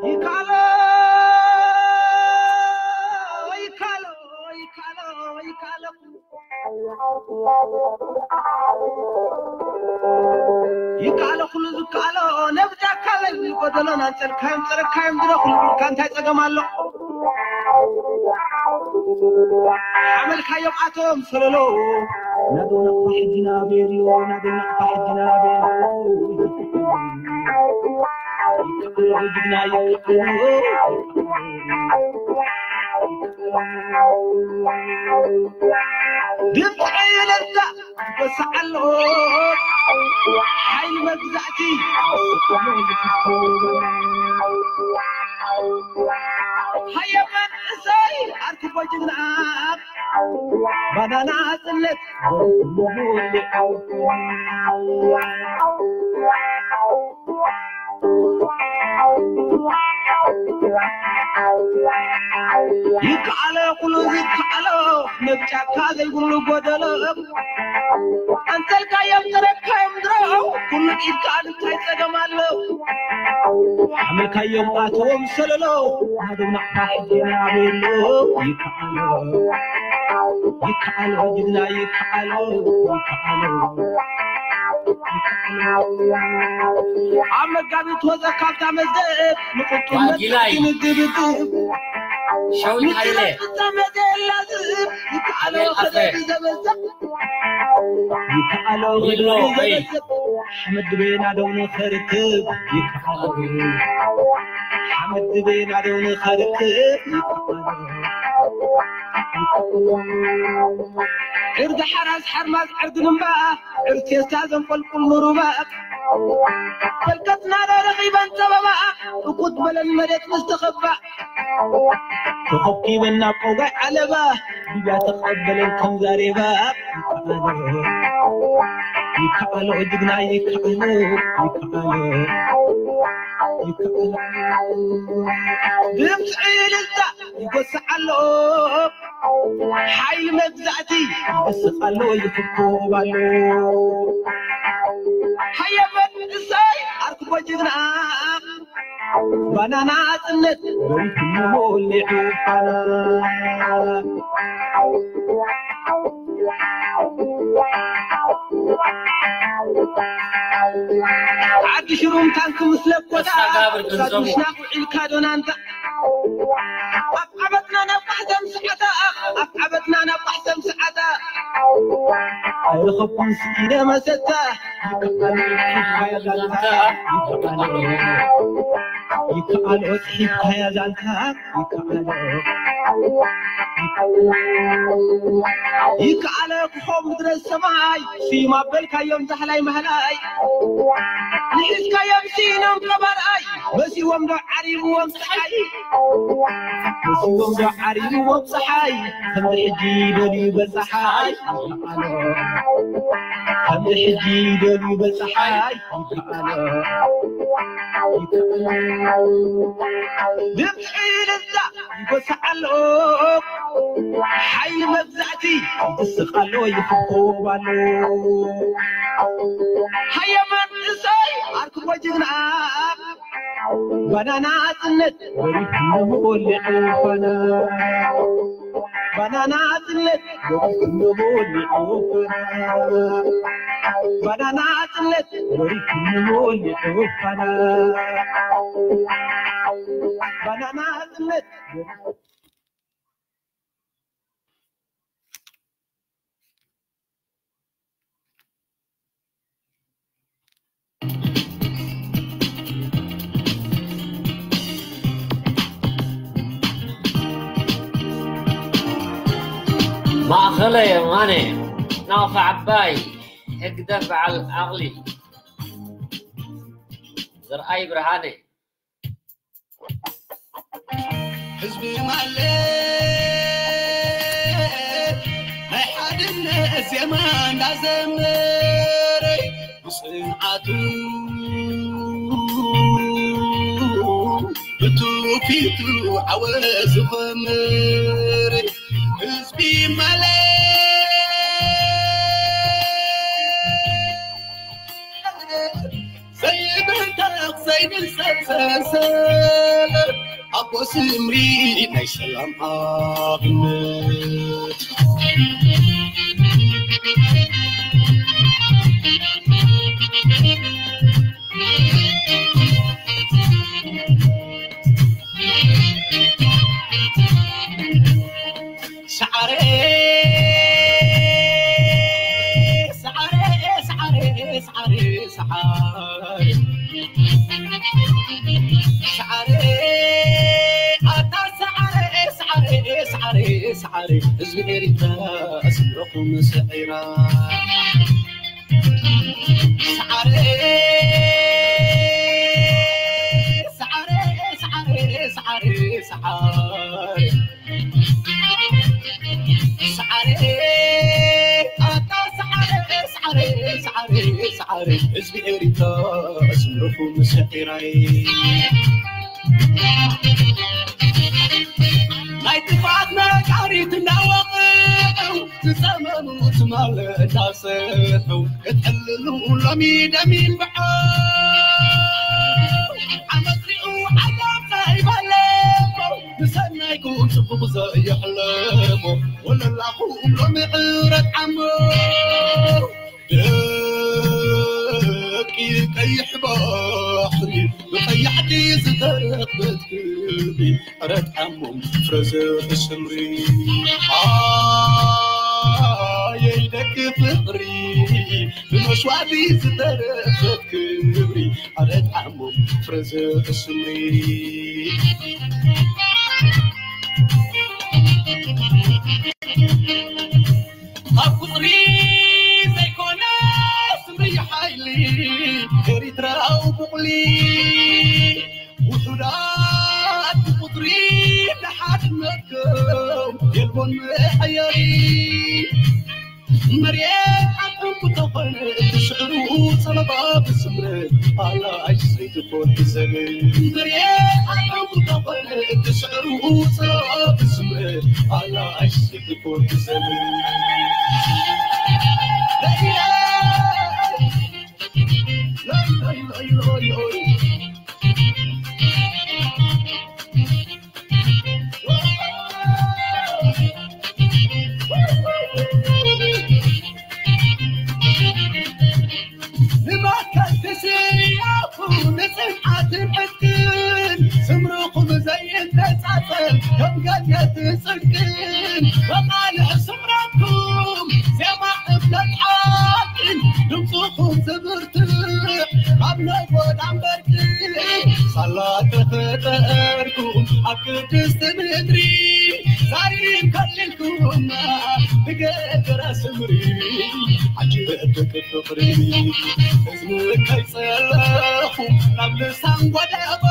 ይካሎ ይካሎ ይካሎ ይካሎ ይካሎ ኩሉ ዝካሎ ነብጃካ ለሊ ጎደሎን ኣንጸልካዮም ጸረካዮም ድረኹሉ ኢልካ እንታይ ጸገም ኣሎ? ሓመልካዮም ኣቶም ሰለሎ ናዶ ናቕፋ ሕጂ ናበየልዮ ናዶ ናቕፋ ሕጂ ናበየልዮ ይካሎ ጅግና ይካሎ ድምፂ እልልታ ይወስዕ ኣሎ ሓይሊ መግዛእቲ ሃየ መንእሰይ ኣርክቦ ጅግና ባናና ጽለት ይከኣሎ ኩሉ ዝከኣሎ ነብጫካ ዘይብሉ ጎደሎ ኣንተልካዮም ተረካዮም ድሮ ኩሉ ኢድካ እንታይ ጸገም ኣሎ ሓመልካዮም ኣተዎም ሰለሎ ናደው ናቕፋ ሕጂ ናበሎ ይከኣሎ ይከኣሎ ጅግና ይከኣሎ ይከኣሎ ኣብ መጋቢት ወፀ ካብታ መዝገብ ንቁጡነት ዳጊላይ። ክንግብግብ ሸዊት ሃይለ። ንጥበብ ፍጻመ ዘላ ዝህብ ይከኣሎ ይበል ኣፈ። ከደብ ዘበዛ ይከኣሎ ይብሎ ከደብ ወይ። ዘበዛ ሓመድ ድቤና ደው ንኸርክብ ይከኣሎ ሓመድ ድቤና ደው ንኸርክብ ይከኣሎ ዕርዲ ሓራስ ሓርማዝ ዕርዲ ንምባ ዕርቴስታ ዘንቆልቁል ምሩባ ተልከትና ዶ ረኺበን ጸበባ እኩት በለን መሬት ምስ ተኸባ ተኸብኪበን ናብ ቆጋይ ዓለባ ድያ ተቐበለን ከም ዛሬባ ይከኣሎ ይከኣሎ ጅግና ይከኣሎ ይከኣሎ ይከኣሎ ድምፂ እልልታ ይጎስዕ ኣሎ ሓይሊ መግዛእቲ ይስቕ ኣሎ ይፍኮብ ኣሎ ሃየ መንእሰይ ኣርክቦ ጅግና ባናና ጽነት በሪቱ ሞሊዑ ፋና ዓዲ ሽሩም ታንክ ምስ ለኮታ ተስፋጋብር ገንዘቡ። ሳዱሽና ውዒልካ ዶናንታ ኣብ ዓመትና ናብ ማሕተም ሰዓታ ኣብ ዓመትና ናብ ማሕተም ሰዓታ ኣይረኸብኩን ስኢነ መሰታ ይከኣሎ ጽሒፍካያ ዛንታ ይከኣሎ ይከኣሎ ክኾም ምድረ ሰማይ ስዩም ኣበልካዮም ዛሕላይ ማህላይ ንሒዝካዮም ስኢኖም ቀባርኣይ መሲዎም ዶ ዓሪብዎም ፀሓይ መሲዎም ዶ ዓሪብዎም ፀሓይ ከምዚ ሕጂ ደልዩ በፀሓይ ከምዚ ሕጂ ደልዩ በፀሓይ ድምፂ እልልታ ይጎስዕ ኣሎ ሓይሊ መግዛእቲ ይስቕ ኣሎ ይፍኮብ ኣሎ ሃየ መንእሰይ ኣርክቦ ጅግና ባናና ጽነት ወሪድ ንወሊዑ ፋና ባናና ጽነት ወሪድ ንወሊዑ ፋና ባናና ጽነት ወሪድ ንወሊዑ ፋና ባናና ጽነት ማእኸለ የማነ ናቕፋ ዓባይ ህግደፍ በዓል ዓቕሊ ዘርኣይ ብርሃነ ህዝቢ ማለት ናይ ሓድነት ዜማ እንዳዘመረ ብፅንዓቱ ብትውፊቱ ዓወት ዝኸምር ህዝቢ ማለት ኣቦ ስምሪ ናይ ሰላም ኣብነት። ሰዓረ፣ ሰዓረ፣ ሰዓረ፣ ሰዓረ፣ ሰዓረ፣ ሰዓረ፣ ኣታ ሰዓረ፣ ሰዓረ፣ ሰዓረ፣ ሰዓረ፣ ህዝቢ ኤሪትራ ስምረኹም ስዒራ። ሰዓረ፣ ሰዓረ፣ ሰዓረ፣ ሰዓረ፣ ሰዓረ፣ ሰዓረ፣ ኣታ ሰዓረ፣ ሰዓረ፣ ሰዓረ፣ ሰዓረ፣ ህዝቢ ኤሪትራ ስምረኹም ስዒራይ። ናይ ጥፍኣት ነጋሪት እናወቕዑ ዝጸመሙ ትማል እናሰሑ ክትዕልሉ ሎሚ ደም ይንብዖ። ዓመት ሪኡ ዓጋብ ዘይበለኮ ብሰናይኩም ጽቡቕ ዘየሕለሞ ወለላኹም ሎሚ ዕረት ዓሞ። ደቂ ቀይሕ ባሕሪ ብቐያሕቲ ዝተረኽበት ክብሪ ዕረት ዓሞም ፍረ ዘርኢ ስምሪ። ኣየይ ደቂ ፍቕሪ ብመስዋእቲ ዝተረኽበት ክብሪ ዕረት ዓሞም ፍረ ዘርኢ ስምሪ። ካብ ቁጽሪ ዘይኮነ ስምሪ ሓይሊ ኤሪትራዊ ቡቕሊ ውሑዳት ብቁጽሪ ንሓድነትኩም የልቦን መሐየሪ። መሬት ዓቕምኩ ተኾነ እቲ ስዕሩ ጸበባ ብስምረት ኣላ ኣይሰይትኾን ብዘበን። መሬት ዓቕምኩ ተኾነ እቲ ስዕሩ ጸበባ ብስምረት ኣላ ኣይሰይትኾን ብዘበን። ለይለ፣ ለይ፣ ለይ፣ ለይ፣ ለይ፣ ለይ። ንመትከልቲ ስያኹ ንጽንዓትን ዕጥቅን ስምርኹም ዘይነጻጸል ከም ገነትን ጽድቅን መቓልሕ ስምረትኩም ዜማ እምነት ሓቅን ድምፅኹም ዝብርትዕ ኣብ ናይ ጎዳም በርቂ ሳላ ተፈጠርኩም ኣብ ቅድስቲ ምድሪ ዛሪም ከሊልኩምና ብገገራ ስምሪ ዓጀብ ደቂ ፍቕሪ እዝኒ ከይጸለኹ ናብ ልሳን ጎደቦ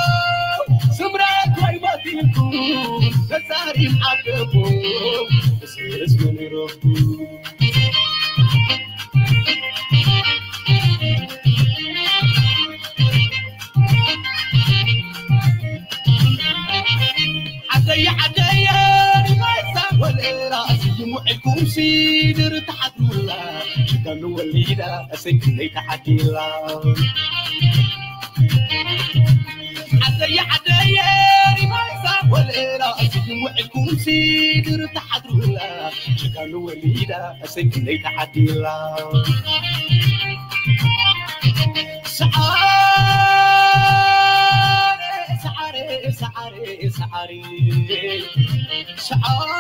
ስምረት ወይ መቲልኩም ተዛሪም ዓደቦ እዚ እዝኒ ንረኽቡ። ዓደየ ዓደየ ሪማይሳ ወለላ ስዩም ውዒልኩም ሲድር ተሓድሩላ ሽጋኑ ወሊዳ እሰይ ክንደይ ተዓዲላ። ዓደየ ዓደየ ሪማይሳ ወለላ ስዩም ውዒልኩም ሲድር ተሓድሩላ ሽጋኑ ወሊዳ እሰይ ክንደይ ተዓዲላ። ሰዓረ፣ ሰዓረ፣ ሰዓረ፣ ሰዓረ። ሰዓረ፣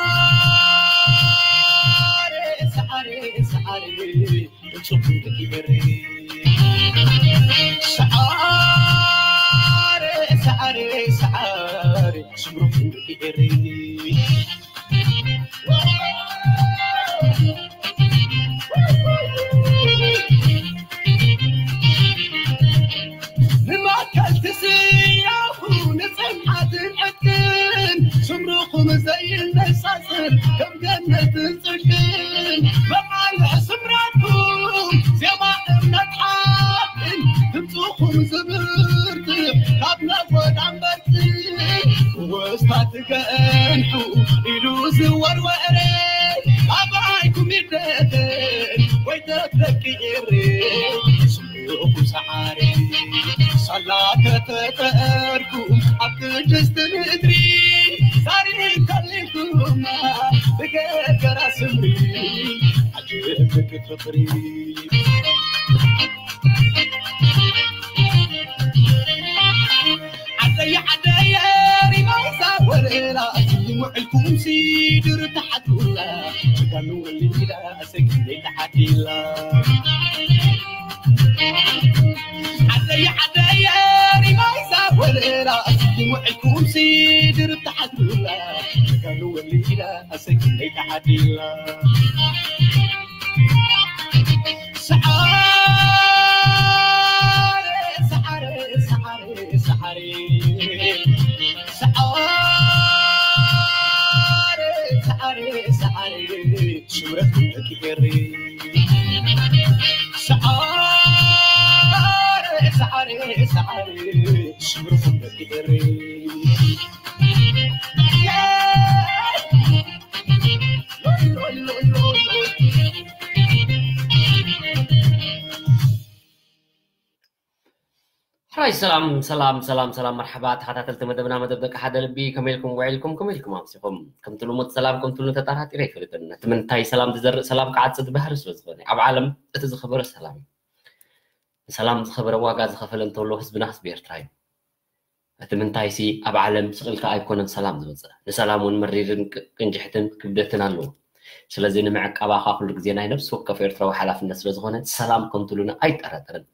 ሰዓረ፣ ሰዓረ። ድምፅኹም ደቂ ኤረይ። ሰዓረ፣ ሰዓረ፣ ሰዓረ። ስምርኹም ደቂ ኤረይ። ንመትከልቲ ስያኹ ንጽንዓትን ዕጥቅን ስምርኹም ዘይነጻጸል ከም ገነትን ጽድቅን መቓልሕ ስምረትኩም ዜማ እምነት ሓቅን ድምፅኹም ፍቅሪ ዓደይ ዓደይ ሪማይሳ ወለላ ይምዕልኩም ሲድር ተሓትላ ጅጋኑ ወሊላ ሰጊደይ ተሓቲላ ዓደይ ዓደይ ሪማይሳ ወለላ ይምዕልኩም ሲድር ተሓትላ ጅጋኑ ወሊላ ሰጊደይ ተሓቲላ ሰዓረ ሰዓረ ሰዓረ ሰዓረ ሰዓረ ሰዓረ ሰዓረ ሽምረት ደቂ ኤሪ ሰዓረ ሰዓረ ሰዓረ ሽምረት ደቂ ኤሪ ሕራይ ሰላም ሰላም ሰላም ሰላም፣ መርሓባ ተኸታተልቲ መደብና፣ መደብ ደቂ ሓደ ልቢ። ከመይ ኢልኩም ውዒልኩም? ከመይ ኢልኩም ኣምሲኹም? ከምቲ ልሙድ ሰላም ከምቲ ልሙድ ተጠራጢረ ኣይፈልጥን። እቲ ምንታይ ሰላም ዝዘርእ ሰላም ክዓጽድ ባህሪ ስለ ዝኾነ፣ ኣብ ዓለም እቲ ዝኸበረ ሰላም እዩ። ንሰላም ዝኸበረ ዋጋ ዝኸፈለ እንተሎ ህዝብና ህዝቢ ኤርትራ እዩ። እቲ ምንታይሲ ኣብ ዓለም ስቕ ኢልካ ኣይኮነን ሰላም ዝመጽእ። ንሰላም እውን መሪርን ቅ- ቅንጅሕትን ክብደትን ኣለዎ። ስለዚ ንምዕቃባ ኸኣ ኩሉ ግዜ ናይ ነፍሲ ወከፍ ኤርትራዊ ሓላፍነት ስለ ዝኾነ ሰላም ከም ትብሉና ኣይጠራጠርን።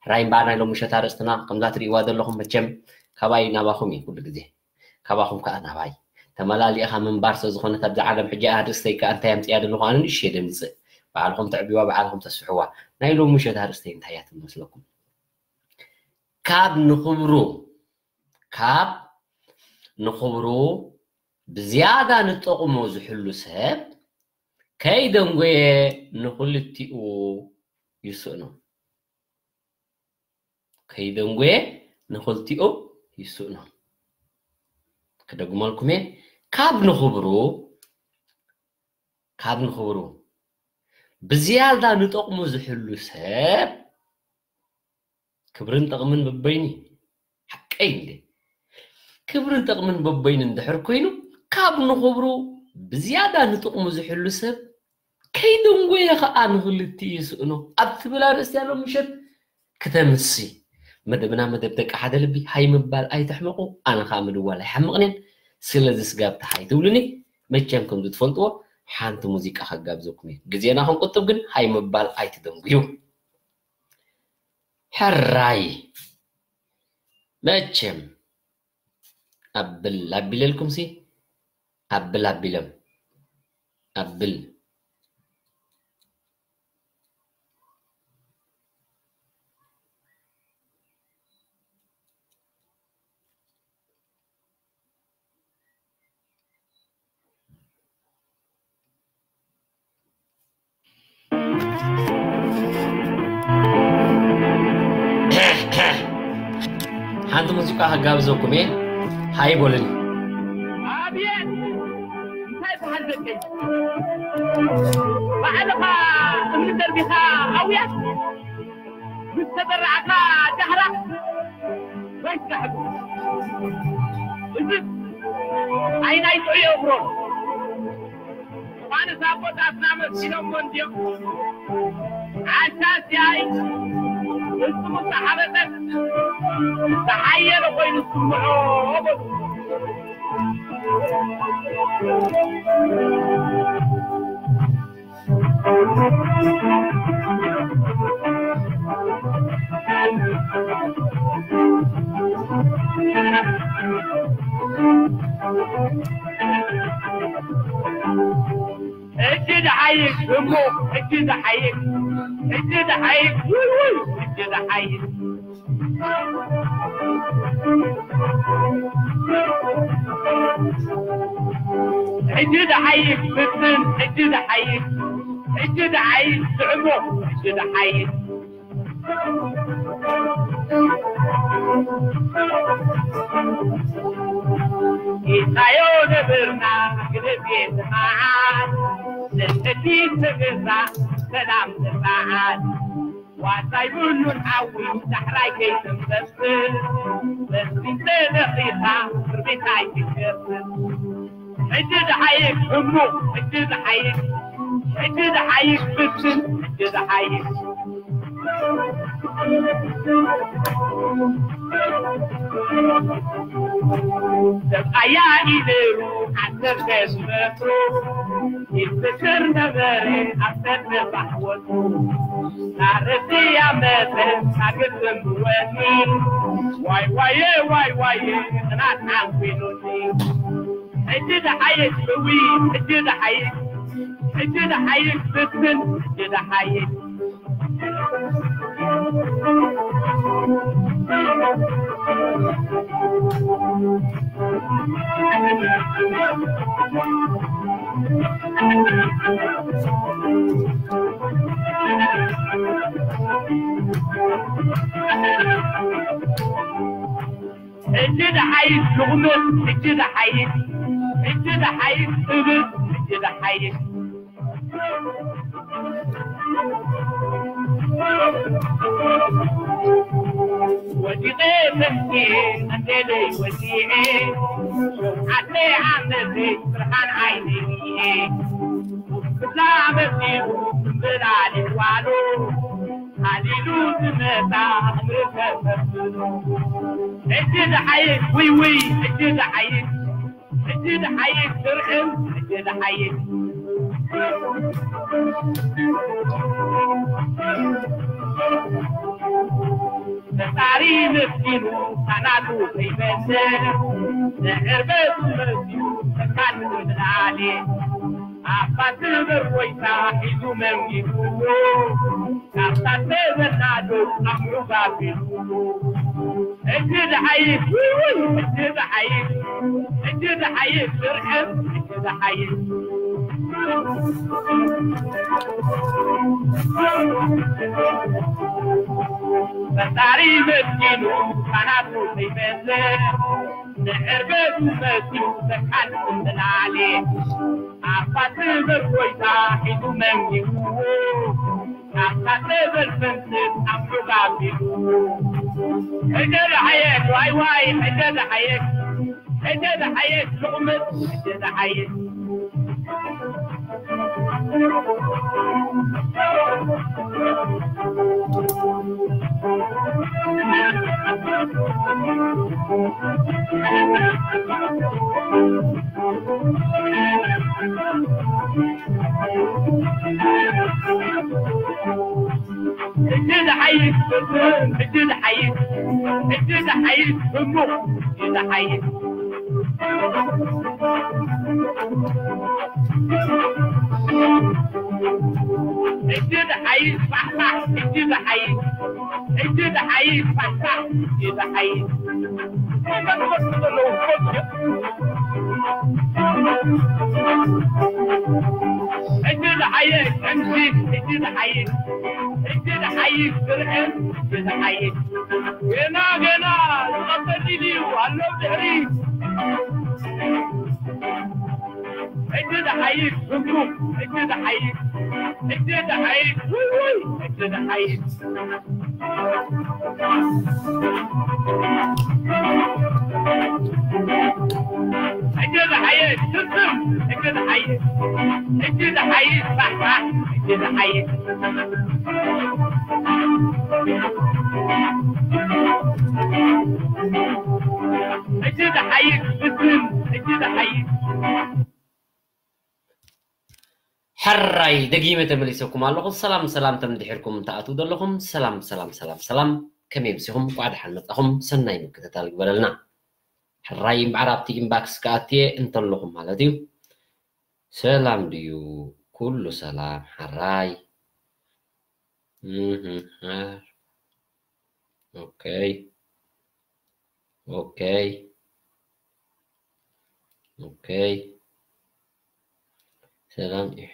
ሕራይ እምበኣር ናይ ሎሚ ምሸት ኣርእስትና ከምዛ ትርእይዋ ዘለኹም መቸም ካባይ ናባኹም እዩ ኩሉ ግዜ። ካባኹም ከኣ ናባይ። ተመላሊእኻ ምንባር ስለ ዝኾነት ኣብዛ ዓለም ሕጂ ኣርእስተይ ከኣ እንታይ ኣምጽያ ዘለኹ ኣነ ንእሽተይ ደምጽእ። ባዕልኹም ተዕብይዋ ባዕልኹም ተስፍሕዋ። ናይ ሎሚ ምሸት ኣርእስተይ እንታይ እያ ትመስለኩም? ካብ ንኽብሩ ካብ ንኽብሩ ብዝያዳ ንጠቕሞ ዝሕሉ ሰብ ከይደንጎየ ንኽልቲኡ ይስእኖ። ከይደንጎየ ንኽልቲኡ ይስእኖ። ክደግመልኩም እየ። ካብ ንኽብሩ ካብ ንኽብሩ ብዝያዳ ንጠቕሙ ዝሕሉ ሰብ ክብርን ጠቕምን በበይኑ እዩ። ሓቀይ እንዴ? ክብርን ጠቕምን በበይኑ እንድሕር ኮይኑ ካብ ንኽብሩ ብዝያዳ ንጥቕሙ ዝሕሉ ሰብ ከይደንጎየ ኸኣ ንኽልቲኡ ይስእኖ ኣብ ትብል ኣርእስቲ ያለው ምሸት ክተምሲ መደብና መደብ ደቂ ሓደ ልቢ ሃይ ምባል ኣይተሕመቑ። ኣነ ኸኣ ምድዋል ኣይሓምቕንን። ስለዚ ስጋብ ተሓይ ትብሉኒ መቸም ከምዚ ትፈልጥዎ ሓንቲ ሙዚቃ ከጋብዘኩም እየ። ግዜና ክንቁጥብ ግን ሃይ ምባል ኣይትደንጉዩ። ሕራይ መቸም ኣብል ኣቢለልኩም ሲ ኣብል ኣቢሎም ኣብል ሓንቲ ሙዚቃ ከጋብዘኩም እየ። ሃይ በሉኒ። ኣብየት እንታይ በሃል ደቀይ ባዕልኻ እምኒ ደርቢኻ ኣውያት ምስ ተዘራዕካ ዳህራ ወይ ዛሕሉ እዚ ኣይናይ ጥዑዮ እግሮን ዮሃንስ ኣቦታትና መሲሎሞ እንድዮም። ዓሻ ሲያይ ፍጹም ዝተሓበጠን ዝተሓየለ ኮይኑ ዝስምዖ በሉ። ሕጂ ዝሓይሽ እሞ፣ ሕጂ ዝሓይሽ፣ ሕጂ ዝሓይሽ፣ ውይ፣ ውይ፣ ሕጂ ዝሓይሽ። ሕጂ ዝሓይሽ ፍትን፣ ሕጂ ዝሓይሽ፣ ሕጂ ዝሓይሽ ስዕሞ፣ ሕጂ ዝሓይሽ። ኢልካዮ ነበርና ግደፍ የትመዓት፣ ንሕድሕድ ተገዛ ሰላም ትመዓት። ዋሳ ይብሉን ሓዊ ዳሕራይ ከይትንሰስን፣ በስሚን ተለኺኻ ክርቢት ኣይትገስን። ሕጂ ዝሓይሽ ህሙቕ፣ ሕጂ ዝሓይሽ፣ ሕጂ ዝሓይሽ ፍትን፣ ደሓይ ሰብኣያ ኢደሩ ዓሰርተ ሺሕ ሜትሮ ይፍቅር ነበረ ኣብ ሰልፊ ባሕወቱ። ናረቲ ያመተ ሳግር ዘንብወኒ ዋይ ዋየ ዋይ ዋየ ቅናት ዓንኩ ኢሉኒ። ሕጂ ደሓየት እዊ ሕጂ ደሓየት ሕጂ ደሓየት ብትን ሕጂ ደሓየት ሕጂ ደሓይሽ ልቑምት ሕጂ ደሓይሽ ሕጂ ደሓይሽ እብስ ሕጂ ደሓይሽ ወዲቐ ተንኪኤ እንዴለይ ወዲኤ ሸውዓተ ዓመተይ ብርሃን ዓይነይ ርኤ ክብላ መጺኡ እምብላሊት ዋሉ ሃሊሉ ዝመጻ እምሪ ተሰብሉ ሕጂ ደሓይሽ ውይ ውይ ሕጂ ደሓይሽ ሕጂ ደሓይሽ ስርዕም ሕጂ ደሓይሽ ፈጣሪ መስኪኑ ካናቱ ከይመሰ ንዕርበቱ መሲሉ ተካል ምናሌ ኣባ ትብር ጎይታ ሒዙ መንጊጉዎ ካብታ ተበናዶ ኣምዑ ጋቢሉ ሕጂ ደሓይሽ ውይ ሕጂ ደሓይሽ ሕጂ ደሓይሽ ስርዕም ሕጂ ደሓይሽ ፈጣሪ መስኪኑ ካናቱ ከይመሰ ንዕርበቱ መሲሉ ተካል ምናሌ ኣባ ትብር ጎይታ ሒዙ መንጊጉዎ ካብታ ትብል ፍንትት ኣምዑ ጋቢሉ ሕጂ ደሓየሽ ዋይ ዋይ ሕጂ ደሓየሽ ሕጂ ደሓየሽ ልቑምት ሕጂ ደሓየሽ ሕጂ ዝሓይሽ ፍጹም፣ ሕጂ ዝሓይሽ፣ ሕጂ ዝሓይሽ ህሙቕ፣ ሕጂ ዝሓይሽ። ሕጂ ዝሓይሽ ፋሕፋሕ፣ ሕጂ ዝሓይሽ፣ ሕጂ ዝሓይሽ ፋሕፋሕ፣ ሕጂ ዝሓይሽ። እንታይ ትመስሉ ዘለዉ? ሕጂ ዝሓይሽ፣ ሕጂ፣ ሕጂ ዝሓይሽ፣ ሕጂ ዝሓይሽ ብርዕን፣ ሕጂ ዝሓይሽ። ገና፣ ገና ዝቐጸል ድዩ ኣሎ ድሕሪ? ሕጂ ዝሓይሽ፣ ህጉም፣ ሕጂ ዝሓይሽ፣ ሕጂ ዝሓይሽ፣ ውይ፣ ውይ፣ ሕጂ ዝሓይሽ። ሕጂ ዝሓይሽ፣ ስስም፣ ሕጂ ዝሓይሽ፣ ሕጂ ዝሓይሽ፣ ፋሕፋሕ፣ ሕጂ ዝሓይሽ። ሕጂ ዝሓይሽ፣ ስስም፣ ሕጂ ዝሓይሽ። ሕራይ፣ ደጊመ ተመሊሰኩም ኣለኹ። ሰላም፣ ሰላም፣ ተም ድሒርኩም ትኣትዉ ዘለኹም። ሰላም፣ ሰላም፣ ሰላም፣ ሰላም። ከመይ ኣምሲኹም? እንቋዕ ደሓን መጻኹም። ሰናይ ምክትታል ይግበረልና። ሕራይ፣ እምበኣር ኣብቲ ኢንባክስ ክኣትየ እንተለኹም ማለት እዩ። ሰላም ድዩ? ኩሉ ሰላም፣ ሕራይ። እህ፣ ኦኬ። ኦኬ። ኦኬ። ሰላም እዩ።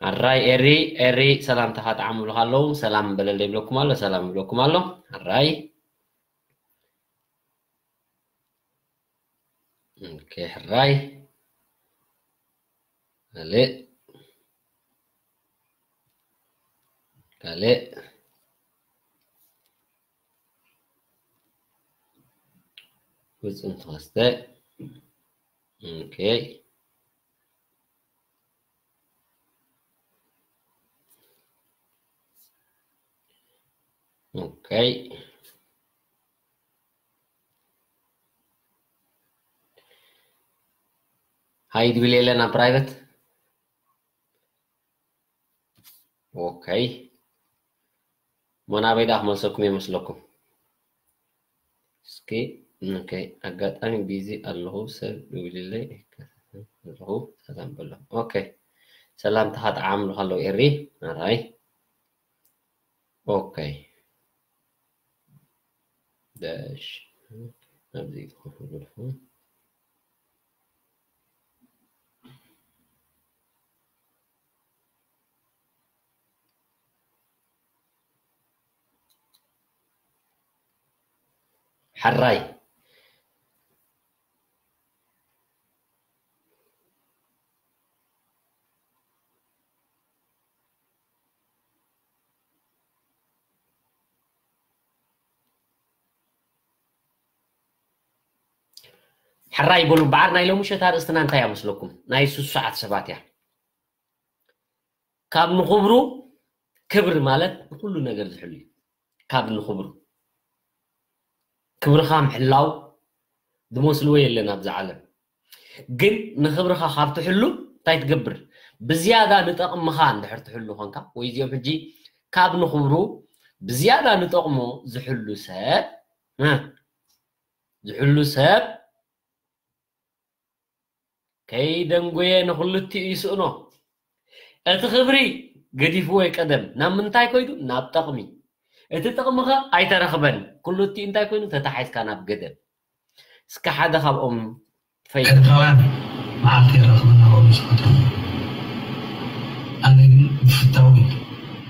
ሕራይ ኤሪ፣ ኤሪ ሰላምታኻ ጠዓም ይብሉኻ ኣለዉ። ሰላም በለለይ ይብለኩም ኣሎ፣ ሰላም ይብለኩም ኣሎ። ሕራይ። ኦኬ፣ ሕራይ። ካልእ። ካልእ። ውጽን ተኸስተ። ኦኬ። ኦኬ። ሃይ ድብል የለን ኣብ ፕራይቨት። ኦኬ። ሞናበይ ደኣ ክመልሰኩም እየ መስለኩም። እስኪ፣ ኦኬ፣ ኣጋጣሚ ቢዚ ኣለኹ፣ ሰብ ደዊሉለይ ኣይከታተልን ኣለኹ፣ ሰላም በሎ። ኦኬ፣ ሰላምታኻ ጠዓምሉ ከለዉ ኤሪ፣ ኣራይ። ኦኬ። ዳሽ፣ ኣብዚ ይትኹን። ሕራይ። ሕራይ በሉ እምበኣር፣ ናይ ሎሚ ምሸት ኣርእስትና እንታይ እያ መስለኩም? ናይ ሱሱዓት ሰባት እያ። ካብ ንኽብሩ፣ ክብሪ ማለት ንኹሉ ነገር ዝሕሉ እዩ። ካብ ንኽብሩ፣ ክብርኻ ምሕላው ዝመስልዎ የለን ኣብዚ ዓለም። ግን ንኽብርኻ ካብ ትሕሉ እንታይ ትገብር? ብዝያዳ ንጠቕምኻ እንድሕር ትሕሉ ኾንካ፣ ወይ እዚኦም ሕጂ ካብ ንኽብሩ ብዝያዳ ንጠቕሞ ዝሕሉ ሰብ፣ እ፣ ዝሕሉ ሰብ ከይደንጎየ ንኽልቲኡ ይስእኖ። እቲ ክብሪ ገዲፍዎ ቀደም ናብ ምንታይ ኮይዱ? ናብ ጠቕሚ። እቲ ጠቕሚ ኸ ኣይተረኽበን። ክልቲኡ እንታይ ኮይኑ? ተታሒዝካ ናብ ገደል። እስከ ሓደ ካብኦም ፈይዱ። ኤርትራውያን መዓልቲ የራኽበና ብኦም ዝፈትዎም። ኣነ ግን ብፍታዊ፣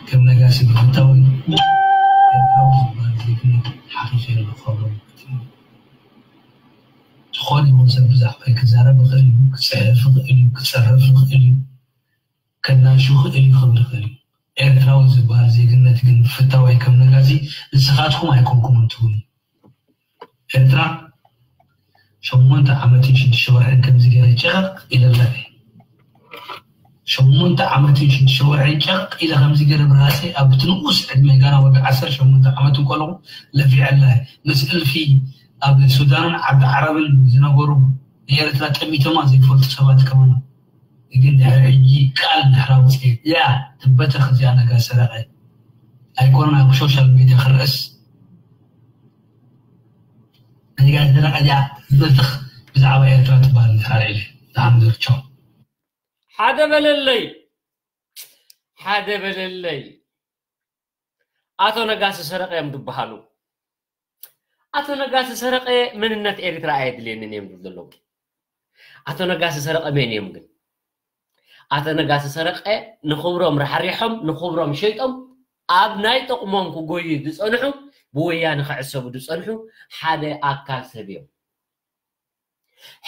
ከም ነጋሲ ብፍታዊ፣ ኤርትራዊ ዝበሃል ዜግነት ሓኺሰ የለ ክኸብሮም። ዝኾነ ይኹን ሰብ ብዛዕባይ ክዛረብ ይኽእል እዩ፣ ክጽሕፍ ይኽእል እዩ፣ ክጽሕፍ ይኽእል እዩ። ከናሹ ይኽእል እዩ፣ ክኽብር ይኽእል እዩ። ኤርትራዊ ዝበሃል ዜግነት ግን ብፍታወይ ከም ነጋሲ ንስኻትኩም ኣይኮንኩምን ትብሉ። ኤርትራ ሸሞንተ ዓመትን ሽዱሽተ ወርሕን ከምዚ ገይረ ጨቐቕ ኢለላ እየ። ሸሞንተ ዓመትን ሽዱሽተ ወርሕን ጨቕ ኢለ ከምዚ ገይረ ብራሰይ ኣብ እቲ ንኡስ ዕድመ ጋና ወዲ ዓሰርተ ሸሞንተ ዓመት እንከለኹ ለፊዐላ እየ። ምስ እልፊ ኣብ ሱዳንን ዓዲ ዓረብን ዝነበሩ ንኤርትራ ጠሚቶማ ዘይፈልጡ ሰባት ከማን ግን ድሕሪ ሕጂ ቃል እንድሕር ኣውፅኤ፣ ያ ትበተኽ እዚኣ ነጋ ሰረቐ ኣይኮነን ኣብ ሶሻል ሚድያ ክረእስ። ነጋ ሰረቐ እዚኣ ትበተኽ ብዛዕባ ኤርትራ ትበሃል እንድሕር ኢለ። ንሓምድ ርቸው። ሓደ በለለይ፣ ሓደ በለለይ። ኣቶ ነጋሲ ሰረቐ እዮም ዝበሃሉ። ኣቶ ነጋሲ ሰረቐ መንነት ኤርትራ ኣየድልየንን እዮም ዝብሉ ዘለዉ። ኣቶ ነጋሲ ሰረቐ መን እዮም ግን? ኣቶ ነጋሲ ሰረቐ ንኽብሮም ራሕሪሖም፣ ንኽብሮም ሸይጦም፣ ኣብ ናይ ጥቕሞም ክጎዩ ዝጸንሑ፣ ብወያነ ክዕሰቡ ዝጸንሑ ሓደ ኣካል ሰብ እዮም።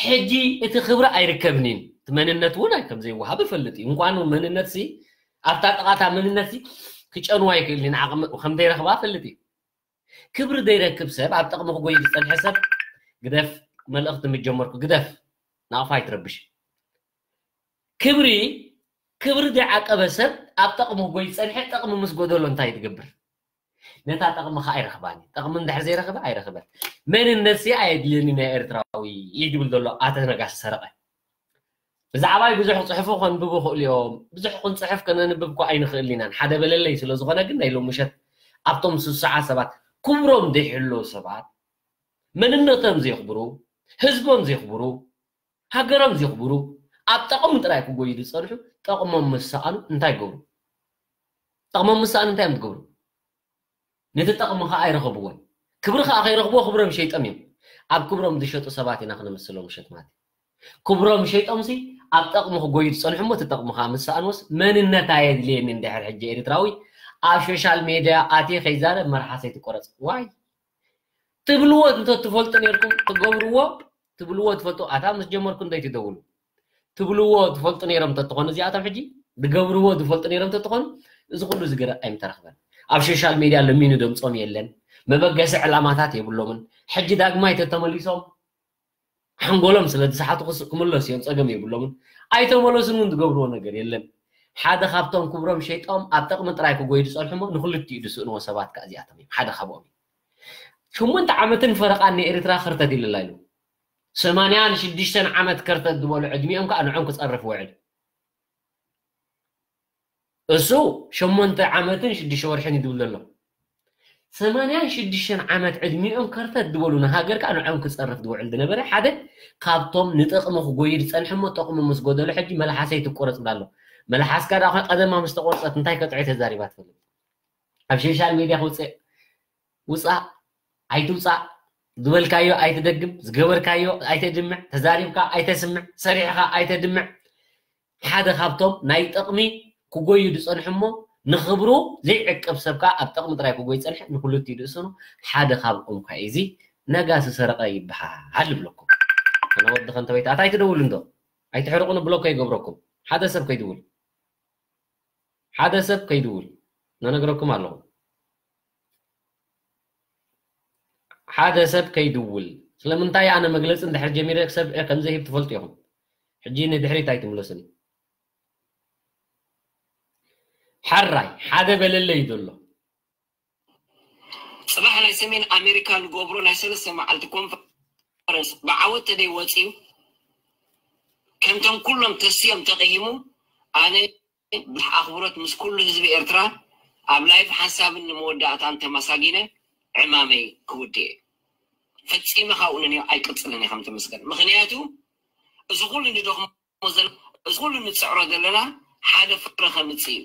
ሕጂ እቲ ክብሪ ኣይርከብን እዩ። እቲ መንነት እውን ኣይ-፣ ከም ዘይወሃብ እፈልጥ እዩ። እንኳን መንነት ሲ፣ ኣብታ ጥቓታ መንነት ሲ ክጨንዋ ይክእል እዩ። ንዓቕሚ ከም ዘይረኽባ እፈልጥ እዩ። ክብሪ ዘይረክብ ሰብ፣ ኣብ ጥቕሚ ክጎይ ዝጸንሐ ሰብ፣ ግደፍ፣ መልእኽቲ ምስ ጀመርኩ ግደፍ፣ ናቕፋ ኣይትረብሽ። ክብሪ፣ ክብሪ ዘይዓቀበ ሰብ ኣብ ጥቕሚ ክጎይ ዝጸንሐ፣ ጥቕሚ ምስ ጎደሎ እንታይ ትገብር? ነታ ጥቕሚ ኸኣ ኣይረኽባን እዩ። ጥቕሚ እንድሕር ዘይረኽበ ኣይረኽበን። መንነት ሲ ኣየድልየኒ ናይ ኤርትራዊ እዩ ዝብል ዘሎ ኣቶ ነጋሲ ሰረቐ። ብዛዕባይ ብዙሕ ክጽሕፉ ከንብቡ ይኽእሉ እዮም። ብዙሕ ክንጽሕፍ ከነንብብ እኮ ኣይንኽእልን ኢና። ሓደ በለለይ ስለ ዝኾነ ግን ናይ ሎሚ ምሸት ኣብቶም ሱሱዓት ሰባት፣ ክብሮም ዘይሕልዉ ሰባት፣ መንነቶም ዘየኽብሩ፣ ህዝቦም ዘየኽብሩ፣ ሃገሮም ዘየኽብሩ፣ ኣብ ጠቕሚ ጥራይ ክጎዩ ዝጸንሑ፣ ጠቕሞም ምስ ሰኣኑ እንታይ ይገብሩ? ጠቕሞም ምስ ሰኣኑ እንታይ እዮም ዝገብሩ? ነቲ ጠቕሚ ኸኣ ኣይረኸብዎን። ክብሪ ኸኣ ከይረኽብዎ ክብሮም ሸይጦም እዮም። ኣብ ክብሮም ዝሸጡ ሰባት ኢና ክነምስሎም ምሸት ማለት እዩ። ክብሮም ሸይጦምሲ ኣብ ጠቕሚ ክጎዩ ዝጸንሑ እሞ እቲ ጠቕሚ ኸኣ ምስ ሰኣንዎስ መንነት ኣየድልየኒ እንድሕር ሕጂ ኤርትራዊ ኣብ ሶሻል ሜድያ ኣትየ ከይዛረብ መርሓሰይ ትቆረጽ። ዋይ! ትብልዎ እንተ ትፈልጡ ኔርኩም ትገብርዎ፣ ትብልዎ ትፈልጡ፣ ኣታ ምስ ጀመርኩም እንታይ ትደውሉ? ትብልዎ ትፈልጡ ኔሮም እንተ ትኾኑ እዚኣቶም ሕጂ ዝገብርዎ ዝፈልጡ ኔሮም እንተ ትኾኑ፣ እዚ ኩሉ እዚ ገረ ኣይምተረኽበን። ኣብ ሶሻል ሜድያ ለሚኑ ደምጾም የለን፣ መበገሲ ዕላማታት የብሎምን። ሕጂ ዳግማይ ተተመሊሶም ሓንጎሎም ስለ ዝሰሓቱ ክስ-፣ ክምለሱ እዮም፣ ጸገም የብሎምን። ኣይተመለሱን እውን ዝገብርዎ ነገር የለን። ሓደ ካብቶም ክብሮም ሸይጦም ኣብ ጥቕሚ ጥራይ ክጎዩ ዝጸንሑ እሞ ንክልቲኡ ዝስእንዎ ሰባት ከኣ እዚኣቶም እዮም። ሓደ ካብኦም እዩ። ሽሞንተ ዓመትን ፈረቓን ንኤርትራ ክርተት ኢልላ ኢሉ። ሰማንያን ሽዱሽተን ዓመት ከርተት ዝበሉ ዕድሚኦም ከኣ ንዖም ክጸርፍ ውዕል። እሱ ሸሞንተ ዓመትን ሽዱሽተ ወርሕን እዩ ዝብል ዘሎ። ሰማንያን ሽዱሽተን ዓመት ዕድሚኦም ከርተት ዝበሉ ንሃገር ከኣ ንዖም ክጸርፍ ዝውዕል ዝነበረ ሓደ ካብቶም ንጥቕሚ ክጎዩ ዝጸንሐ እሞ ጥቕሚ ምስ ጎደሎ ሕጂ መልሓሰይ ትቆረጽ ብላ ኣሎ። መልሓስካ ደኣ ቀደማ ምስ ተቆርጸት እንታይ ከጥዑ ተዛሪባ ትፈልጥ? ኣብ ሶሻል ሜድያ ክውጽእ ውጻእ ኣይትውጻእ፣ ዝበልካዮ ኣይትደግም፣ ዝገበርካዮ ኣይተድምዕ፣ ተዛሪብካ ኣይተስምዕ፣ ሰሪሕኻ ኣይተድምዕ። ሓደ ካብቶም ናይ ጥቕሚ ክጎዩ ዝጸንሑ እሞ ንኽብሩ ዘይዕቅብ ሰብ ከኣ ኣብ ጥቕሚ ጥራይ ክጎይ ጸንሐ ንክልቲኡ ዝእስኑ ሓደ ካብኦም ከ እዚ ነጋሲ ሰረቐ ይበሃል ይብለኩም። ኣነ ወዲ ከንተወይታ ኣታ ኣይትደውሉ እንዶ ኣይትሕርቑኒ ብሎኮ ይገብረኩም። ሓደ ሰብ ከይድውል ሓደ ሰብ ከይድውል ነነግረኩም ኣለኹ። ሓደ ሰብ ከይድውል ስለምንታይ ኣነ መግለጺ እንድሕር ጀሚረ ሰብ ከም ዘይህብ ትፈልጡ ኢኹም። ሕጂ ንድሕሪት ኣይትምለሱኒ። ሓራይ ሓደ በለለይ እዩ ዘሎ። ጽባሕ ናይ ሰሜን ኣሜሪካ ንገብሮ ናይ ሰለስተ መዓልቲ ኮንፈረንስ ብዓወት ተደይ ወጺኡ ከምቶም ኩሎም ተስዮም ተቐሂሙ ኣነ ብኣኽብሮት ምስ ኩሉ ህዝቢ ኤርትራ ኣብ ላይፍ ሓንሳብን ንመወዳእታን ተመሳጊነ ዕማመይ ክውድእ እየ። ፈጺመ ካብኡ ንንዮ ኣይቅጽልን እየ ከም ተመስገን። ምኽንያቱ እዚ ኩሉ ንደኽሞ ዘሎ፣ እዚ ኩሉ ንጽዕሮ ዘለና ሓደ ፍረ ከምጽእ እዩ።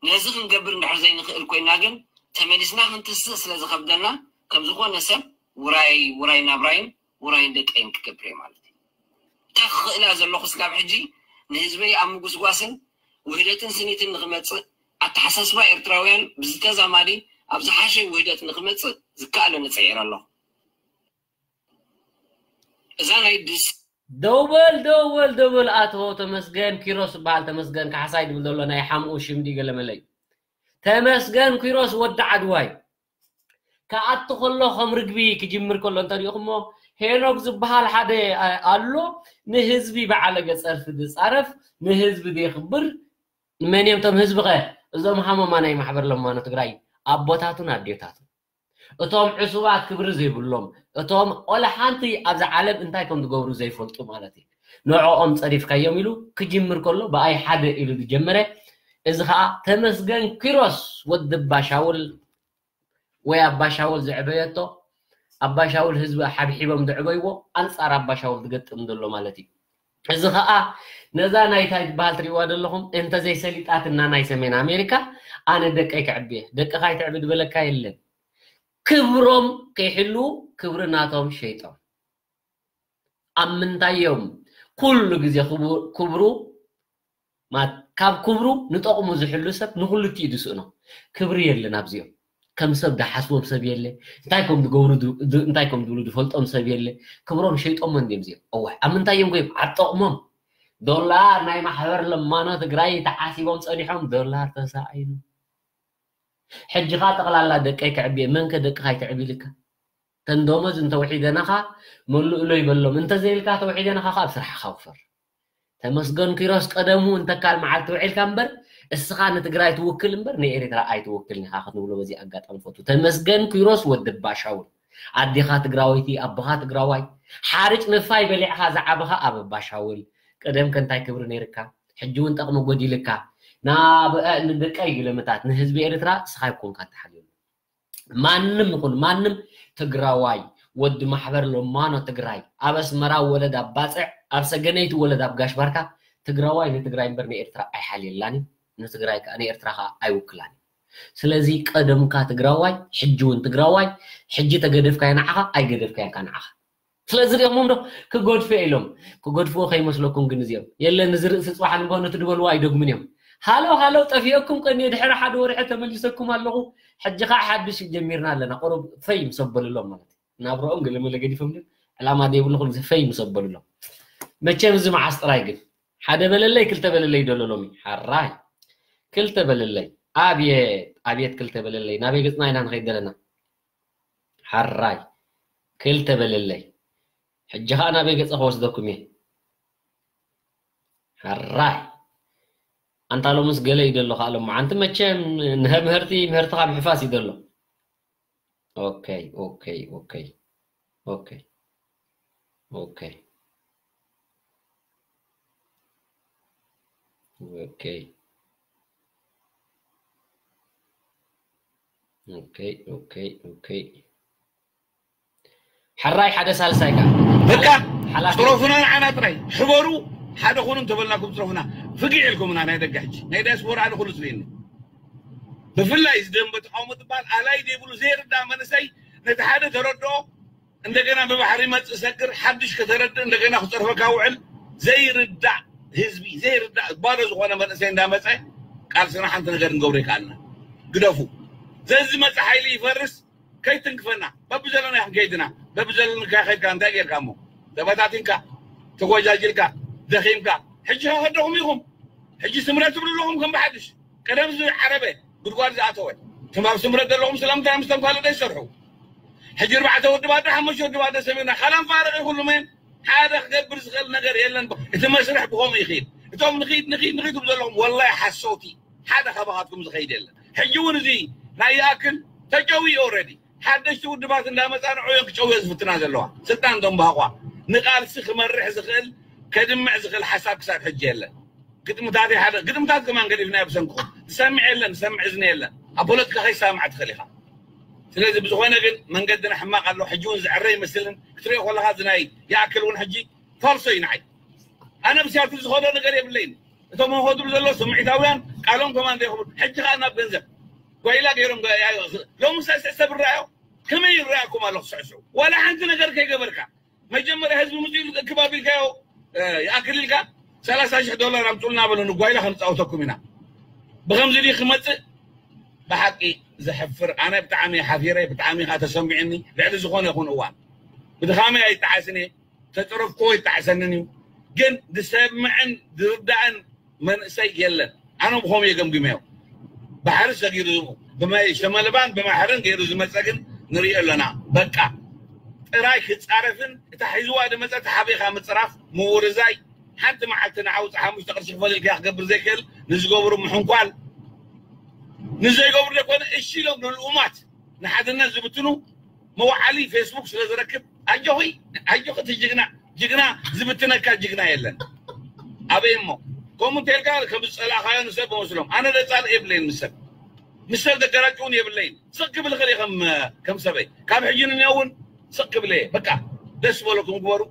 ነዚ ክንገብር እንድሕር ዘይንኽእል ኮይና ግን ተመሊስና ክንትስእ ስለ ዝኸብደና ከም ዝኾነ ሰብ ውራይ ውራይ ናብራይን ውራይን ደቀይን ክገብር እየ ማለት እዩ። እንታይ ክኽእል እያ ዘለኹ እስካብ ሕጂ ንህዝበይ ኣብ ምጉስጓስን ውህደትን ስኒትን ንኽመጽእ ኣተሓሳስባ ኤርትራውያን ብዝተዛማዲ ኣብ ዝሓሸ ውህደት ንኽመጽእ ዝከኣለኒ ጽዒረ ኣለኹ። እዛ ናይ ድስ ደውበል ደውበል ደውበል ኣቶ ተመስገን ኪሮስ ዝበሃል ተመስገን ካሕሳይ ድብል ዘሎ ናይ ሓምኡ ሽምዲ ገለመለይ ተመስገን ኪሮስ ወዲ ዓድዋይ ክኣቱ ከሎ ከም ርግቢ ክጅምር ከሎ እንተሪእኹሞ ሄኖክ ዝበሃል ሓደ ኣሎ ንህዝቢ በዓለገ ጸርፊ ዝጻረፍ ንህዝቢ ዘየኽብር መን እዮም እቶም ህዝቢ ኸ እዞም ሃመማ ናይ ማሕበር ለማኖ ትግራይ ኣቦታቱን ኣዴታቱን እቶም ዕሱባት ክብሪ ዘይብሎም እቶም ቆላ ሓንቲ ኣብዚ ዓለም እንታይ ከም ዝገብሩ ዘይፈልጡ ማለት እዩ ንዕኦም ጸሪፍካዮም ኢሉ ክጅምር ከሎ ብኣይ ሓደ ኢሉ ዝጀመረ እዚ ከዓ ተመስገን ኪሮስ ወዲ ባሻውል ወይ ኣባሻውል ዝዕበየቶ ኣባሻውል ህዝቢ ሓብሒቦም ዝዕበይዎ ኣንጻር ኣባሻውል ዝገጥም ዘሎ ማለት እዩ እዚ ከዓ ነዛ ናይታይ ትበሃል ትሪእዋ ዘለኹም እንተዘይሰሊጣትና ናይ ሰሜን ኣሜሪካ ኣነ ደቀይ ክዕብየ ደቅኻ ይትዕቢ ዝበለካ የለን ክብሮም ከይሕልዉ ክብሪ ናቶም ሸይጦም ኣብ ምንታይ እዮም ኩሉ ግዜ ክብሩ ካብ ክብሩ ንጠቕሙ ዝሕሉ ሰብ ንክልቲኡ ዝስእኖ ክብሪ የለን ኣብዚኦም ከም ሰብ ዝሓስቦም ሰብ የለ እንታይ ከም ዝገብሩ እንታይ ከም ዝብሉ ዝፈልጦም ሰብ የለ ክብሮም ሸይጦሞ እንዲም እዚኦም ኣዋሕ ኣብ ምንታይ እዮም ኮይም ኣብ ጠቕሞም ዶላር ናይ ማሕበር ለማኖ ትግራይ ተሓሲቦም ፀኒሖም ዶላር ተሳኢኑ ሕጂ ኸዓ ጠቕላላ ደቀይ ክዕብየ መንከ ደቅኻ ይትዕብ ኢልካ ተንደሞዝ እንተውሒደናኻ መሉእሎ ይበሎም እንተዘይልካ ተውሒደናኻ ካብ ስራሕኻ ውፈር ተመስገን ኪሮስ ቀደሙ እንተካል መዓልቲ ውዒልካ እምበር እስኻ ንትግራይ ትውክል እምበር ንኤርትራ ኣይትውክልን ኢኻ ክትብሎ በዚ ኣጋጣሚ ፈቱ ተመስገን ኪሮስ ወዲ ባሻውል ኣዴኻ ትግራወይቲ ኣቦኻ ትግራዋይ ሓርጭ ንፋይ በሊዕኻ ዝዓበኻ ኣብ ባሻውል ቀደም ከንታይ ክብሪ ነይርካ ሕጂ እውን ጠቕሚ ጎዲልካ ናብ ንደቀይ ግልምታት ንህዝቢ ኤርትራ እስኻ ይኮንካ ተሓልየሉ ማንም ይኹን ማንም ትግራዋይ ወዲ ማሕበር ለማኖ ትግራይ ኣብ ኣስመራ ወለድ ኣብ ባፅዕ ኣብ ሰገነይቲ ወለድ ኣብ ጋሽ ባርካ ትግራዋይ ንትግራይ እምበር ንኤርትራ ኣይሓልየላን እዩ ንትግራይ ከዓ ንኤርትራ ከዓ ኣይውክላን እዩ ስለዚ ቀደምካ ትግራዋይ ሕጂ እውን ትግራዋይ ሕጂ ተገደፍካዮ ንዓኻ ኣይገደፍካዮን ከዓ ንዓኻ ስለዚ ሪኦሞም ዶ ክገድፎ ኢሎም ክገድፍዎ ከይመስለኩም ግን እዚኦም የለን እዚ ርእሲ ፅባሕ ንግሆ ነቲ ድበልዎ ኣይደግሙን እዮም ሃለው ሃለው ጠፊኦኩም ቀኒ ድሕሪ ሓደ ወርሒ ተመሊሰኩም ኣለኹ ሕጂ ከዓ ሓድሽ ጀሚርና ኣለና ቁሩብ ፈይ ምስ ኣበሉሎም ማለት እዩ ናብረኦም ገለመለ ገዲፎም ድም ዕላማ ዘይብልኩም እዚ ፈይ ምስ ኣበሉሎም መቸም እዚ መዓስ ጥራይ ግን ሓደ በለለይ ክልተ በለለይ ደሎ ሎሚ ሓራይ ክልተ በለለይ ኣብየት ኣብየት ክልተ በለለይ ናበይ ገፅና ኢና ንኸይድ ዘለና ሓራይ ክልተ በለለይ ሕጂ ኸዓ ናበይ ገፀ ክወስደኩም እየ ሓራይ ኣንታ ሎምስ ገለ እዩ ዘሎ ከኣለሞ። ኣንቲ መቸም ንሀ ምህርቲ ምህርትኻ ምሕፋስ እዩ ዘሎ። ኦኬ፣ ኦኬ፣ ኦኬ፣ ኦኬ፣ ኦኬ፣ ኦኬ፣ ኦኬ፣ ኦኬ፣ ኦኬ። ሕራይ ሓደ ሳልሳይ ከኣ። በቃ፣ ሓላፊ ጽረፉና ንዓና ጥራይ። ሕበሩ፣ ሓደ ኩኑ እንተበልናኩም ጽረፉና። ፍግዕ ኢልኩምና ናይ ደገ ሕጂ። ናይ ዲያስፖራ ኣነ ኩሉ ዝርእየኒ። ብፍላይ እዚ ደንበ ተቃውሞ ትበሃል ኣላይ ዘይብሉ ዘይርዳእ መንእሰይ ነቲ ሓደ ተረድኦ፣ እንደገና ብባሕሪ ይመጽእ ሰግር፣ ሓድሽ ከተረድእ እንደገና ክጸርፈካ ውዕል። ዘይርዳእ ህዝቢ፣ ዘይርዳእ ባዶ ዝኾነ መንእሰይ እንዳመጸ ቃልስና ሓንቲ ነገር ክንገብሮ ይከኣልና። ግደፉ። ዘዝመጽእ ሓይሊ ይፈርስ፣ ከይትንክፈና። በብዘለና ክንከይድና፣ በብዘለንካ ከይድካ እንታይ ጌርካ እሞ? ተበታቲንካ፣ ተጎጃጅልካ፣ ደኺምካ። ሕጂ ከ ከደኹም ኢኹም። ሕጂ ስምረት ትብሉ ኣለኹም ከም ብሓድሽ። ቀደም ዝዓረበ ጉድጓድ ዝኣተወ። ትም ኣብ ስምረት ዘለኹም ስለምንታይ ምስቶም ካልእ ዘይሰርሑ? ሕጂ ኣርባዕተ ውድባት ዶ ሓሙሽተ ውድባት ዶ ሰሚርና? ካላም ፋርቕ ይኹሉ መን ሓደ ክገብር ዝኽእል ነገር የለን። እቲ መስርሕ ብኸምኡ ይኽእል። እቶም ንኺድ፣ ንኺድ፣ ንኺድ ትብሉ ዘለኹም ወላሂ ሓሰውቲ። ሓደ ካባኻትኩም ዝኸይድ የለን። ሕጂ እውን እዚ ናይ ይኣክል ተጨውዩ ኦልሬዲ። ሓደሽቲ ውድባት እንዳመጻ ንዕዮን ክጨውዮ ዝፍትና ዘለዋ። ስልጣን ደንባቋ ንቃልሲ ክመርሕ ዝኽእል፣ ከድምዕ ዝኽእል ሓሳብ ክሳብ ሕጂ የለን። ግጥምታት ሓደ ግጥምታት ከማን ገዲፍና ብሰንክኹም። ዝሰምዕ የለን፣ ዝሰምዕ እዝኒ የለን። ኣብ ፖለቲካ ከይሰማዕ ትኽእል ኢኻ። ስለዚ ብዝኾነ ግን መንገድና ሕማቕ ኣሎ። ሕጂ እውን ዝዕረ ይመስልን ክትሪኦ ከለኻ እዚ ናይ ይኣክል እውን ሕጂ ፋልሶ እዩ ንዓይ። ኣነ ብሲያትል ዝኸዶ ነገር የብለይን። እቶም ሆድሩ ዘሎ ስምዒታውያን ቃሎም ከማን ዘይኽብሩ። ሕጂ ኸኣ ናብ ገንዘብ ጓይላ ገይሮም ገ-፣ ያ-፣ ሎምስ ሰብሰብ ይረኣዮ። ከመይ ይረኣኩም ኣሎ ክስዕስዑ? ዋላ ሓንቲ ነገር ከይገበርካ መጀመርያ ህዝቢ ምጽኡ ኢሉ ክባብ ኢልካዮ፣ እ፣ ይኣክል ኢልካ ሰላሳ ሽሕ ዶላር ኣምጹልና በሉ ንጓይላ ክንጻወተኩም ኢና። ብኸምዚ ድዩ ክመጽእ? ብሓቂ ዘሕፍር። ኣነ ብጣዕሚ ሓፊረ፣ ብጣዕሚ ኸኣ ተሰሚዑኒ። ልዕሊ ዝኾነ ይኹን እዋን ብድኻመይ ኣይጠዓስን እየ። ተጽረፍክዎ ይጠዓሰንን እዩ። ግን ዝሰምዕን ዝርዳእን መንእሰይ የለን። ኣነ ብኸምኡ እየ ገምግመዮ። ባሕሪ ሰጊሩ ብመ-፣ ሸመልባን ብማሕርን ገይሩ ዝመጸ ግን ንሪኦ ኣለና። በቃ ጥራይ ክጻረፍን እታ ሒዝዋ ዝመጸት ሓቢኻ ምጽራፍ ምውርዛይ። ሓንቲ መዓልቲ ንዓውጽ ሓሙሽተ ቅርሺ ክፈል ኢልካ ክገብር ዘይክእል ንዝገብሩ ምሕንኳል። ንዘይገብሩ ዘይኮነ እሺ ኢሎም ንልኡማት ንሓድነት ዝብትኑ መውዓሊ ፌስቡክ ስለ ዝረክብ ኣጆኺ ኣጆኺ እቲ ጅግና ጅግና ዝብትነካ ጅግና የለን። ኣበይ እሞ ከምኡ እንተልካ ከም ዝጸላእካዮ ንሰብ መስሎም ኣነ ደጻልእ የብለይን ምስ ሰብ ምስ ሰብ ዘገራጭውን የብለይን። ስቕ ክብል ይኽእል እየ ከም ከም ሰበይ ካብ ሕጂ ንንዮ እውን ስቕ ክብል እየ። በቃ ደስ ዝበለኩም ግበሩ።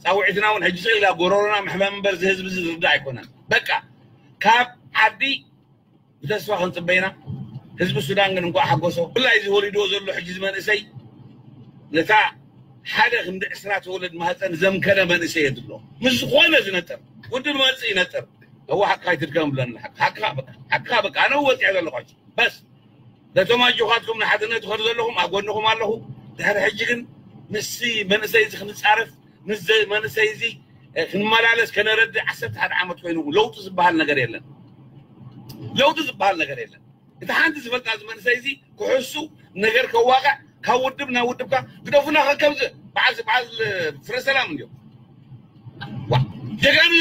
ጻውዒትና እውን ሕጂ ስቕ ኢላ ጎረሮና ምሕማም እምበር እዚ ህዝቢ እዚ ዝርዳእ ኣይኮነን። በቃ ካብ ዓዲ ብተስፋ ክንጽበይና። ህዝቢ ሱዳን ግን እንኳዕ ሓጎሶ። ብፍላይ እዚ ወሊድዎ ዘሎ ሕጂ እዚ መንእሰይ ነታ ሓደ ክንዲ ዕስራ ተወለድ ማህፀን ዘምከነ መንእሰይ የድሎ። ምስ ዝኾነ ዝነጥር ውድብ መጽእ ይነጥር። እዋ ሓቅኻ ኣይትድከም ብለኒ። ሓቅኻ በቃ፣ ሓቅኻ በቃ። ኣነ ወፂዐ ዘለኹ ሕጂ። በስ ነቶም ኣጆኻትኩም ንሓድነት ትኸዱ ዘለኹም ኣብ ጎንኹም ኣለኹ። ድሕሪ ሕጂ ግን ምስዚ መንእሰይ እዚ ክንጻረፍ፣ ምስዚ መንእሰይ እዚ፣ እ፣ ክንመላለስ ከነረድእ ዓሰርተ ሓደ ዓመት ኮይኑ ለውጢ ዝበሃል ነገር የለን። ለውጢ ዝበሃል ነገር የለን። እቲ ሓንቲ ዝፈልጣ እዚ መንእሰይ እዚ ክሕሱ ነገር ከዋቕዕ ካብ ውድብ ናብ ውድብካ ግደፉና ከከምዚ በዓል በዓል ፍረ ሰላም እንዲዮም። ዋ፣ ጀጋኑ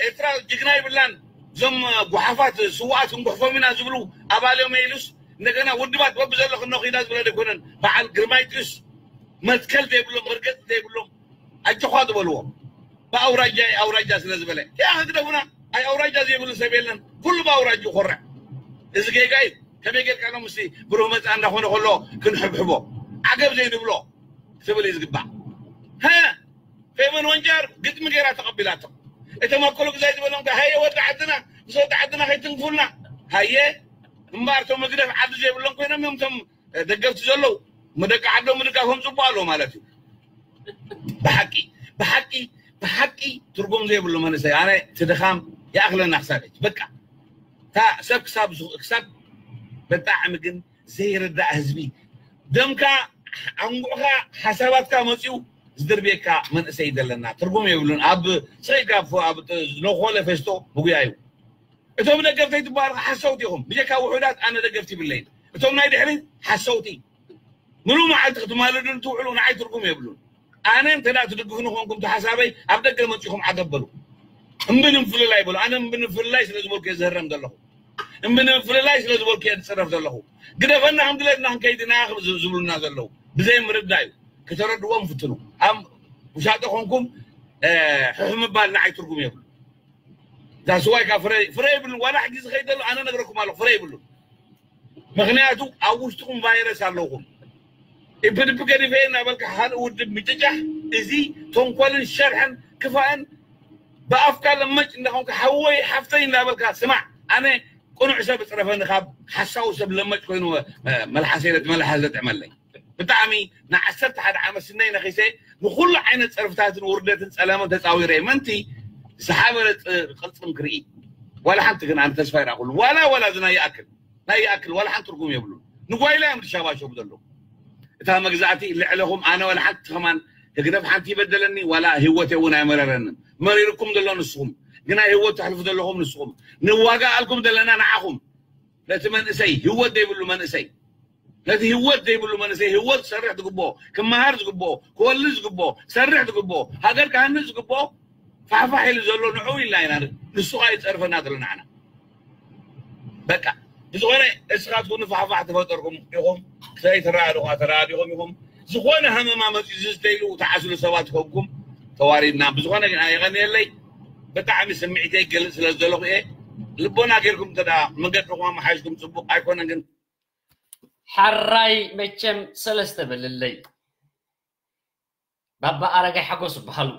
ኤርትራ ጅግና ይብላን እዞም ጉሓፋት ስዋኣት እንጉሕፎም ኢና ዝብሉ ኣባል እዮም ኢሉስ እንደገና ውድባት በብዘሎ ክነኺዳ ዝብለ ዘይኮነን በዓል ግርማይ ጥዩስ መትከል ዘይብሎም መርገጽ ዘይብሎም ኣጆኻ ዝበልዎ ብኣውራጃ ኣውራጃ ስለ ዝበለ ያ ክግደፉና ኣይ ኣውራጃ ዘይብሉ ሰብ የለን። ኩሉ ብኣውራጅ ይኮርዕ። እዚ ጌጋ እዩ። ከመይ ጌርካ ነው ምስቲ ብሩህ መጻ እንዳኾነ ከሎ ክንሕብሕቦ ዓገብ ዘይንብሎ ክብል እዩ ዝግባእ። ሀ ፌቨን ወንጃር ግጥሚ ገይራ ተቐቢላቶ። እቶም ኣኮሎ ግዛይ ዝበሎም ከ ሃየ ወዲ ዓድና ምስ ወዲ ዓድና ከይትንክፉልና ሃየ እምበኣር እቶም መግደፍ ዓዲ ዘይብሎም ኮይኖም እዮም እቶም ደገፍቲ ዘለዉ። መደቂ ዓዶም ምድጋፎም ጽቡቕ ኣለዎ ማለት እዩ። ብሓቂ ብሓቂ ብሓቂ ትርጉም ዘይብሉ መንእሰይ ኣነ እቲ ድኻም ይኣኽለና ክሳብ ሕጂ በቃ እታ ሰብ ክሳብ ዝኽ- ክሳብ ብጣዕሚ ግን ዘይርዳእ ህዝቢ ደምካ ኣንጉዕካ ሓሳባትካ መፅኡ ዝድርብየካ መንእሰይ ዘለና ትርጉም የብሉን። ኣብ ስኢልካ ኣብ- ኣብ ዝነኮለ ፌስቶ ምጉያ እዩ። እቶም ደገፍተይ ትበሃሉ ሓሰውቲ ኢኹም። ብጀካ ውሑዳት ኣነ ደገፍቲ ይብለይን። እቶም ናይ ድሕሪት ሓሰውቲ ምሉ መዓልቲ ክትማልዱን ትውዕሉ ንዓይ ትርጉም የብሉን። ኣነ እንተ ደኣ ትድግፉኒ ኮንኩም ተሓሳበይ ኣብ ደገ መጺኹም ዓገብ በሉ። እምቢ ንምፍልላይ ይበሉ። ኣነ እምቢ ንምፍልላይ ስለ ዝበልኩ እየ ዝህረም ዘለኹ። እምቢ ንምፍልላይ ስለ ዝበልኩ እየ ዝፅረፍ ዘለኹ። ግደፈና፣ ከም ድሌትና ክንከይድ ኢና ዝብሉና ዘለዉ። ብዘይ ምርዳእ እዩ። ክተረድዎም ፍትኑ። ኣብ ውሻጠ ኮንኩም ሕሕ ምባል ንዓይ ትርጉም የብሉ። ዛስዋይ ካ ፍረ ፍረ ይብሉ። ዋላ ሕጂ ዝኸይድ ዘሎ ኣነ ነግረኩም ኣለኹ፣ ፍረ ይብሉ። ምክንያቱ ኣብ ውሽጥኩም ቫይረስ ኣለውኩም። ኢፕድፕ ገዲፈ እናበልካ ሓደ ውድብ ምጭጫሕ፣ እዚ ተንኮልን ሸርሕን ክፋእን ብኣፍካ ለመጭ እንዳኾንካ ሓወይ ሓፍተይ እንዳበልካ ስማዕ። ኣነ ቅኑዕ ሰብ እፅረፈኒ ካብ ሓሳዊ ሰብ ለመጭ ኮይኑ መልሓሰይ ለጥ መልሓስ ዘጥዕመለይ። ብጣዕሚ ንዓሰርተ ሓደ ዓመት ስነይ ነኺሰ ንኩሉ ዓይነት ፀርፍታትን ውርደትን ፀለመን ተፃዊረ ምንቲ ዝሓበረ ቅርፅም ክርኢ ዋላ ሓንቲ ግን ኣነ ተስፋ ይረኣኩሉ ዋላ ዋላ ዝና ይኣክል ናይ ይኣክል ዋላ ሓንቲ ትርጉም የብሉን። ንጓይላ እዮም ዝሻባሸቡ ዘለዉ። እታ መግዛእቲ ልዕለኹም ኣነ ዋላ ሓንቲ ከማን ህግደፍ ሓንቲ ይበደለኒ ዋላ ህይወት እውን ኣይመረረንን። መሪርኩም ዘሎ ንስኹም ግና ህይወት ተሕልፉ ዘለኹም ንስኹም። ንዋጋ ኣልኩም ዘለና ንዓኹም ነቲ መንእሰይ ህይወት ዘይብሉ መንእሰይ ነቲ ህይወት ዘይብሉ መንእሰይ ህይወት ክሰርሕ ዝግብኦ ክመሃር ዝግብኦ ክወልድ ዝግብኦ ክሰርሕ ዝግብኦ ሃገር ክሃንፅ ዝግብኦ ፋሕፋሕ ኢሉ ዘሎ ንዑ ኢልና ኢና። ንሱ ኸዓ ይፀርፈና ዘሎ ንዓና። በቃ ብዝኾነ እስኻትኩም ንፋሕፋሕ ተፈጠርኩም ኢኹም። ሰይ ተራድኹ ተራዲኹም ኢኹም። ዝኾነ ሃመማ መፂኡ ዝስተይሉ ተዓስሉ ሰባት ኮንኩም ተዋሪድና። ብዝኾነ ግን ኣየቐንየለይ ብጣዕሚ ስምዒተይ ይገልፅ ስለ ዘለኹ እየ። ልቦና ጌርኩም እንተ ደኣ መንገድኹም ኣመሓይሽኩም ፅቡቕ ኣይኮነን ግን ሓራይ መቸም ሰለስተ በልለይ። ባባ ኣረጋይ ሓጎስ ይበሃሉ።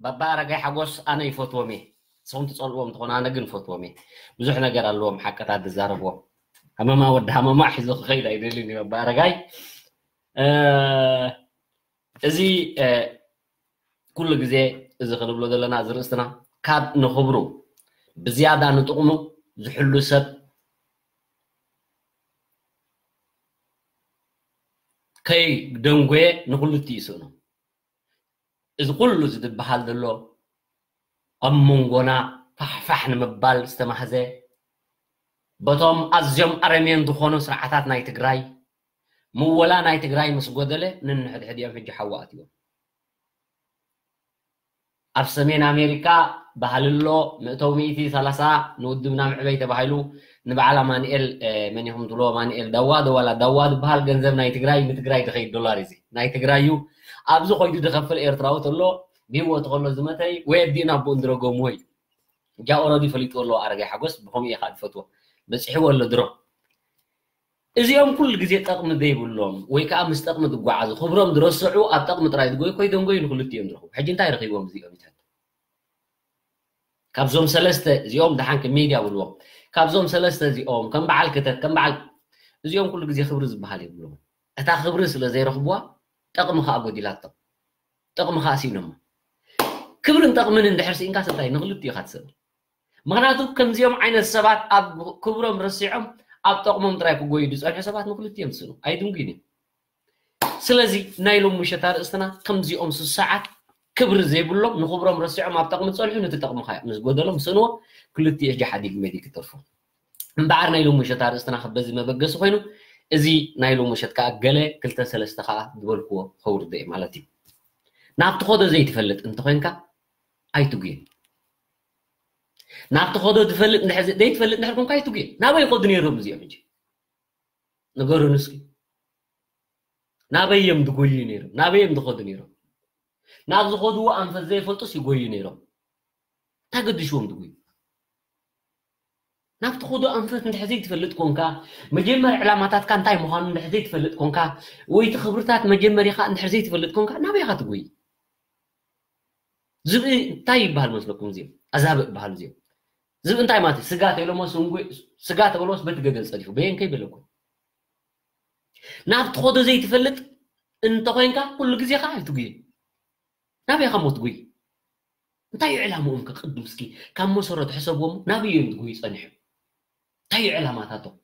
ባባ ኣረጋይ ሓጎስ ኣነ ይፈትዎም እየ። ንስኹም ትጸልዎም ትኾኑ ኣነ ግን ይፈትዎም እየ። ብዙሕ ነገር ኣለዎም ሓቅታት ዝዛረብዎም። ሃመማ ወዲ ሃመማ ሒዞ ክኸይድ ኣይደልን እዩ ባባ ኣረጋይ። እዚ ኩሉ ግዜ እዚ ክንብሎ ዘለና እዚ ርእስትና ካብ ንኽብሩ ብዝያዳ ንጥቕሙ ዝሕሉ ሰብ ከይ ደንጎየ ንኹልቲ ይስእኖ። እዚ ኩሉ ዝድበሃል ዘሎ ኣብ መንጎና ፋሕፋሕ ንምባል ዝተማህዘ በቶም ኣዝዮም ኣረሜን ዝኾኑ ስርዓታት ናይ ትግራይ ምወላ ናይ ትግራይ ምስ ጎደለ ንንሕድሕድ እዮም ሕጂ ሓዊ ኣትዮም። ኣብ ሰሜን ኣሜሪካ ባህሊ ኣሎ። መእተዊ ሚእቲ ሰላሳ ንውድብና ምዕበይ ተባሂሉ ንበዓል ኣማንኤል መን ኢኹም ትብሎ ኣማንኤል ዳዋ ዶ ዋላ ዳዋ ዝበሃል ገንዘብ ናይ ትግራይ ንትግራይ ዝኸይድ ዶላር እዚ ናይ ትግራይ እዩ። ኣብዚ ኮይዱ ዝኸፍል ኤርትራዊ ተሎ ብህይወቱ ከሎ ዝመተይ ወይ ኣዲኡ ናቦኡ እንድረገምዎ እዩ። እጃ ኦረዲ ፈሊጥዎ ኣለዎ ኣረጋይ ሓጎስ ብኸምኡ እየ ከዓ ዝፈትዎ። በፂሕዎ ኣሎ ድሮ። እዚኦም ኩሉ ግዜ ጠቕሚ ዘይብሎም ወይ ከዓ ምስ ጠቕሚ ዝጓዓዙ ክብሮም ዝረስዑ ኣብ ጠቕሚ ጥራይ ዝጎዩ ኮይዶም ጎዩ ንክልቲኦም ዝረኽቡ ሕጂ እንታይ ረኺቦም እዚኦም ይትሕት ካብዞም ሰለስተ እዚኦም ደሓን ከም ሜድያ ብልዎም ካብዞም ሰለስተ እዚኦም ከም በዓል ክተት ከም በዓል እዚኦም ኩሉ ግዜ ክብሪ ዝበሃል የብሎም እታ ክብሪ ስለ ዘይረኽብዋ ጠቕሚ ከዓ ጎዲላቶም ጠቕሚ ከዓ ስኢኖማ ክብርን ጠቕምን እንድሕር ስኢንካ ስንታይ ንክልቲኡ ኢካ ትስእል ምኽንያቱ ከምዚኦም ዓይነት ሰባት ኣብ ክብሮም ረሲዖም ኣብ ጠቕሞም ጥራይ ክጎዩ ዝፀንሑ ሰባት ንክልቲኦም ዝስእኑ ኣይድንጉይን እዮም። ስለዚ ናይ ሎም ምሸት ኣርእስትና ከምዚኦም ስሳዓት ክብሪ ዘይብሎም ንክብሮም ረሲዖም ኣብ ጠቕሚ ዝፀንሑ ነቲ ጠቕሚ ምስ ጎደሎም ስእንዎ ክልቲኡ ሕጂ ሓዲግ መዲ ክተርፎ እምበዓር ናይ ሎም ምሸት ኣርእስትና በዚ መበገሲ ኮይኑ እዚ ናይ ሎም ምሸት ከዓ ገለ ክልተ ሰለስተ ከዓ ዝበልክዎ ከውርደ ማለት እዩ። ናብቲ ኸዶ ዘይትፈልጥ እንተኮይንካ ኣይትጉየ ናብቲ ኸዶ ትፈልጥ ዘይትፈልጥ እንድሕር ኮንካ ኣይትጉየ ናበይ ይኸዱ ነይሮም እዚኦም ሕጂ ንገሩን እስኪ ናበይ እዮም ዝጎዩ ነይሮም ናበይ እዮም ዝኸዱ ነይሮም ናብ ዝኸድዎ ኣንፈት ዘይፈልጡስ ይጎዩ ነይሮም እንታይ ገድሽዎም ዝጎዩ ናብቲ ኸዶ ኣንፈት እንድሕር ዘይትፈልጥ ኮንካ መጀመር ዕላማታትካ እንታይ ምዃኑ እንድሕር ዘይትፈልጥ ኮንካ ወይ እቲ ክብርታት መጀመሪኻ እንድሕር ዘይትፈልጥ ኮንካ ናበይ ኢኻ ትጎይ ዝብኢ እንታይ ይበሃል መስለኩም እዚኦም ኣዛብእ ይበሃሉ እዚኦም ዝብኢ እንታይ ማለት ስጋ ተብሎሞ ስጋ ተበሎስ በቲ ገደል ጸዲፉ በየንከይ በለኩም ናብቲ ኸዶ ዘይትፈልጥ እንተኾይንካ ኩሉ ግዜ ከዓ ኣይትጉየ ናበይ ኢኻ ሞ ትጉይ እንታይ እዩ ዕላምኦም ከቅድም እስኪ ካብ መሰረቱ ሕሰብዎም ናበይ እዮም ትጉይ ጸኒሑ እንታይ እዩ ዕላማታቶም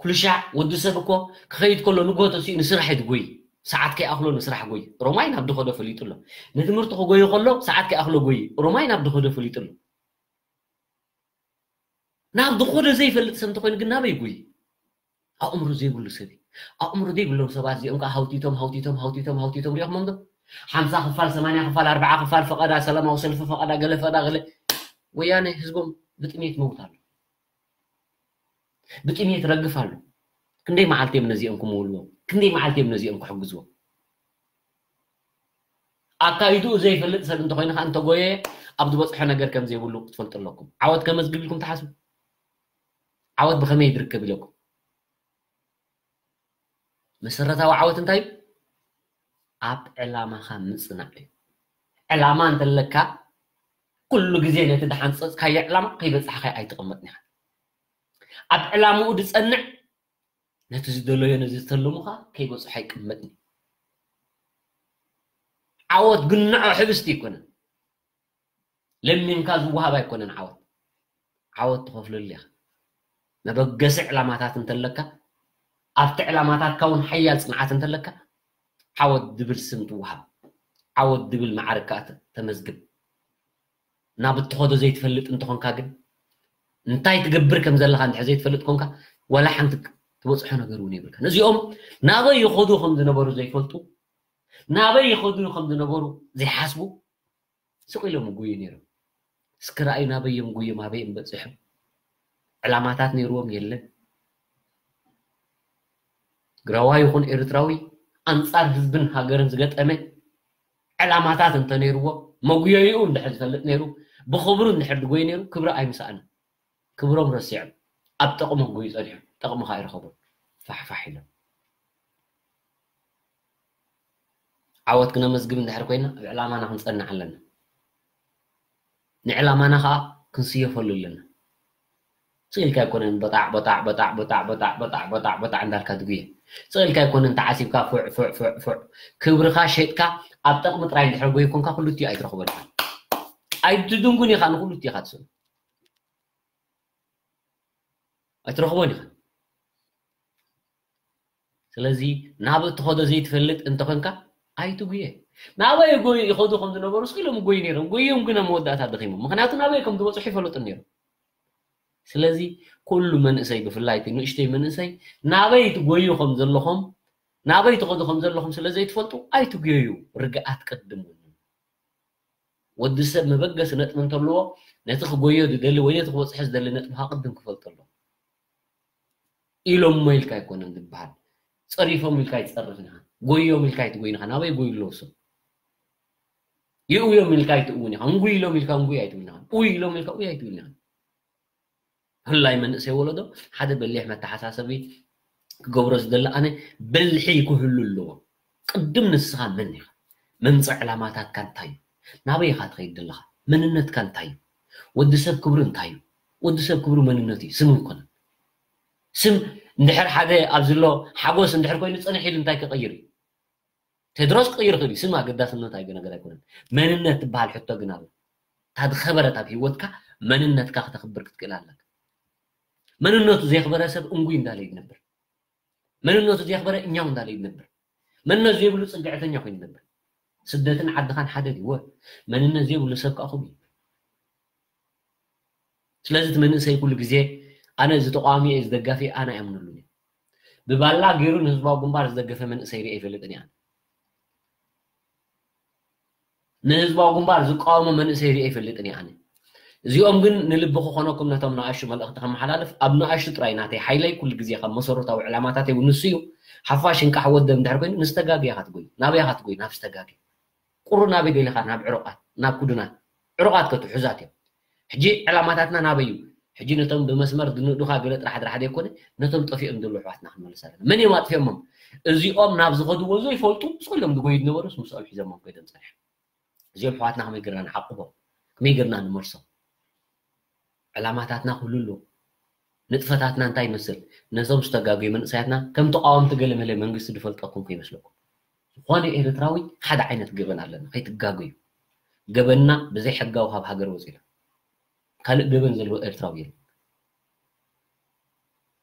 ኩሉ ሻዕ ወዲ ሰብ እኮ ክኸይድ ከሎ ንጎ ተሲኡ ንስራሕ እዩ ዝጎይ ሰዓት ከይኣኽሎ ንስራሕ ጎይ ሮማይ ናብ ድኸዶ ፈሊጡ ኣሎ ንትምህርቲ ክጎይ ከሎ ሰዓት ከይኣኽሎ ጎይ ሮማይ ናብ ድኸዶ ፈሊጡ ኣሎ ናብ ድኸዶ ዘይፈልጥ ሰብ እንተኮይኑ ግን ናበይ ጎይ ኣእምሮ ዘይብሉ ሰብ ኣእምሮ ዘይብሎም ሰባት እዚኦም ከዓ ሃውቲቶም ሃውቲቶም ሃውቲቶም ሃውቲቶም ሪኦክሞም ዶ ሓምሳ ክፋል፣ ሰማንያ ክፋል፣ ኣርብዓ ክፋል ፈቐዳ፣ ሰላማዊ ሰልፊ ፈቐዳ፣ ገለ ፈቐዳ፣ ገለ ወያነ ህዝቦም ብጥሜት መውት ኣሎ። ብጥሜት ረግፍ ኣሎ። ክንደይ መዓልቲ እዮም ነዚኦም ክምውልዎም? ክንደይ መዓልቲ እዮም ነዚኦም ክሕግዝዎም? ኣካይድኡ ዘይፈልጥ ሰብ እንተኾይኑ ከዓ እንተጎየ ኣብ ዝበፅሖ ነገር ከም ዘይብሉ ክትፈልጡ ኣለኩም። ዓወት ከመዝግብ ኢልኩም ትሓስቡ? ዓወት ብኸመይ ይድርከብ ኢለኩም? መሰረታዊ ዓወት እንታይ እዩ? ኣብ ዕላማኻ ምፅናዕ እዩ። ዕላማ እንተለካ ኩሉ ግዜ ነቲ ዝሓንፀፅካዮ ዕላማ ከይበፃሕካ ኣይትቕመጥን ኢኻ። ኣብ ዕላምኡ ዝፀንዕ ነቲ ዝደለዮ ነዚ ዝተለሙኻ ከይበፅሖ ኣይቅመጥን እዩ። ዓወት ግንዖ ሕብስቲ ኣይኮነን። ለሚንካ ዝወሃብ ኣይኮነን ዓወት። ዓወት ትኸፍለሉ ኢኻ። መበገሲ ዕላማታት እንተለካ ኣብቲ ዕላማታትካ እውን ሓያል ፅንዓት እንተለካ ዓወት ድብል ስም ትወሃብ። ዓወት ድብል መዓርግ ከዓ ተ- ተመዝግብ። ናብ እትኸዶ ዘይትፈልጥ እንተኾንካ ግን እንታይ ትገብር ከም ዘለኻ እንድሕር ዘይትፈልጥ ኮንካ ዋላ ሓንቲ ትበፅሖ ነገር እውን የብልካ። ነዚኦም ናበይ ይኸዱ ከም ዝነበሩ ዘይፈልጡ ናበይ ይኸዱ ከም ዝነበሩ ዘይሓስቡ ስቕ ኢሎም ይጎዩ ነይሮም። እስኪ ረኣዩ ናበይ እዮም ጎዮም ኣበይ እዮም በፂሖም። ዕላማታት ነይርዎም የለን። ትግራዋይ ይኹን ኤርትራዊ ኣንፃር ህዝብን ሃገርን ዝገጠመ ዕላማታት እንተነይርዎ መጉየይኡ እንድሕር ዝፈልጥ ነይሩ ብኽብሩ እንድሕር ዝጎይ ነይሩ ክብሪ ኣይምሰኣንን። ክብሮም ረሲዖም ኣብ ጠቕሞም ጎዩ ፀኒሖም። ጠቕሚ ከዓ ይረኸቡ ፋሕፋሕ ኢሎም። ዓወት ክነመዝግብ እንድሕር ኮይና ኣብ ዕላማና ክንፀንዕ ኣለና። ንዕላማና ከዓ ክንስየፈሉ ኣለና። ስቕ ኢልካ ኣይኮነን በጣዕ በጣዕ በጣዕ በጣዕ በጣዕ በጣዕ በጣዕ በጣዕ እንዳልካ ትጉየ። ስቕ ኢልካ ኣይኮነን ተዓሲብካ ፉዕ ፉዕ ፉዕ ፉዕ ክብርኻ ሸጥካ ኣብ ጠቕሚ ጥራይ እንድሕር ጎይ ኮንካ ኩልቲኡ ኣይትረኽቦን ኢኻ። ኣይትድንጉን ኢኻ ንኩልቲኡ ኢኻ ትስእኑ። ኣይትረኽቦን ኢኻ። ስለዚ ናብ እትኸዶ ዘይትፈልጥ እንተኾንካ ኣይትጉየ። ናበይ ጎይ ይኸዱ ከም ዝነበሩ ስቕ ኢሎም ጎይ ነይሮም። ጎዮም ግን ኣብ መወዳእታ ደኺሞም። ምክንያቱ ናበይ ከም ዝበፅሑ ይፈልጡ ነይሮም። ስለዚ ኩሉ መንእሰይ ብፍላይ እቲ ንእሽተይ መንእሰይ ናበይ ትጎዩ ከም ዘለኹም ናበይ ትኸዱ ከም ዘለኹም ስለ ዘይትፈልጡ ኣይትጉየዩ። ርግኣት ቅድም። ወዲ ሰብ መበገሲ ነጥቢ እንተለዎ ነቲ ክጎዮ ዝደሊ ወይ ነቲ ክበፅሖ ዝደሊ ነጥቢ ከዓ ቅድም ክፈልጦ ኣለዎ። ኢሎሞ ኢልካ ኣይኮነን ዝበሃል። ፀሪፎም ኢልካ ኣይትፀርፍን ኢኻ። ጎዮም ኢልካ ኣይትጎይን ኢኻ። ናበይ ጎዩ ኣለዉ ሰብ? ይእውዮም ኢልካ ኣይትእውን ኢኻ። እንጉይ ኢሎም ኢልካ እንጉይ ኣይትብልን ኢኻ። ኡይ ኢሎም ኢልካ ኡይ ኣይትብልን ኢኻ። ህላይ መንእሰይ ወለዶ ሓደ በሊሕ መተሓሳሰቢ ክገብሮ ዝደሊ ኣነ ብልሒ ክህሉ ኣለዎ። ቅድም ንስኻ መን ኢኻ? መምፅእ ዕላማታትካ እንታይ እዩ? ናበይ ኢኻ ትኸይድ ዘለኻ? መንነትካ እንታይ እዩ? ወዲ ሰብ ክብሩ እንታይ እዩ? ወዲ ሰብ ክብሩ መንነቱ እዩ፣ ስም ኣይኮነን። ስም እንድሕር ሓደ ኣብዚ ኣሎ ሓጎስ እንድሕር ኮይኑ ፅንሕ ኢሉ እንታይ ክቐይር እዩ? ቴድሮስ ክቕይር ይኽእል እዩ። ስም ኣገዳስነት ኣይገ ነገር ኣይኮነን። መንነት ትበሃል ሕቶ ግን ኣሎ። እታ ዝኸበረት ኣብ ህይወትካ መንነትካ ክተኽብር ክትክእል ኣለካ። መንነቱ ዘየኽበረ ሰብ እንጉይ እንዳለ ይነብር። መንነቱ ዘየኽበረ እኛው እንዳለ ይነብር። መንነት ዘይብሉ ፅግዕተኛ ኮይኑ ይነብር። ስደትን ዓድኻን ሓደ ድዩ? መንነት ዘይብሉ ሰብ ከዓ ከምኡ እዩ። ስለዚ እቲ መንእሰይ ኩሉ ግዜ ኣነ እዚ ተቃዋሚ እየ፣ እዚ ደጋፊ እየ፣ ኣነ ኣይኣምነሉን እየ። ብባላ ገይሩ ንህዝባዊ ግንባር ዝደገፈ መንእሰይ ሪአ ይፈልጥን እየ ኣነ። ንህዝባዊ ግንባር ዝቃወሞ መንእሰይ ሪአ ይፈልጥን እየ ኣነ። እዚኦም ግን ንልቢ ክኾነኩም ነቶም ንኣሽቱ መልእኽቲ ከመሓላልፍ ኣብ ንኣሽቱ ጥራይ ናተይ ሓይለይ ኩሉ ግዜ ካብ መሰረታዊ ዕላማታተይ እውን ንሱ እዩ። ሓፋሽ እንቃሕ ወደብ እንድሕር ኮይኑ ንዝተጋግየ ኢኻ ትጎይ። ናበይ ኢኻ ትጎይ? ናብ ዝተጋግየ። ቁሩ ናበይ ደሊኻ? ናብ ዕሩቓት፣ ናብ ኩዱናት። ዕሩቓት ከ ትሑዛት እዮም። ሕጂ ዕላማታትና ናበይ እዩ? ሕጂ ነቶም ብመስመር ዝንእዱኻ ገለ ጥራሕ ጥራሕ ዘይኮነ ነቶም ጠፊኦም ዘለዉ ኣሕዋትና ክንመልስ ኣለና። መን እዮም ኣጥፊኦሞም? እዚኦም ናብ ዝኸድዎ ዘይፈልጡ ስቕ ኢሎም ዝጎዩ ዝነበሩስ ምስኦም ሒዞሞም ከይዶም ጸኒሖም። እዚኦም ኣሕዋትና ከመይ ጌርና ንዓቕቦም? ከመይ ጌርና ንመልሶም? ዕላማታትና ክህሉ ኣለዎ። ንጥፈታትና እንታይ ይመስል? ነዞም ዝተጋገዩ መንእሰያትና ከም ተቃወምቲ ገለ መለ መንግስቲ ዝፈልጠኩም ከይመስለኩም። ዝኾነ ኤርትራዊ ሓደ ዓይነት ገበን ኣለና፣ ከይትጋገዩ። ገበንና ብዘይ ሕጋዊ ካብ ሃገር ወፂና። ካልእ ገበን ዘለዎ ኤርትራዊ የለን።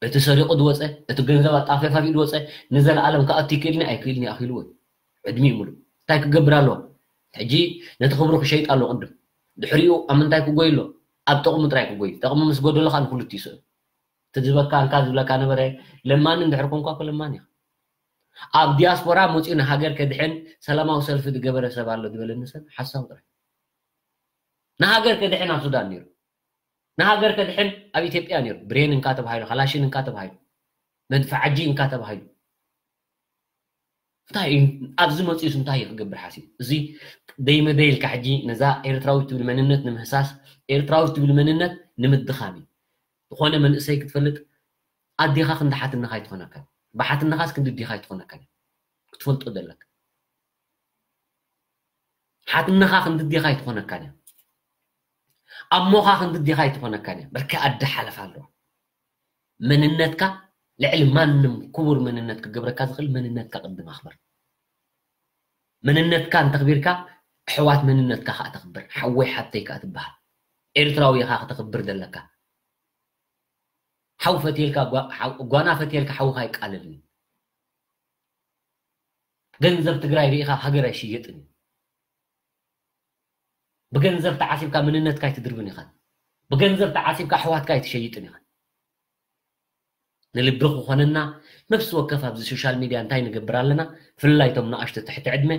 እቲ ሰሪቑ ዝወፀ፣ እቲ ገንዘብ ኣጣፊፋፊኡ ዝወፀ ንዘለኣለም ክኣቱ ይክእልኒ ኣይክእልኒ ኣኺልዎ እዩ። ዕድሚኡ ሙሉእ እንታይ ክገብር ኣለዎ? ሕጂ ነቲ ክብሩ ክሸይጥ ኣለዎ ቅድም። ድሕሪኡ ኣብ ምንታይ ክጎይ ኣሎ? ኣብ ጥቕሙ ጥራይ ክጎይ። ጥቕሙ ምስ ጎደሎ ከዓ ንክልቲኡ ይስእን። እቲ ዝበካ እንካ ዝብለካ ነበረ ለማኒ እንድሕር ኮንኳ እኮ ለማኒ ኢኻ። ኣብ ዲያስፖራ መፂኡ ንሃገር ከድሕን ሰላማዊ ሰልፊ ዝገበረ ሰብ ኣሎ ዝበለኒ ሰብ ሓሳብ ጥራይ። ንሃገር ከድሕን ኣብ ሱዳን ነይሩ፣ ንሃገር ከድሕን ኣብ ኢትዮጵያ ነይሩ። ብሬን እንካ ተባሂሉ፣ ካላሽን እንካ ተባሂሉ፣ መድፍዓጂ እንካ ተባሂሉ። እንታይ እዩ ኣብዚ መፂኡስ እንታይ እዩ ክገብር ሓሲቡ? እዚ ደይመ ደይልካ ሕጂ ነዛ ኤርትራዊት ትብል መንነት ንምህሳስ፣ ኤርትራዊት ትብል መንነት ንምድኻም እዩ። ዝኾነ መንእሰይ ክትፈልጥ ኣዴኻ ክንዲ ሓትነኻ ኣይትኾነካን፣ ብሓትነኻስ ክንዲ ኣዴኻ ኣይትኾነካን ክትፈልጦ ዘለካ። ሓትነኻ ክንዲ ኣዴኻ ኣይትኾነካን እያ። ኣሞኻ ክንዲ ኣዴኻ ኣይትኾነካን እያ። በርከ ኣደ ሓለፋ ኣለዋ። መንነትካ ልዕሊ ማንም ክቡር መንነት ክገብረካ ዝኽእል መንነትካ ቅድም ኣኽብር። መንነትካ እንተኽቢርካ ኣሕዋት መንነትካ ከዓ ተኽብር። ሓወይ ሓብተይ ከዓ ትበሃል። ኤርትራዊ ኢኻ ክተኽብር ዘለካ። ሓው ፈትየልካ ጓ- ሓው- ጓና ፈትየልካ ሓውኻ ኣይቃለልን። ገንዘብ ትግራይ ርኢኻ ሃገር ኣይሽየጥን እዩ። ብገንዘብ ተዓሲብካ መንነትካ ኣይትድርብን ኢኻ። ብገንዘብ ተዓሲብካ ኣሕዋትካ ኣይትሸይጥን ኢኻ። ንልቢ ክኾነና ነፍሲ ወከፍ ኣብዚ ሶሻል ሚድያ እንታይ ንገብር ኣለና? ብፍላይ እቶም ንኣሽቱ ትሕቲ ዕድመ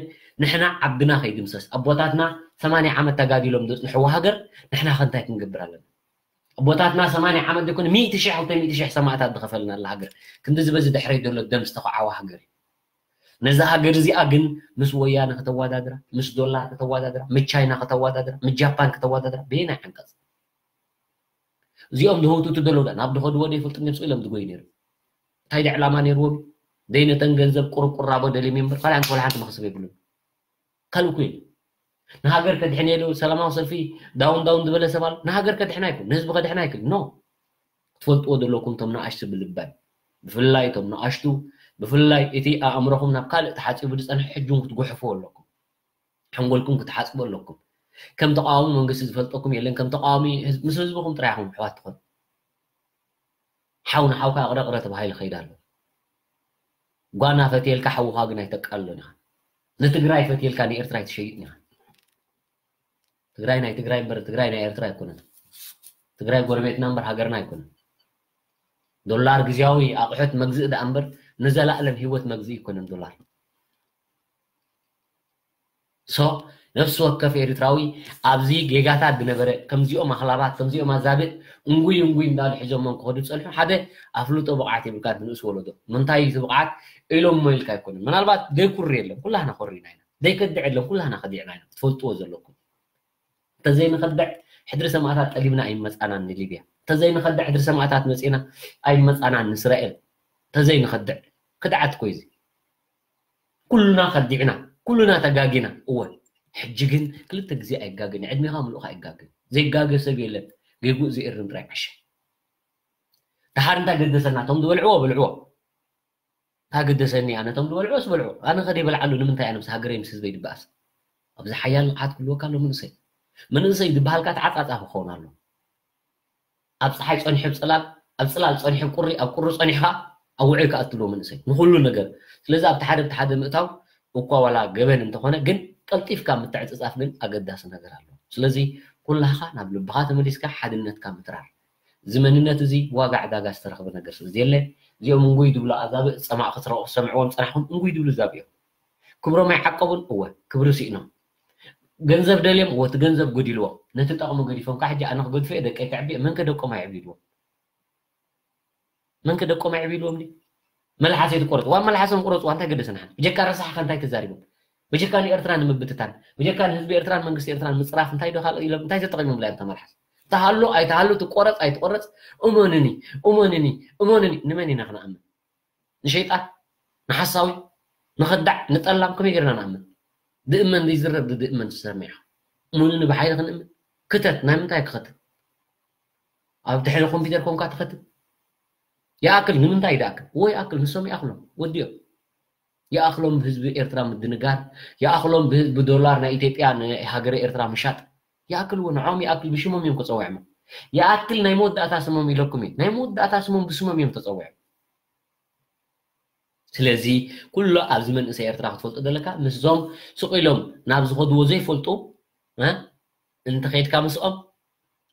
ንሕና ዓድና ከይድምሰስ ኣቦታትና ሰማንያ ዓመት ተጋዲሎም ዘፅንሕዎ ሃገር ንሕና ከ እንታይ ክንገብር ኣለና? ኣቦታትና ሰማንያ ዓመት ዘይኮነ ሚእቲ ሽሕ ክልተ ሚእቲ ሽሕ ሰማእታት ዝኸፈልናላ ሃገር ክንዲ ዝበዚ ድሕረይ ዘሎ ደም ዝተኸዓወ ሃገር እዩ። ነዛ ሃገር እዚኣ ግን ምስ ወያነ ከተወዳድራ፣ ምስ ዶላር ከተወዳድራ፣ ምስ ቻይና ከተወዳድራ፣ ምስ ጃፓን ከተወዳድራ በየናይ ዓንቀፅ? እዚኦም ዝህውትቱ ዘለዉ ዳ ናብ ዝኸድዎ ዘይፈልጡ እዮም ስቕ ኢሎም ዝጎዩ ነይሩ። እንታይ ዳ ዕላማ ነይርዎም? ደይ ነተን ገንዘብ ቁርቁራቦ ደልዮም እዮም እምበር ካልእ ሓንቲ ወላ ሓንቲ መኽሰብ የብሉን። ካልእ እኮ የለን። ንሃገር ከድሕን እየ ዶ ሰላማዊ ሰልፊ ዳውን ዳውን ዝበለ ሰብ ኣሎ? ንሃገር ከድሕን ኣይኮን፣ ንህዝቢ ከድሕን ኣይክል ኖ። ክትፈልጥዎ ዘለኩም እቶም ንኣሽቱ ብልበን ብፍላይ እቶም ንኣሽቱ ብፍላይ እቲ ኣእምሮኹም ናብ ካልእ ተሓፂቡ ዝፀንሐ ሕጂ እውን ክትጉሕፍዎ ኣለኩም። ሓንጎልኩም ክትሓፅቡ ኣለኩም። ከም ተቃዋሚ መንግስቲ ዝፈልጠኩም የለን። ከም ተቃዋሚ ህዝብ- ምስ ህዝብኹም ጥራይ ኢኹም ኣሕዋት ትኾኑ። ሓው ንሓውካ እቕረ እቕረ ተባሂሉ ይኸይድ ኣሎ። ጓና ፈትየልካ ሓውኻ ግን ኣይተቃልሎን ኢኻ። ንትግራይ ፈትየልካ ንኤርትራ ኣይትሸይጥን ኢኻ። ትግራይ ናይ ትግራይ እምበር ትግራይ ናይ ኤርትራ ኣይኮነን። ትግራይ ጎረቤትና እምበር ሃገርና ኣይኮነን። ዶላር ግዝያዊ ኣቑሑት መግዝኢ ደኣ እምበር ንዘላእለም ህይወት መግዝኢ ኣይኮነን ዶላር። ሶ ነፍሲ ወከፍ ኤርትራዊ ኣብዚ ጌጋታት ዝነበረ ከምዚኦም ኣኽላባት ከምዚኦም ኣዛብእ እንጉይ እንጉይ እንዳሉ ሒዞሞም ክኸዱ ዝጸንሑ ሓደ ኣፍልጦ ብቕዓት የብልካ ንእስ ወለዶ። ምንታይ እዩ እቲ ብቕዓት ኢሎሞ ኢልካ ኣይኮነን። ምናልባት ዘይኩሪ የለን፣ ኩላህና ኮሪና ኢና። ዘይከድዕ የለን፣ ኩላህና ከዲዕና ኢና። ክትፈልጥዎ ዘለኩም። እንተዘይንኸድዕ ሕድሪ ሰማእታት ጠሊብና ኣይመጻናን ንሊብያ። እንተዘይንኸድዕ ሕድሪ ሰማእታት መጺና ኣይመጻናን ንእስራኤል። እንተዘይንኸድዕ ክድዓት እኮ እዩ እዚ። ኩልና ከዲዕና፣ ኩልና ተጋጊና። እወ ሕጂ ግን ክልተ ግዜ ኣይጋግን፣ ዕድሜኻ ምሉእኻ ኣይጋግን። ዘይጋገ ሰብ የለን። ጌጉእ ዝእርም ጥራይ ዓሻ። ደሓር እንታይ ገደሰና? እቶም ዝበልዕዎ በልዕዎ። እንታይ ገደሰኒ ኣነ? እቶም ዝበልዕዎ ዝበልዕዎ። ኣነ ከደይ በልዓሉ ንምንታይ? ኣነ ምስ ሃገረይ ምስ ህዝበይ ድበኣስ። ኣብዚ ሓያል ንቕሓት ክህልወካ ኣሎ መንእሰይ። መንእሰይ ዝበሃልካ ተዓጻጻፊ ክኸውን ኣሎ። ኣብ ፀሓይ ፀኒሑ ኣብ ፅላል፣ ኣብ ፅላል ፀኒሑ ኣብ ቁሪ፣ ኣብ ቁሪ ፀኒሑ ከዓ ኣብ ውዑይ ክኣትልዎ መንእሰይ ንኩሉ ነገር። ስለዚ ኣብቲ ሓደ ብቲ ሓደ ምእታው እኳ ዋላ ገበን እንተኾነ ግን ቀልጢፍካ ምትዕፅፃፍ ግን ኣገዳሲ ነገር ኣሎ። ስለዚ ኩላኻ ናብ ልብኻ ተመሊስካ ሓድነትካ ምትራር። እዚ መንነት እዚ ዋጋ ዕዳጋ ዝተረኽበ ነገር ስለ ዘየለ እዚኦም እንጉይ ድብሉ ኣዛብእ ፀማቕ ክትረቑ ሰምዕዎም ፀናሕኩም እንጉይ ድብሉ ዛብኦም። ክብሮም ኣይዓቀቡን እወ ክብሪ ስኢኖም። ገንዘብ ደልዮም እወ እቲ ገንዘብ ጎዲልዎም ነቲ ጠቕሚ ገዲፎም ከዓ ሕጂ ኣነ ክገድፎ እየ ደቀይ ከዕቢ እየ መን ከ ደቆም ኣየዕቢልዎም? መን ከ ደቆም ኣዕቢልዎም ድዩ? መልሓሰይ ትቆረፅ ዋ መልሓሶም ቁረፅዋ እንታይ ገደሰና ሓን ብጀካ ረሳሕካ እንታይ ተዛሪቦም? ብጀካ ንኤርትራ ንምብትታን ብጀካ ንህዝቢ ኤርትራን መንግስቲ ኤርትራን ምፅራፍ እንታይ ዶ ካልእ ኢሎም እንታይ ተጠቂሞም ላ እታ መልሓስ? ተሃሎ ኣይተሃሎ ትቆረፅ ኣይትቆረፅ እመንኒ እመንኒ እመንኒ ንመን ኢና ክንኣምን? ንሸይጣን ንሓሳዊ ንኸዳዕ ንጠላም ከመይ ገርና ንኣምን? ድእመን ዘይዝረብ ድእመን ትሰምዕ ኢኻ። እመንኒ ብሓይሊ ክንእምን ክተት ናይ ምንታይ ክኸትት? ኣብ ድሕሪ ኮምፒተር ኮንካ ትኸትት። ይኣክል ንምንታይ ይኣክል? እዎ ይኣክል ንሶም ይኣክሎም ወዲኦም። ይኣክሎም ብህዝቢ ኤርትራ ምድንጋር፣ ይኣክሎም ብህዝቢ ዶላር ናይ ኢትዮጵያ ንሃገረ ኤርትራ ምሻጥ። ይኣክል እዎ ንዖም ይኣክል ብሽሞም እዮም ክፀውዕሞ። ይኣክል ናይ መወዳእታ ስሞም ኢለኩም እዩ። ናይ መወዳእታ ስሞም ብስሞም እዮም ተፀውዕም። ስለዚ ኩሎ ኣብዚ መንእሰይ ኤርትራ ክትፈልጦ ዘለካ ምስዞም ስቕ ኢሎም ናብ ዝኸድዎ ዘይፈልጡ እ እንተኸይድካ ምስኦም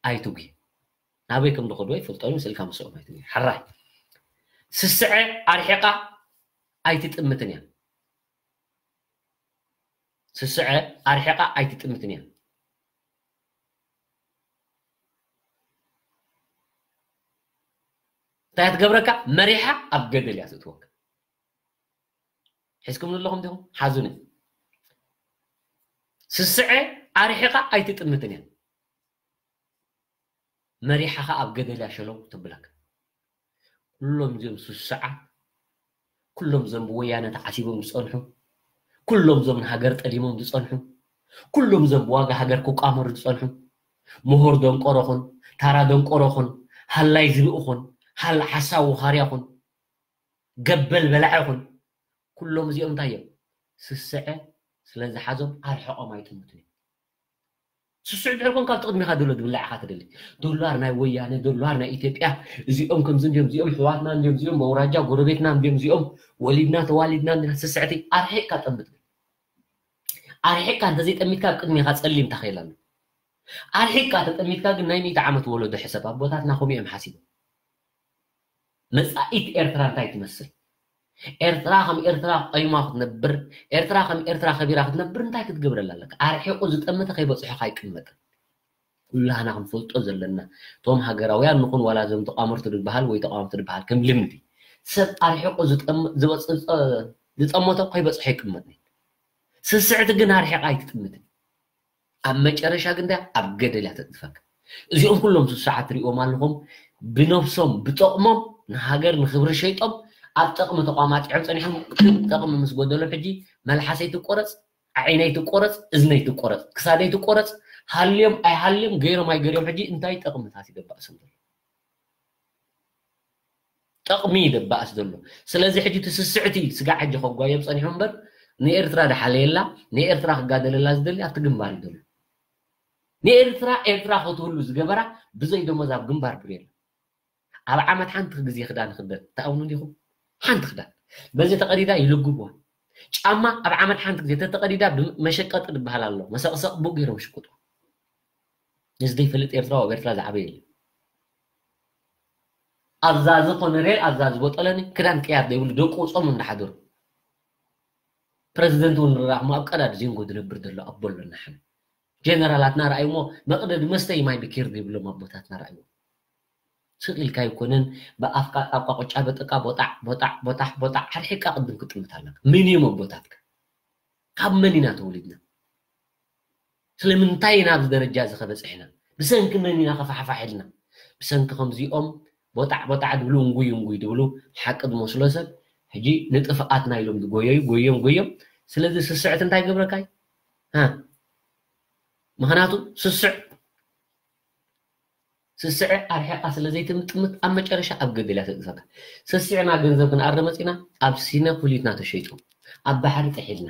ኣይትጉ ናበይ ከም ዝኸድዎ ይፈልጦ ምስልካ ምስኦም ኣይትጉ ሓራይ ስስዐ ኣርሒቓ ኣይትጥምትን እያ። ስስዐ ኣርሒቓ ኣይትጥምትን እያ። እንታይ ትገብረካ? መሪሓ ኣብ ገደል እያ ትእትወካ። ሒዝኩም ኣለኹም ዲኹም? ሓዙኒ። ስስዐ ኣርሒቓ ኣይትጥምትን እያ። መሪሓኻ ኣብ ገደል እያ ሸለው ትብለካ። ኩሎም እዚኦም ስስዓት፣ ኩሎም እዞም ብወያነ ተዓሲቦም ዝጸንሑ፣ ኩሎም እዞም ንሃገር ጠሊሞም ዝጸንሑ፣ ኩሎም እዞም ብዋጋ ሃገር ክቋመሩ ዝጸንሑ፣ ምሁር ደንቆሮኹን፣ ታራ ደንቆሮኹን፣ ሃላይ ዝብእኹን፣ ሃል ሓሳዊ ኻርያኹን፣ ገበል በላዕኹን፣ ኩሎም እዚኦም እንታይ እዮም? ስስዐ ስለ ዝሓዞም ኣርሕቖም ኣይጥምቱን እዮም። ስስዕ ድሕር ኮንካ ኣብ ጥቕሚኻ ዘሎ ዝብላዕ ኢኻ ትደሊ። ዶላር ናይ ወያነ፣ ዶላር ናይ ኢትዮጵያ፣ እዚኦም ከምዚ እንዲዮም፣ እዚኦም ሕዋትና እንዲዮም፣ እዚኦም ኣውራጃ ጎረቤትና እንዲዮም፣ እዚኦም ወሊድና ተዋሊድና እንዲና። ስስዕቲ ኣርሒቕካ ጠምት። ኣርሒቕካ እንተዘይጠሚትካ ኣብ ቅድሚኻ ጸሊም ታኼል ኣሎ። ኣርሒቕካ ተጠሚትካ ግን ናይ ሚእቲ ዓመት ወለዶ ሕሰብ። ኣቦታትና ከምኡ እዮም ሓሲቦም። መጻኢት ኤርትራ እንታይ ትመስል? ኤርትራ ከም ኤርትራ ቆይማ ክትነብር፣ ኤርትራ ከም ኤርትራ ከቢራ ክትነብር እንታይ ክትገብረላ ኣለካ? ኣርሒቑ ዝጠመተ ከይበጽሖ ኣይቅመጥን። ኩላህና ክንፈልጦ ዘለና፣ እቶም ሃገራውያን ንኹን ዋላ እዞም ተቋመርቲ ዝበሃል ወይ ተቋወምቲ ዝበሃል ከም ልምዲ፣ ሰብ ኣርሒቑ ዝጠም-፣ ዝበጽ-፣ ዝጠመቶ ከይበጽሖ ኣይቅመጥን። ስስዕቲ ግን ኣርሒቓ ኣይትጥምትን። ኣብ መጨረሻ ግን እንታይ? ኣብ ገደል እያ ተጥድፈካ። እዚኦም ኩሎም ስሱዓት ትሪእዎም ኣለኹም፣ ብነብሶም ብጠቕሞም ንሃገር ንክብሪ ሸይጦም ኣብ ጠቕሚ ተቋማጢዖም ጸኒሖም። ግን ጠቕሚ ምስ ጎደሎም ሕጂ መልሓሰይ ትቆረጽ፣ ዓይነይ ትቆረጽ፣ እዝነይ ትቆረጽ፣ ክሳደይ ትቆረጽ፣ ሃልዮም ኣይሃልዮም፣ ገይሮም ኣይገርዮም ሕጂ እንታይ ጠቕሚ ታሲ ደባእሶም ዘሎ? ጠቕሚ ይደባእስ ዘሎ። ስለዚ ሕጂ እቲ ስስዕቲ ስጋዕ ሕጂ ከጓዮም ጸኒሑ እምበር ንኤርትራ ድሓለየላ፣ ንኤርትራ ክጋደለላ ዝደሊ ኣብቲ ግንባር እዩ ዘሎ። ንኤርትራ ኤርትራ ክትህሉ ዝገበራ ብዘይ ደሞዝ ኣብ ግንባር ብር የለን። ኣብ ዓመት ሓንቲ ግዜ ክዳን ክደን ትኣምኑ ዲኹም? ሓንቲ ክዳን በዚ ተቐዲዳ ይልግብዋ። ጫማ ኣብ ዓመት ሓንቲ ግዜ ተተቐዲዳ ብመሸቀጢ ዝበሃል ኣሎ፣ መሰቕሰቕ ብኡ ገይሮም ይሽቅጡ። ንዝደይፈልጥ ኤርትራዊ ኣብ ኤርትራ ዝዓበየ የለን። ኣዛዚ ኮነሬል ኣዛዚ ቦጠለኒ ክዳን ቅያር ዘይብሉ ደቁ ጾም እንዳሓደሩ። ፕረዚደንት እውን ንራእሞ ኣብ ቀዳድ ዜንጎ ዝነብር ዘሎ ኣቦ ኣለና። ሓነ ጀነራላትና ረኣይሞ መቕደዲ መስተይ ማይ ብኪር ዘይብሎም ኣቦታትና ረኣይዎ። ስቕ ኢልካ ኣይኮነን ብኣፍካ ጣቋ ቁጫ በጥቃ ቦጣዕ ቦጣዕ ቦጣሕ ቦጣዕ ሓርሒቃ ቅድም ክጥምት ኣለካ። መን እዮም ኣቦታትካ? ካብ መን ኢና ተወሊድና? ስለምንታይ ኢና ኣብዚ ደረጃ እዚ ከበፅሕና? ብሰንኪ መን ኢና ከፋሕፋሕ ኢልና? ብሰንኪ ከምዚኦም ቦጣዕ ቦጣዕ ድብሉ እንጉይ እንጉይ ድብሉ ሓቂ ዝመስሎ ሰብ ሕጂ ንጥፍኣትና ኢሎም ዝጎየዩ ጎዮም ጎዮም። ስለዚ ስስዕት እንታይ ገብረካይ? ሃ? ምኽንያቱ ስስዕ ስስዐ ኣርሒቓ ስለ ዘይትምጥምት ኣብ መጨረሻ ኣብ ገደል እያ ተጥድፈካ። ስስዕና ገንዘብ ክንኣረ መጺና ኣብ ሲነ ኩሊትና ተሸይጡ፣ ኣብ ባሕሪ ጥሒልና፣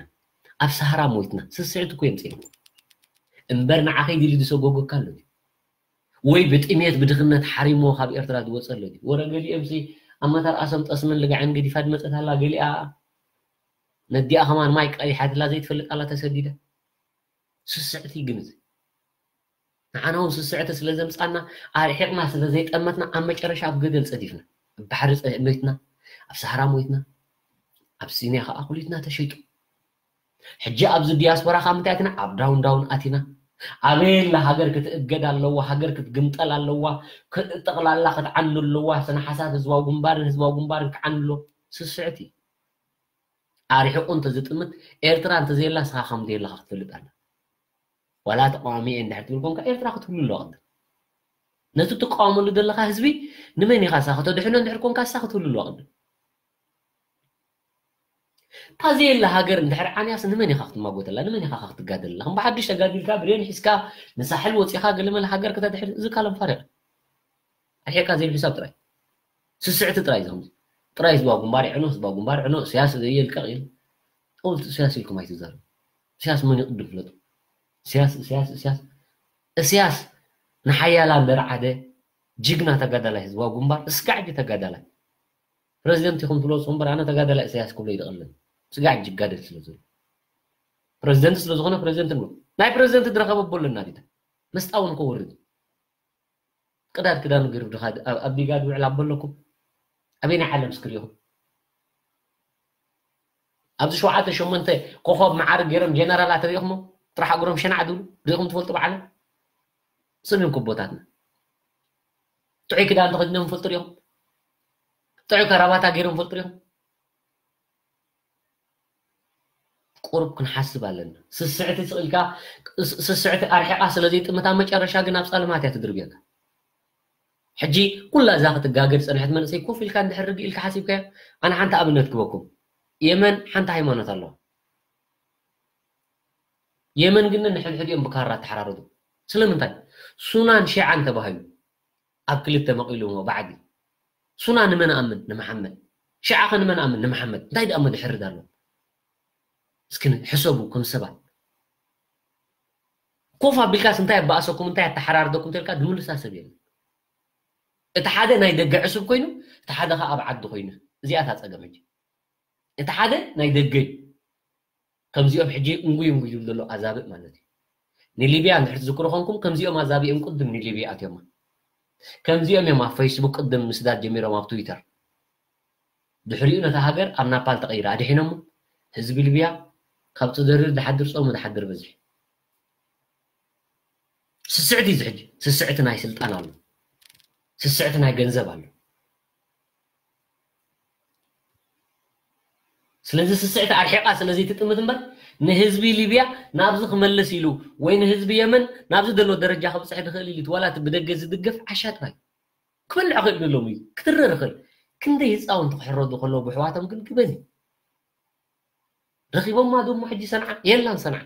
ኣብ ሰሃራ ሞይትና። ስስዕቲ እኮ የምጽእልኩም። እምበር ንዓኸይ ድሊ ዝሰጎገካ ኣሎ ድዩ? ወይ ብጥሜት ብድኽነት ሓሪሞ ካብ ኤርትራ ዝወጸ ኣሎ ድዩ? ወረ ገሊኦምሲ ኣብ መተርኣሶም ጠስምን ልጋዕን ገዲፋ ድመጸት ኣላ ገሊኣ ነዲኣ ከማን ማይ ቀዲሓትላ ዘይትፈልጥ ኣላ ተሰዲዳ። ስስዕቲ ግን እዚ ንዓና እውን ስስዕቲ ስለ ዘምጻና ኣርሒቕና ስለ ዘይጠመትና ኣብ መጨረሻ ኣብ ገደል ጸዲፍና ኣብ ባሕሪ ጸ-፣ ሞይትና ኣብ ሰሃራ ሞይትና ኣብ ሲንያ ከዓ ኩሊትና ተሸይጡ። ሕጂ ኣብዚ ዲያስፖራ ካብ ምንታይ ኣቲና ኣብ ዳውን ዳውን ኣቲና ኣበየላ ሃገር ክትእገድ ኣለዋ ሃገር ክትግምጠል ኣለዋ ጠቕላላ ክትዓኑ ኣለዋ ስነ ሓሳብ ህዝባዊ ግንባርን ህዝባዊ ግንባርን ክዓኑ ኣሎ ስስዕቲ ኣርሒቑ እንተዝጥምት ኤርትራ እንተዘየላ ንስኻ ከም ዘየለኻ ክትፈልጥ ኣለ ዋላ ተቃዋሚ እየ እንድሕር ትብል ኮንካ ኤርትራ ክትህሉ ኣለዋ ቅድም ነቲ ትቃወመሉ ዘለኻ ህዝቢ ንመን ኢኻ እሳ ከተድሕኖ እንድሕር ኮንካ እሳ ክትህሉ ኣለዋ ቅድም እታ ዘየላ ሃገር እንድሕር ዓንያስ ንመን ኢኻ ክትማጎተላ ንመን ኢኻ ክትጋደለላ ከም ብሓዱሽ ተጋዲልካ ብሬን ሒዝካ ንሳሕል ወፂኻ ገለመለ ሃገር ከተድሕር እዚ ካለም ፋሪቕ ኣርሒቕካ ዘይብሒሳብ ጥራይ ስስዕቲ ጥራይ ዝኸምዚ ጥራይ ህዝባዊ ግንባር ይዕኖ ህዝባዊ ግንባር ይዕኖ እስያስ ዘየልቀቕ ኢሉ ጠውልቲ እስያስ ኢልኩም ኣይትዛረቡ እስያስ መን ይቕድም ፍለጡ እስያስ እስያስ እስያስ እስያስ ንሓያላን ደርዓደ ጅግና ተጋዳላይ ህዝባዊ ግንባር እስካዕ ሕጂ ተጋዳላይ ፕረዚደንት ኢኹም ትለውፁ እምበር ኣነ ተጋዳላይ እስያስ ክብሎ ይደቕልን ስጋዕ ሕጂ ይጋደል ስለ ዘሎ ፕረዚደንት ስለ ዝኾነ ፕረዚደንት ንብሎ ናይ ፕረዚደንት ዝረኸበ ቦለና ዲታ መስጣውን ከወርድ ቅዳድ ክዳኑ ገይሩ ድኻ ኣብ ዲጋ ድውዕል ኣበለኩም ኣበይ ናይ ዓለም ስክር ኢኹም ኣብዚ ሸውዓተ ሸሞንተ ኮኾብ መዓርግ ገይሮም ጀነራላት ርኢኹሞ? ጥራሕ እግሮም ሸናዕ ዝብሉ ርኢኹም ትፈልጡ? ባዕሎም ስም እዮም ኮቦታትና። ጥዑይ ክዳን ተኸዲኖም ፈልጡ ርኢኹም? ጥዑይ ከራባታ ገይሮም ፈልጡ ርኢኹም? ቁሩብ ክንሓስብ ኣለና። ስስዕቲ ስቕ ኢልካ፣ ስ-፣ ስስዕቲ ኣርሒቓ ስለ ዘይጥምታ መጨረሻ ግን ኣብ ጸልማት እያ ትድርብየካ። ሕጂ ኩላ እዛ ክትጋገ ዝጸንሐት መንእሰይ ኮፍ ኢልካ እንድሕር ርግእ ኢልካ ሓሲብካዮ፣ ኣነ ሓንቲ ኣብነት ክበኩም። የመን ሓንቲ ሃይማኖት ኣለዋ። የመን ግን ንሕድሕዲኦም ብካራ ተሓራረዱ። ስለምንታይ? ሱናን ሺዓን ተባሂሉ ኣብ ክልተ መቒሉ ባዕዲ። ሱና ንመን ኣምን? ንመሓመድ። ሺዓ ከ ንመን ኣምን? ንመሓመድ። እንታይ ደኣ መድሕርድ ኣሎ? እስኪ ሕሰቡ ከም ሰባት። ኮፍ ኣቢልካስ እንታይ ኣባእሰኩም፣ እንታይ ኣተሓራርደኩም ተልካ ዝምልሳ ሰብ የለን። እቲ ሓደ ናይ ደገ ዕሱብ ኮይኑ፣ እቲ ሓደ ኸኣ ኣብ ዓዲ ኮይኑ። እዚኣ እታ ጸገም ሕጂ። እቲ ሓደ ናይ ደገ እዩ። ከምዚኦም ሕጂ እንጉይ እንጉይ ዝብሉ ዘለዉ ኣዛብእ ማለት እዩ። ንሊብያ እንድሕር ትዝክሩ ኾንኩም፣ ከምዚኦም ኣዛብእ እዮም ቅድም ንሊብያ ኣትዮማ። ከምዚኦም እዮም ኣብ ፌስቡክ ቅድም ምስዳድ ጀሚሮም ኣብ ትዊተር። ድሕሪኡ ነታ ሃገር ኣብ ናፓል ተቐይራ ኣድሒኖሞ። ህዝቢ ሊብያ ካብ ጽደርር ዝሓድር ጾሙ ዝሓድር በዝሒ። ስስዕቲ እዚ ሕጂ፣ ስስዕቲ ናይ ስልጣን ኣሎ። ስስዕቲ ናይ ገንዘብ ኣሎ። ስለዚ ስስዕቲ ኣርሒቓ ስለ ዘይትጥምት እምበር፣ ንህዝቢ ሊብያ ናብዚ ክመልስ ኢሉ ወይ ንህዝቢ የመን ናብዚ ዘሎ ደረጃ ክብጽሕ ዝኽእል ኢሉ፣ ዋላ እቲ ብደገ ዝድገፍ ዓሻ ጥራይ ክበልዕ ክእል ዘለዎም እዩ፣ ክትርር ይኽእል። ክንደይ ህፃውንቲ ክሕረዱ ከለዉ ብሕዋቶም ግን ግበን እዩ። ረኺቦማ ዶ እሞ ሕጂ ሰንዓ? የላን ሰንዓ።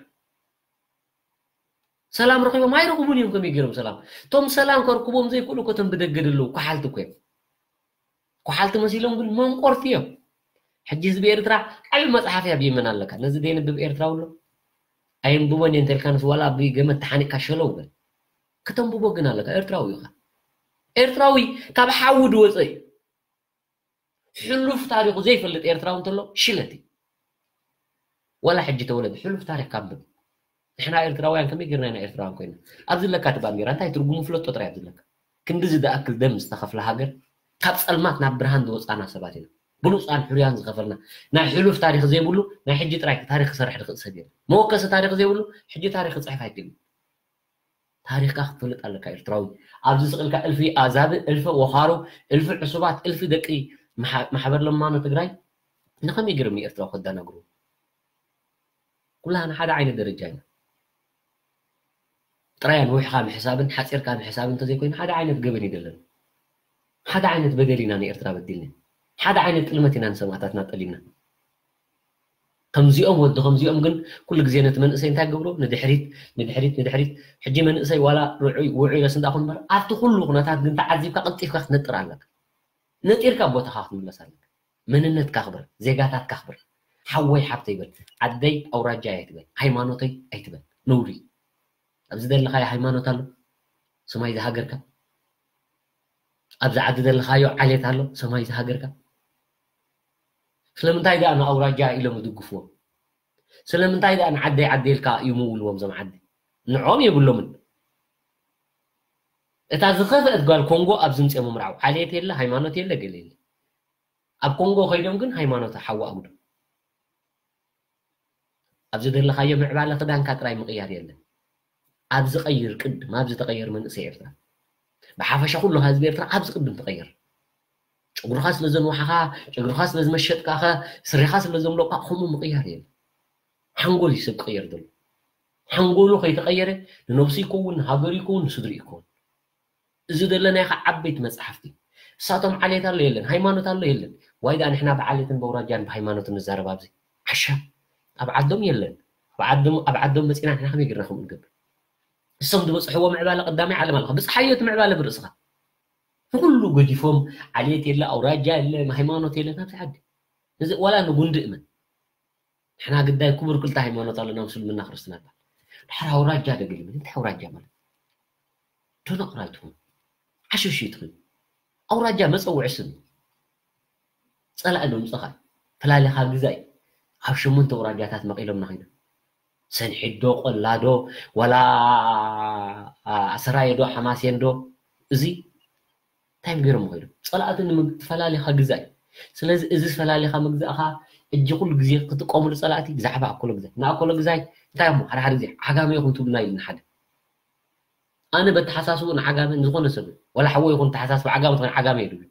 ሰላም ረኺቦም ኣይረኽቡን እዮም። ከመይ ገይሮም ሰላም? እቶም ሰላም ከርክቦም ዘይክእሉ እኮ እቶም ብደገ ዘለዉ ኳሓልቲ እኮ እዮም። ኳሓልቲ መሲሎም ግን መንቆርቲ እዮም። ሕጂ ህዝቢ ኤርትራ ዓቢ መጽሓፍ እያ ብየመን ኣለካ። ነዚ ደየንብብ ኤርትራዊ ኣሎ? ኣየንብቦን እየ እንተልካ ንስ ዋላ ብገመድ ተሓኒቕካ ሸለው በል። ከተንብቦ ግን ኣለካ። ኤርትራዊ ኢኻ። ኤርትራዊ ካብ ሓዊ ዝወጸ እዩ። ሕሉፍ ታሪኹ ዘይፈልጥ ኤርትራዊ እንተሎ ሽለት እዩ። ዋላ ሕጂ ተወለደ ሕሉፍ ታሪኽ ካንብብ። ንሕና ኤርትራውያን ከመይ ጌርና ኢና ኤርትራውያን ኮይና? ኣብዚ ለካ እቲ ባንዴራ እንታይ ትርጉሙ ፍለጦ ጥራይ ኣብዚ ለካ። ክንድዚ ዝኣክል ደም ዝተኸፍለ ሃገር፣ ካብ ጸልማት ናብ ብርሃን ዝወጻና ሰባት ኢና። ብሉጻን ሕሩያን ዝኸፈልና፣ ናይ ሕሉፍ ታሪኽ ዘይብሉ፣ ናይ ሕጂ ጥራይ ታሪኽ ክሰርሕ ዝኽእል ሰብ የለን። መወከሲ ታሪኽ ዘይብሉ፣ ሕጂ ታሪኽ ክጽሕፍ ኣይክእልን። ታሪኽካ ክትፈልጥ ኣለካ ኤርትራዊ። ኣብዚ ስቕ ኢልካ እልፊ ኣዛብእ፣ እልፊ ወኻሩ፣ እልፊ ዕሱባት፣ እልፊ ደቂ ማሕ-፣ ማሕበር ለማኖ ትግራይ ንኸመይ ገይሮም ንኤርትራዊ ከደናግሩ? ኩላህና ሓደ ዓይነት ደረጃ ኢና። ጥራይ ኣንዊሕካ ምሕሳብን ሓጺርካ ምሕሳብን እንተዘይኮይኑ ሓደ ዓይነት ገበን እዩ ዘለና። ሓደ ዓይነት በደል ኢና ንኤርትራ በዲልና። ሓደ ዓይነት ጥልመት ኢና ንሰማእታትና ጠሊምና። ከምዚኦም ወዲ ከምዚኦም ግን ኩሉ ግዜ ነቲ መንእሰይ እንታይ ገብሮ? ንድሕሪት፣ ንድሕሪት፣ ንድሕሪት። ሕጂ መንእሰይ ዋላ ርዑይ ውዑይ ረስ እንዳኹን እምበር ኣብቲ ኩሉ ኩነታት ግን ተዓዚብካ ቀልጢፍካ ክትነጥር ኣለካ። ነጢርካ ቦታኻ ክትምለስ ኣለካ። መንነትካ ኣኽብር፣ ዜጋታትካ ኣኽብር። ሓወይ ሓብተይ በል፣ ዓደይ ኣውራጃይ ኣይትበል፣ ሃይማኖተይ ኣይትበል። ነውሪ። ኣብዚ ዘለኻዮ ሃይማኖት ኣሎ፣ ሰማይ ዝሃገርካ። ኣብዚ ዓዲ ዘለኻዮ ዓሌት ኣሎ፣ ሰማይ ዝሃገርካ። ስለምንታይ ደኣ ንኣውራጃ ኢሎም ይድግፍዎም? ስለምንታይ ደኣ ንዓደይ ዓደይ ኢልካ ይምውልዎም? እዞም ዓዲ ንዕኦም የብሎምን። እታ ዝኸፍአት ጓል ኮንጎ ኣብዚ ምፅኦም ምርዓው ዓሌት የለ፣ ሃይማኖት የለ፣ ገለ የለ። ኣብ ኮንጎ ከይዶም ግን ሃይማኖት ሓዋ ኣጉዶ። ኣብ ዝደለኻዮ ምዕባለ ክዳንካ ጥራይ ምቕያር የለን። ኣብ ዝቐይር ቅድም፣ ኣብ ዝተቐየር መንእሰይ ኤርትራ። ብሓፈሻ ኩሉ ህዝቢ ኤርትራ ኣብዚ ቅድም ትቐየር። ጨጉርኻ ስለ ዘንዋሓኻ፣ ጨጉርኻ ስለ ዝመሸጥካኸ፣ ስሪኻ ስለ ዘምለቕካ ከምኡ ምቕያር የለን። ሓንጎል እዩ ሰብ ክቕየር ዘሎ። ሓንጎሉ ከይተቐየረ ንነብሱ ይከውን፣ ንሃገሩ ይከውን፣ ንስድሪ ይከውን። እዚ ዘለናዮ ከዓ ዓበይቲ መጽሓፍቲ። እሳቶም ዓሌት ኣሎ የለን፣ ሃይማኖት ኣሎ የለን። ዋይ ደኣ ንሕና ብዓሌትን በውራጃን ብሃይማኖትን ንዛረብ ኣብዚ። ዓሻ። ኣብ ዓዶም የለን። ኣብ ዓዶም፣ ኣብ ዓዶም መጺና ንሕና ከመይ ጌርና ከምኡ ንገብር? እሶም ዝበጽሕዎ ምዕባለ ቀዳማይ ዓለም ኣለኻ። ብጽሓዮ እቲ ምዕባለ ብርእስኻ። ንኩሉ ገዲፎም ዓሌት የለ፣ ኣውራጃ የለ፣ ሃይማኖት የለ፣ ናብዚ ዓዲ። እዚ ዋላ ንጉንዲ እመን። ንሕና ግዳይ ክቡር ክልተ ሃይማኖት ኣለና፣ ምስልምና ክርስትና ይባል። ድሓር ኣውራጃ ደገ ይብል። እንታይ ኣውራጃ ማለት? ደነቑራ ኣይትኹኑ። ዓሸሽ ኣይትኹኑ። ኣውራጃ መጸውዒ ስም እዩ። ጸላኢ ዶ ምጸኻ እዩ። ፈላሊኻ ግዛይ። ኣብ ሸሞንተ ኣውራጃታት መቒሎምና ኮይና። ሰንሒት ዶ፣ ቆላ ዶ፣ ዋላ ኣሰራየ ዶ፣ ሓማሴን ዶ፣ እዚ እንታይ ገይሮም ኮይኖም? ጸላእቲ ንምግ-፣ ፈላሊኻ ግዛይ። ስለዚ እዚ ፈላሊኻ ምግዛእኻ እጂ ኩሉ ግዜ ክትጥቀምሉ ጸላእቲ ብዛዕባ ኣኮሎ ግዛይ ንኣኮሎ ግዛይ እንታይ እሞ ሓደ ሓደ ግዜ ዓጋመ ይኹን ትብሉና ኢልና ሓደ ኣነ በተሓሳስቡ ንዓጋመ ንዝኾነ ሰብ ወላ ሓወ ይኹን ተሓሳስቡ ዓጋመ ዝኾነ ዓጋመ እዩ ዝብል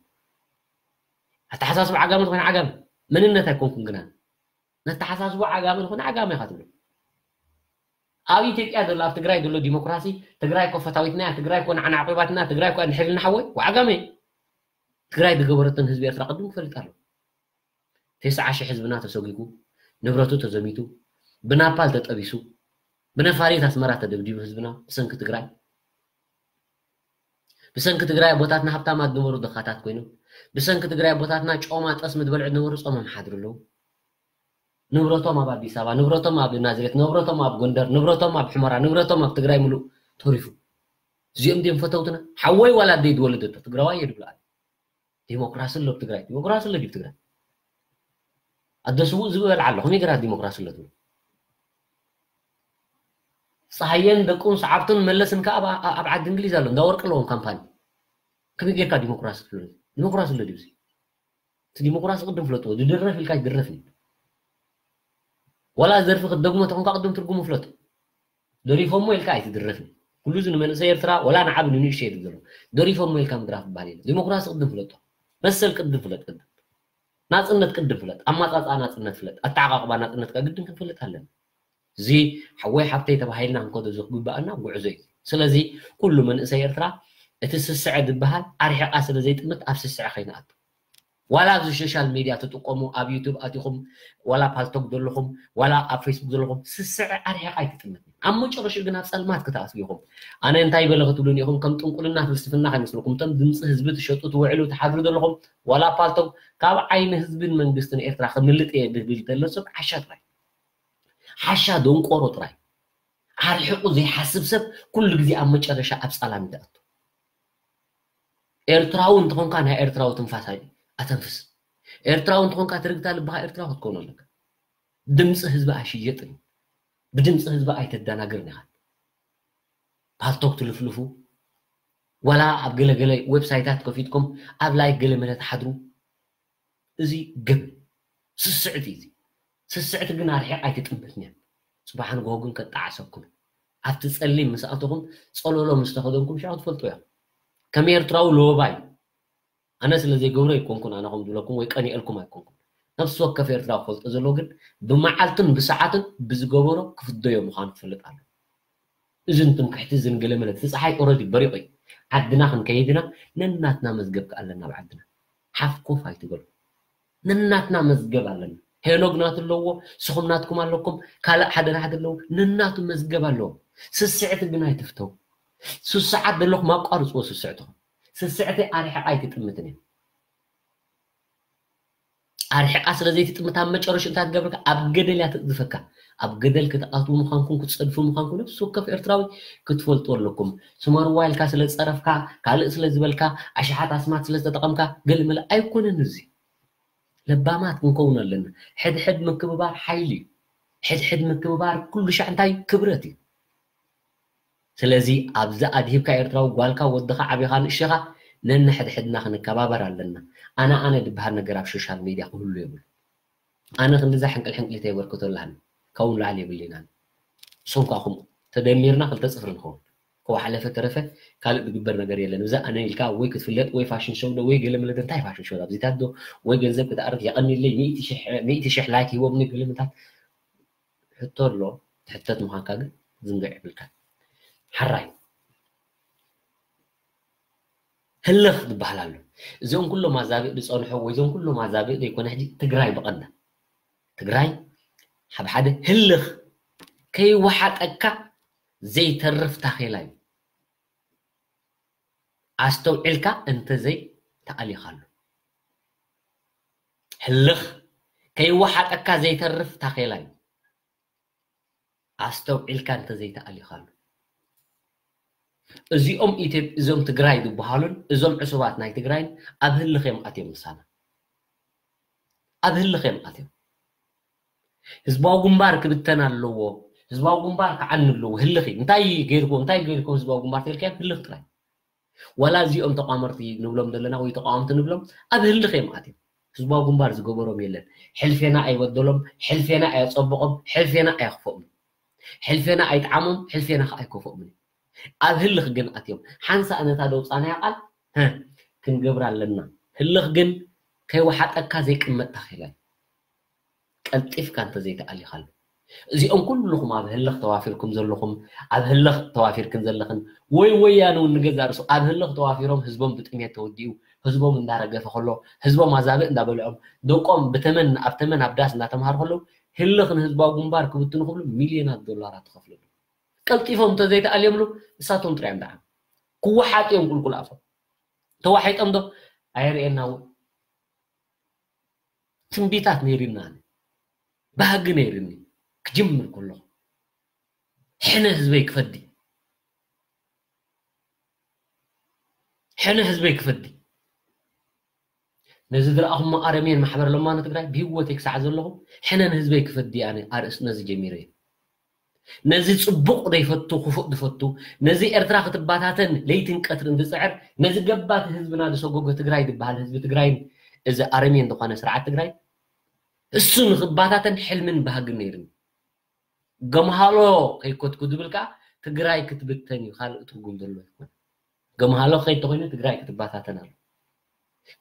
ኣተሓሳስቡ ዓጋመ ዝኾነ ዓጋመ መንነት ኣይኮንኩም ግና ነተሓሳስቡ ዓጋመ ዝኾነ ዓጋመ ኢኻ ትብሉ ኣብ ኢትዮጵያ ዘሎ ኣብ ትግራይ ዘሎ ዲሞክራሲ ትግራይ ኮ ፈታዊትና ትግራይ ኮ ንዓና ዓቂባትና ትግራይ ኮ ንሕልና ሓወይ ዓጋመ ትግራይ ዝገበረትን ህዝቢ ኤርትራ ቅድም ክፈልጥ ኣሎ ተስዓ ሺሕ ህዝብና ተሰጒጉ ንብረቱ ተዘሚቱ ብናፓል ተጠቢሱ ብነፋሪት ኣስመራ ተደብዲቡ ህዝብና ብሰንኪ ትግራይ ብሰንኪ ትግራይ ኣቦታትና ሃብታማት ዝነበሩ ድኻታት ኮይኖም ብሰንኪ ትግራይ ኣቦታትና ጮማ ጠስሚ ዝበልዑ ዝነበሩ ጾሞም ሓድሩ ኣለዉ ንብረቶም ኣብ ኣዲስ ኣበባ ንብረቶም ኣብ ናዝሬት ንብረቶም ኣብ ጎንደር ንብረቶም ኣብ ሕመራ ንብረቶም ኣብ ትግራይ ምሉእ ተሪፉ እዚኦም ድዮም ፈተውትና ሓወይ ዋላ ኣደይ ዝወለደቶ ትግራዋይ እየ ዝብሉ ኣነ ዲሞክራሲ ኣሎ ኣብ ትግራይ ዲሞክራሲ ኣሎ ድዩ ትግራይ ኣደ ስውእ ዝበል ኣሎ ከመይ ገራ ዲሞክራሲ ኣሎ ትብል ፀሃየን ደቁን ሰዓብቱን መለስን ከዓ ኣብ ዓዲ እንግሊዝ ኣሎ እንዳ ወርቂ ኣለዎም ካምፓኒ ከመይ ጌርካ ዲሞክራሲ ትብል ዲሞክራሲ ኣሎ ድዩ እቲ ዲሞክራሲ ቅድም ፍለጥዎ ዝድረፍ ኢልካ ይድረፍ ዋላ ዘርፊ ክትደግሞ ተኾንካ ቅድም ትርጉሙ ፍለጥ ደሪፎሞ ኢልካ ኣይትድረፍን ኩሉ እዚ ንመንእሰይ ኤርትራ ወላ ንዓብ ንንእሽተይ ዝብሎ ደሪፎሞ ኢልካ ምድራፍ ይበሃል የለ ዲሞክራሲ ቅድም ፍለጦ መሰል ቅድም ፍለጥ ቅድም ናፅነት ቅድም ፍለጥ ኣማፃፃ ናፅነት ፍለጥ ኣተዓቃቅባ ናፅነት ግድን ክንፈልጥ ኣለና እዚ ሓወይ ሓብተይ ተባሂልና ክንከዶ ዝግባኣና ጉዕዞ እዩ ስለዚ ኩሉ መንእሰይ ኤርትራ እቲ ስስዐ ዝበሃል ኣርሒቃ ስለ ዘይጥምት ኣብ ስስዐ ከይንኣቱ ዋላ ኣብዚ ሶሻል ሚድያ ትጥቀሙ ኣብ ዩቱብ ኣቲኹም ዋላ ፓልቶክ ዘለኹም ዋላ ኣብ ፌስቡክ ዘለኹም ስስዐ ኣርሒቃ ኣይትጥምት ኣብ መጨረሽኡ ግን ኣብ ፀልማት ክትኣትዉ ኢኹም ኣነ እንታይ በለ ክትብሉን ኢኹም ከም ጥንቁልና ፍልስፍና ከይመስለኩም እቶም ድምፂ ህዝቢ ትሸጡ ትውዕሉ ትሓድሩ ዘለኹም ዋላ ፓልቶክ ካብ ዓይኒ ህዝብን መንግስትን ኤርትራ ክምልጥ እየ ዝብል ዘሎ ሰብ ሓሻ ጥራይ ሓሻ ደንቆሮ ጥራይ ኣርሒቑ ዘይሓስብ ሰብ ኩሉ ግዜ ኣብ መጨረሻ ኣብ ፃላም ይትኣቱ ኤርትራዊ እንተኾንካ ናይ ኤርትራዊ ትንፋስ ኣተንፍስ ኤርትራዊ እንተኾንካ ትርግታ ልብኻ ኤርትራዊ ክትከውን ኣለካ ድምፂ ህዝቢ ኣይሽየጥን እዩ ብድምፂ ህዝቢ ኣይተደናግርን ኢኻ ፓልቶክ ትልፍልፉ ዋላ ኣብ ገለገለ ዌብሳይታት ከፊትኩም ኣብ ላይክ ገለ መለ ትሓድሩ እዚ ግብ ስስዕቲ እዚ ስስዕቲ ግን ኣርሒቕ ኣይትጥምትን እያ ጽባሕ ንግሆ ግን ከጣዓሰኩም ኣብቲ ጸሊም ምስ ኣተኹም ጸሎሎ ምስ ተኸደንኩም ሻዕ ትፈልጡ እያ ከም ኤርትራዊ ሎባይ ኣነ ስለ ዘይገብሮ ኣይኮንኩን ኣነ ከም ዝብለኩም ወይ ቀኒኤልኩም ኣይኮንኩን ነፍሲ ወከፍ ኤርትራዊ ክፈልጦ ዘለዎ ግን ብመዓልትን ብሰዓትን ብዝገበሮ ክፍደዮ ምዃኑ ክፈልጥ ኣሎ እዝን ትምክሕቲ እዝን ገለመለ እቲ ፀሓይ ኦረዲ በሪቑ እዩ ዓድና ክንከይድና ነናትና መዝገብ ከኣለና ኣብ ዓድና ሓፍኮፍ ኣይትበሉ ነናትና መዝገብ ኣለና ሄኖግ ናቱ ኣለዎ ስኹም ናትኩም ኣለኩም ካልእ ሓደ ሓደ ኣለዎ ነናቱ መዝገብ ኣለዎ ስስዕቲ ግን ኣይትፍተው ስስዓት ዘለኹም ኣቋርፅዎ ስስዕትኹም ስስዕቲ ኣርሒቓ ኣይትጥምትን እያ ኣርሒቓ ስለ ዘይትጥምት ኣብ መጨረሽኡ እንታይ ትገብረካ ኣብ ገደል እያ ትቕዝፈካ ኣብ ገደል ክትኣትዉ ምዃንኩም ክትፀድፉ ምዃንኩም ነብሲ ወከፍ ኤርትራዊ ክትፈልጡ ኣለኩም ስመርዋ ኢልካ ስለ ዝፀረፍካ ካልእ ስለ ዝበልካ ኣሽሓት ኣስማት ስለ ዝተጠቐምካ ገለመለ ኣይኮነን እዚ ለባማት ክንከውን ኣለና ሕድሕድ ምክብባር ሓይሊ እዩ ሕድሕድ ምክብባር ኩሉ ሻዕ እንታይ ክብረት እዩ ስለዚ ኣብዚ ኣድሂብካ ኤርትራዊ ጓልካ ወድኻ ዓብኻ ንእሸኻ ነንሕድሕድና ክንከባበር ኣለና ኣነ ኣነ ዝበሃል ነገር ኣብ ሶሻል ሚድያ ክህሉ የብሉ ኣነ ክንድዛ ሕንቅል ሕንቅሊ ተየበርክቶ ኣለሃኒ ካብኡ ንላዕሊ የብልናን ንሶም ከዓ ከምኡ ተደሚርና ክልተ ፅፍሪ ንኸውን ከው ሓለፈ ተረፈ ካልእ ዝግበር ነገር የለን እዛ ኣነ ኢልካ ወይ ክትፍለጥ ወይ ፋሽን ሾው ዶ ወይ ገለ መለደ እንታይ ፋሽን ሾው ኣብዚታት ዶ ወይ ገንዘብ ክትኣርፍ የቐኒለይ ሚእቲ ሽሕ ላይክ ሂቦምኒ ገለ ምታት ሕቶ ኣሎ ትሕተት ምዃንካ ግን ዝንግዕ የብልካ ሓራይ ህልኽ ዝበሃል ኣሎ እዞም ኩሎም ኣዛብእ ዝፀንሖ ወይ እዞም ኩሎም ኣዛብእ ዘይኮነ ሕጂ ትግራይ ብቐንዳ ትግራይ ሓብ ሓደ ህልኽ ከይወሓጠካ ዘይተርፍ ታኼላ እዩ ኣስተውዒልካ እንተዘይ ተኣሊኻሉ ህልኽ ከይወሓጠካ ዘይተርፍ ታኼላ እዩ ኣስተውዒልካ እንተዘይተኣሊኻሉ እዚኦም ኢትዮጵ እዞም ትግራይ ዝበሃሉን እዞም ዕሱባት ናይ ትግራይን ኣብ ህልኽ እዮም ኣትዮም ምሳና ኣብ ህልኽ እዮም ኣትዮም ህዝባዊ ግንባር ክብተን ኣለዎ ህዝባዊ ግንባር ክዓኒ ኣለዎ ህልኽ እንታይ ገይርክዎ እንታይ ገይርክዎ ህዝባዊ ግንባር ተልካዮም ህልኽ ጥራይ ዋላ እዚኦም ተቋመርቲ ንብሎም ዘለና ወይ ተቃወምቲ ንብሎም ኣብ ህልኽ እዮም ኣትዮም ህዝባዊ ግንባር ዝገበሮም የለን። ሕልፌና ኣይበደሎም፣ ሕልፌና ኣየጸብቖም፣ ሕልፌና ኣየኽፍኦምን። ሕልፌና ኣይጥዓሞም፣ ሕልፌና ከኣ ኣይከፍኦምን። ኣብ ህልኽ ግን ኣትዮም። ሓንሳእ ነታ ደውጻናያ ቃል፣ ሀ፣ ክንገብራ ኣለና። ህልኽ ግን ከይወሓጠካ ዘይቅመጥ ታኺላ እዩ። ቀልጢፍካ እንተዘይተኣሊኻሉ። እዚኦም ኩልኹም ኣብ ህልኽ ተዋፊርኩም ዘለኹም፣ ኣብ ህልኽ ተዋፊርክን ዘለኽን፣ ወይ ወያነ እውን ንገዛእ ርእሱ ኣብ ህልኽ ተዋፊሮም ህዝቦም ብጥሜት ተወዲኡ፣ ህዝቦም እንዳረገፈ ከሎ፣ ህዝቦም ኣዛብእ እንዳበልዖም፣ ደቆም ብተመን ኣብ ተመን ኣብ ዳስ እንዳተምሃሩ ከለዉ፣ ህልኽ ንህዝባዊ ግንባር ክብትኑ ክብሉ ሚልዮናት ዶላራት ትኸፍለሉ። ቀልጢፎም እንተዘይተኣልዮምሉ፣ ንሳቶም ጥራይ እዮም ደኣ ክወሓጡ እዮም ቁልቁል ኣፎም። ተዋሒጦም ዶ? ኣየርእየና እውን። ትንቢታት ነይርና ኣነ። ባህጊ ነይርኒ። ክጅምር ከለኹ። ሕነ ህዝበይ ክፈዲ። ሕነ ህዝበይ ክፈዲ። ነዚ ዝረኣኹሞ ኣረሜን ማሕበር ለማኖ ትግራይ ብህይወተይ ክሳዕ ዘለኹ ሕነ ንህዝበይ ክፈዲ ኣነ ኣርእስ ነዚ ጀሚረ እየ። ነዚ ጽቡቕ ዘይፈቱ፣ ክፉእ ዝፈቱ፣ ነዚ ኤርትራ ክትባታተን ለይትን ቀትርን ዝጽዕር፣ ነዚ ገባቲ ህዝብና ዝሰጎጎ ትግራይ ዝበሃል ህዝቢ ትግራይን እዚ ኣረሜን ዝኾነ ስርዓት ትግራይ፣ እሱ ንክባታተን ሕልምን ባህግን ነይርኒ። ገምሃሎ ከይኮትኩ ዝብል ከኣ ትግራይ ክትብተን እዩ፣ ካልእ ትርጉም ዘለዎ ኣይኮነ። ገምሃሎ ከይተኾይኑ ትግራይ ክትባታተን ኣሎ።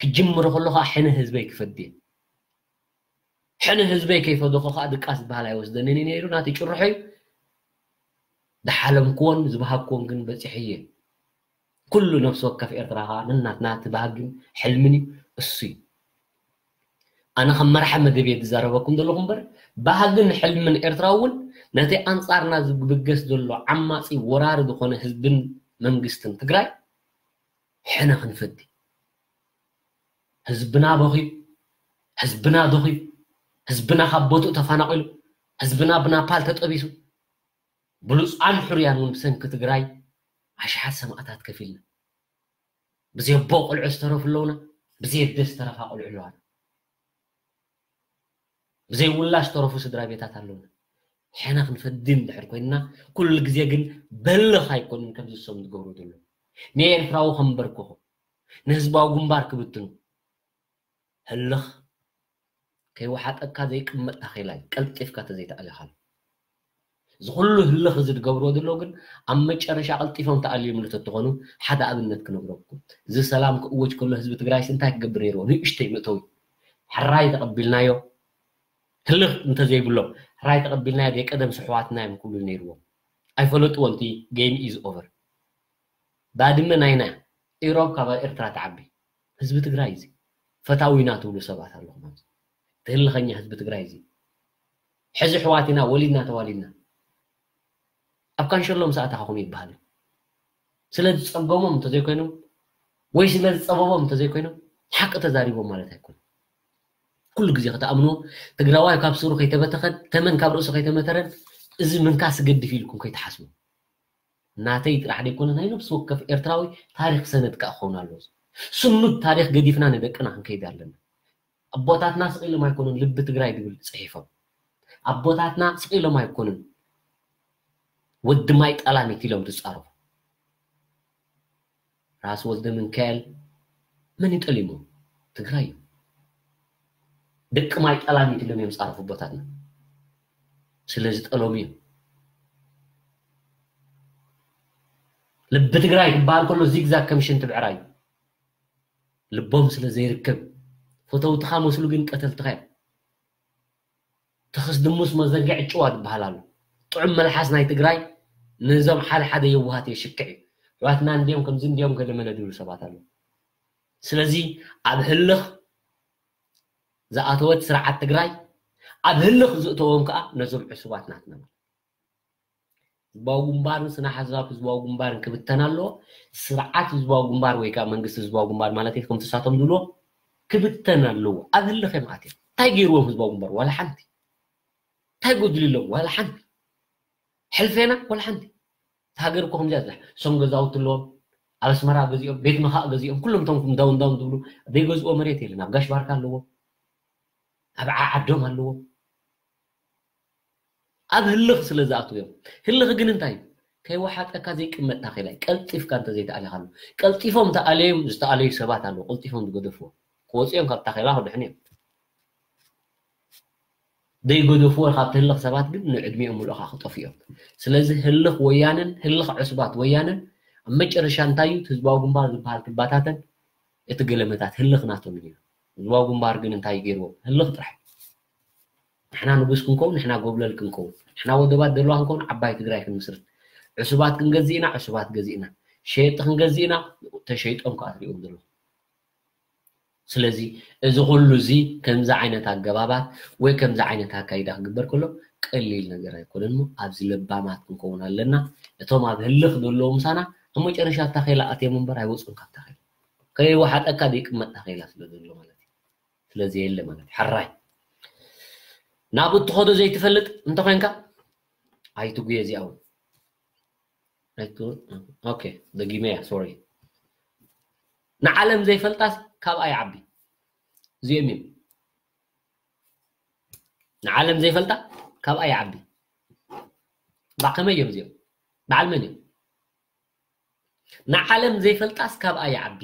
ክጅምሮ ከሎ ከኣ ሕነ ህዝበይ ክፈዲ እየ። ሕነ ህዝበይ ከይፈደኹ ከኣ ድቃስ ዝበሃል ኣይወስደንን እዩ ነይሩ፣ ናተይ ጭርሖ እዩ። ዝሓለምክዎን ዝበሃግክዎን ግን በጺሐ እየ። ኩሉ ነፍሲ ወከፍ ኤርትራ ከኣ ነናትና እቲ ባህግን ሕልምን እዩ፣ እሱ እዩ። ኣነ ከም መራሒ መደብ እየ ዝዛረበኩም ዘለኹ እምበር፣ ባህግን ሕልምን ኤርትራ እውን ነቲ ኣንጻርና ዝብገስ ዘሎ ዓማጺ ወራሪ ዝኾነ ህዝብን መንግስትን ትግራይ ሕነ ክንፈዲ። ህዝብና በኺዩ፣ ህዝብና ደኺዩ፣ ህዝብና ካብ ቦትኡ ተፈናቒሉ፣ ህዝብና ብናፓል ተጠቢሱ፣ ብሉጻን ሕሩያን እውን ብሰንኪ ትግራይ ኣሽሓት ሰማእታት ከፊልና። ብዘይ ኣቦ ቆልዑ ዝተረፉ ኣለውና፣ ብዘይ ኣደ ዝተረፋ ቆልዑ ኣለዋና። ብዘይ ውላድ ዝተረፉ ስድራ ቤታት ኣለውና። ሕነ ክንፈዲ እንድሕር ኮይንና፣ ኩሉ ግዜ ግን በልኽ ኣይኮኑን ከምዚ ዝሰሙ ዝገብሩ ዘለዉ። ንኤርትራዊ ከንበርክኹ፣ ንህዝባዊ ግንባር ክብትኑ፣ ህልኽ ከይወሓጠካ ዘይቅመጥ ታኼላ እዩ፣ ቀልጢፍካ ተዘይተኣሊኻሉ። እዚ ኩሉ ህልኽ እዚ ዝገብርዎ ዘለዉ ግን ኣብ መጨረሻ ቀልጢፎም ተኣልዮም እንተተኾኑ ሓደ ኣብነት ክነግረኩም። እዚ ሰላም ክእወጅ ከሎ ህዝቢ ትግራይስ እንታይ ክገብር ነይርዎ? ንእሽተይ መእተዊ። ሕራይ ተቐቢልናዮ። ህልኽ እንተዘይብሎም፣ ሕራይ ተቐቢልናዮ፣ ደይ ቀደም ስሕዋትና እዮም ክብሉ ነይርዎም። ኣይፈለጥዎን፣ እቲ game is over። ባድመ ናይና እያ። ኢሮብ ካብ ኤርትራ ትዓቢ። ህዝቢ ትግራይ እዚ ፈታዊና ትብሉ ሰባት ኣለኹም ኣብዚ። እቲ ህልኸኛ ህዝቢ ትግራይ እዚ። ሕዚ ኣሕዋት ኢና፣ ወሊድና ተዋሊድና። ኣብ ካንሸሎ ምስ ኣተኻኹም ይበሃል። ስለ ዝጸገሞም እንተዘይኮይኖም ወይ ስለ ዝጸበቦም እንተዘይኮይኖም ሓቂ ተዛሪቦም ማለት ኣይኮነን። ኩሉ ግዜ ክትኣምንዎ፣ ትግራዋይ ካብ ስሩ ከይተበተኸን ተመን ካብ ርእሱ ከይተመተረን እዚ ምንካስ ይገድፍ ኢልኩም ከይትሓስቡ። ናተይ ጥራሕ ዘይኮነ ናይ ነፍሲ ወከፍ ኤርትራዊ ታሪኽ ሰነድ ከኣ ክኸውን ኣለዎ። ስኑድ ታሪኽ ገዲፍና ንደቅና ክንከይድ ኣለና። ኣቦታትና ስቕ ኢሎም ኣይኮኑን ልቢ ትግራይ ዝብል ጽሒፎም። ኣቦታትና ስቕ ኢሎም ኣይኮኑን ወዲ ማይ ጠላሚት ኢሎም ዝጻረፉ። ራስ ወልደ ሚካኤል መን ይጠሊሙ? ትግራይ እዩ። ደቂ ማይ ጠላሚት ኢሎም እዮም ዝጻረፉ ኣቦታትና። ስለ ዝጠለሙ እዮም። ልቢ ትግራይ ክበሃል ከሎ ዚግዛግ ከም ሽንቲ ብዕራይ እዩ። ልቦም ስለ ዘይርከብ፣ ፈተውትኻ መስሉ ግን ቀተልትኻ እዮም። ተኸስ ድሙስ መዘንግዕ ጭዋ ዝበሃል ኣሎ። ጥዑም መልሓስ ናይ ትግራይ ነዞም ሓደ ሓደ የዋሃት የሽክዕ እዩ። ኣሕዋትና እንድዮም ከምዚ እንድዮም ገለ መለ ዝብሉ ሰባት ኣለዉ። ስለዚ ኣብ ህልኽ ዝኣተወት ስርዓት ትግራይ፣ ኣብ ህልኽ ዝእተዎም ከኣ ነዞም ዕሱባት ናትና ማለት። ህዝባዊ ግንባርን ስነ ሓሳብ ህዝባዊ ግንባርን ክብተን ኣለዎ። ስርዓት ህዝባዊ ግንባር ወይ ከኣ መንግስቲ ህዝባዊ ግንባር ማለት እዩ፣ ከምቲ ንሳቶም ዝብልዎ ክብተን ኣለዎ። ኣብ ህልኽ እዮም ኣትዮም። እንታይ ገይርዎም ህዝባዊ ግንባር? ዋላ ሓንቲ። እንታይ ጎድልሎም? ዋላ ሓንቲ። ሕልፌና ዋላ ሓንቲ። እታ ሃገር እኮ ከምዚኣ እያ። እሶም ገዛውቲ ኣለዎም፣ ኣብ ኣስመራ ገዚኦም፣ ቤት መኻእ ገዚኦም፣ ኩሎም እቶም እንዳውን እንዳውን ዝብሉ ዘይገዝእዎ መሬት የለን። ኣብ ጋሽ ባርካ ኣለዎም፣ ኣብ ዓ-፣ ዓዶም ኣለዎም። ኣብ ህልኽ ስለ ዝኣትዉ እዮም። ህልኽ ግን እንታይ እዩ? ከይወሓጠካ ዘይቅመጥ ታኼላ እዩ። ቀልጢፍካ እንተዘይተኣሊኻሉ። ቀልጢፎም ተኣለዮም፣ ዝተኣለዩ ሰባት ኣለዉ፣ ቀልጢፎም ዝገደፍዎ። ክወፁ እዮም ካብ ታኼላ ክድሕኑ እዮም። ዘይገደፍዎ ካብቲ ህልኽ ሰባት ግን ንዕድሚኦም ሙሉእ ከዓ ክጠፍኡ እዮም። ስለዚ ህልኽ ወያነን ህልኽ ዕሱባት ወያነን ኣብ መጨረሻ እንታይ እዩ? እቲ ህዝባዊ ግንባር ዝበሃል ክባታተን እቲ ገለመታት ህልኽ ናቶም እዩ። ህዝባዊ ግንባር ግን እንታይ ገይርዎ? ህልኽ ጥራሕ። ንሕና ንጉስ ክንከውን፣ ንሕና ጎብለል ክንከውን፣ ንሕና ወደባት ደለዋ ክንከውን፣ ዓባይ ትግራይ ክንምስርት፣ ዕሱባት ክንገዝእ ኢና፣ ዕሱባት ገዚእና፣ ሸየጥቲ ክንገዝእ ኢና፣ ተሸይጦም ከዓ ትሪእዎም ዘለኹም። ስለዚ እዚ ኩሉ እዚ ከምዚ ዓይነት ኣገባባት ወይ ከምዚ ዓይነት ኣካይዳ ክግበር ከሎ ቀሊል ነገር ኣይኮነን። እሞ ኣብዚ ለባማት ክንከውን ኣለና። እቶም ኣብ ህልኽ ዘለዉ ምሳና ኣብ መጨረሻ ኣብ ታኼላ ኣትዮም እምበር ኣይወፁን ካብ ታኼላ። ከይወሓጠካ ዘይቅመጥ ታኼላ ስለ ዘሎ ማለት እዩ። ስለዚ የለ ማለት እዩ። ሕራይ ናብ እትኸዶ ዘይትፈልጥ እንተኾይንካ ኣይትጉየ እዚኣ እውን። ኣይትጉየ። ኦኬ፣ ደጊመያ፣ ሶሪ። ንዓለም ዘይፈልጣስ ካብኣ ይዓቢ። እዚኦም እዮም። ንዓለም ዘይፈልጣ ካብኣ ይዓቢ። ባ ከመይ እዮም እዚኦም? በዓል መን እዮም? ንዓለም ዘይፈልጣስ ካብኣ ይዓቢ።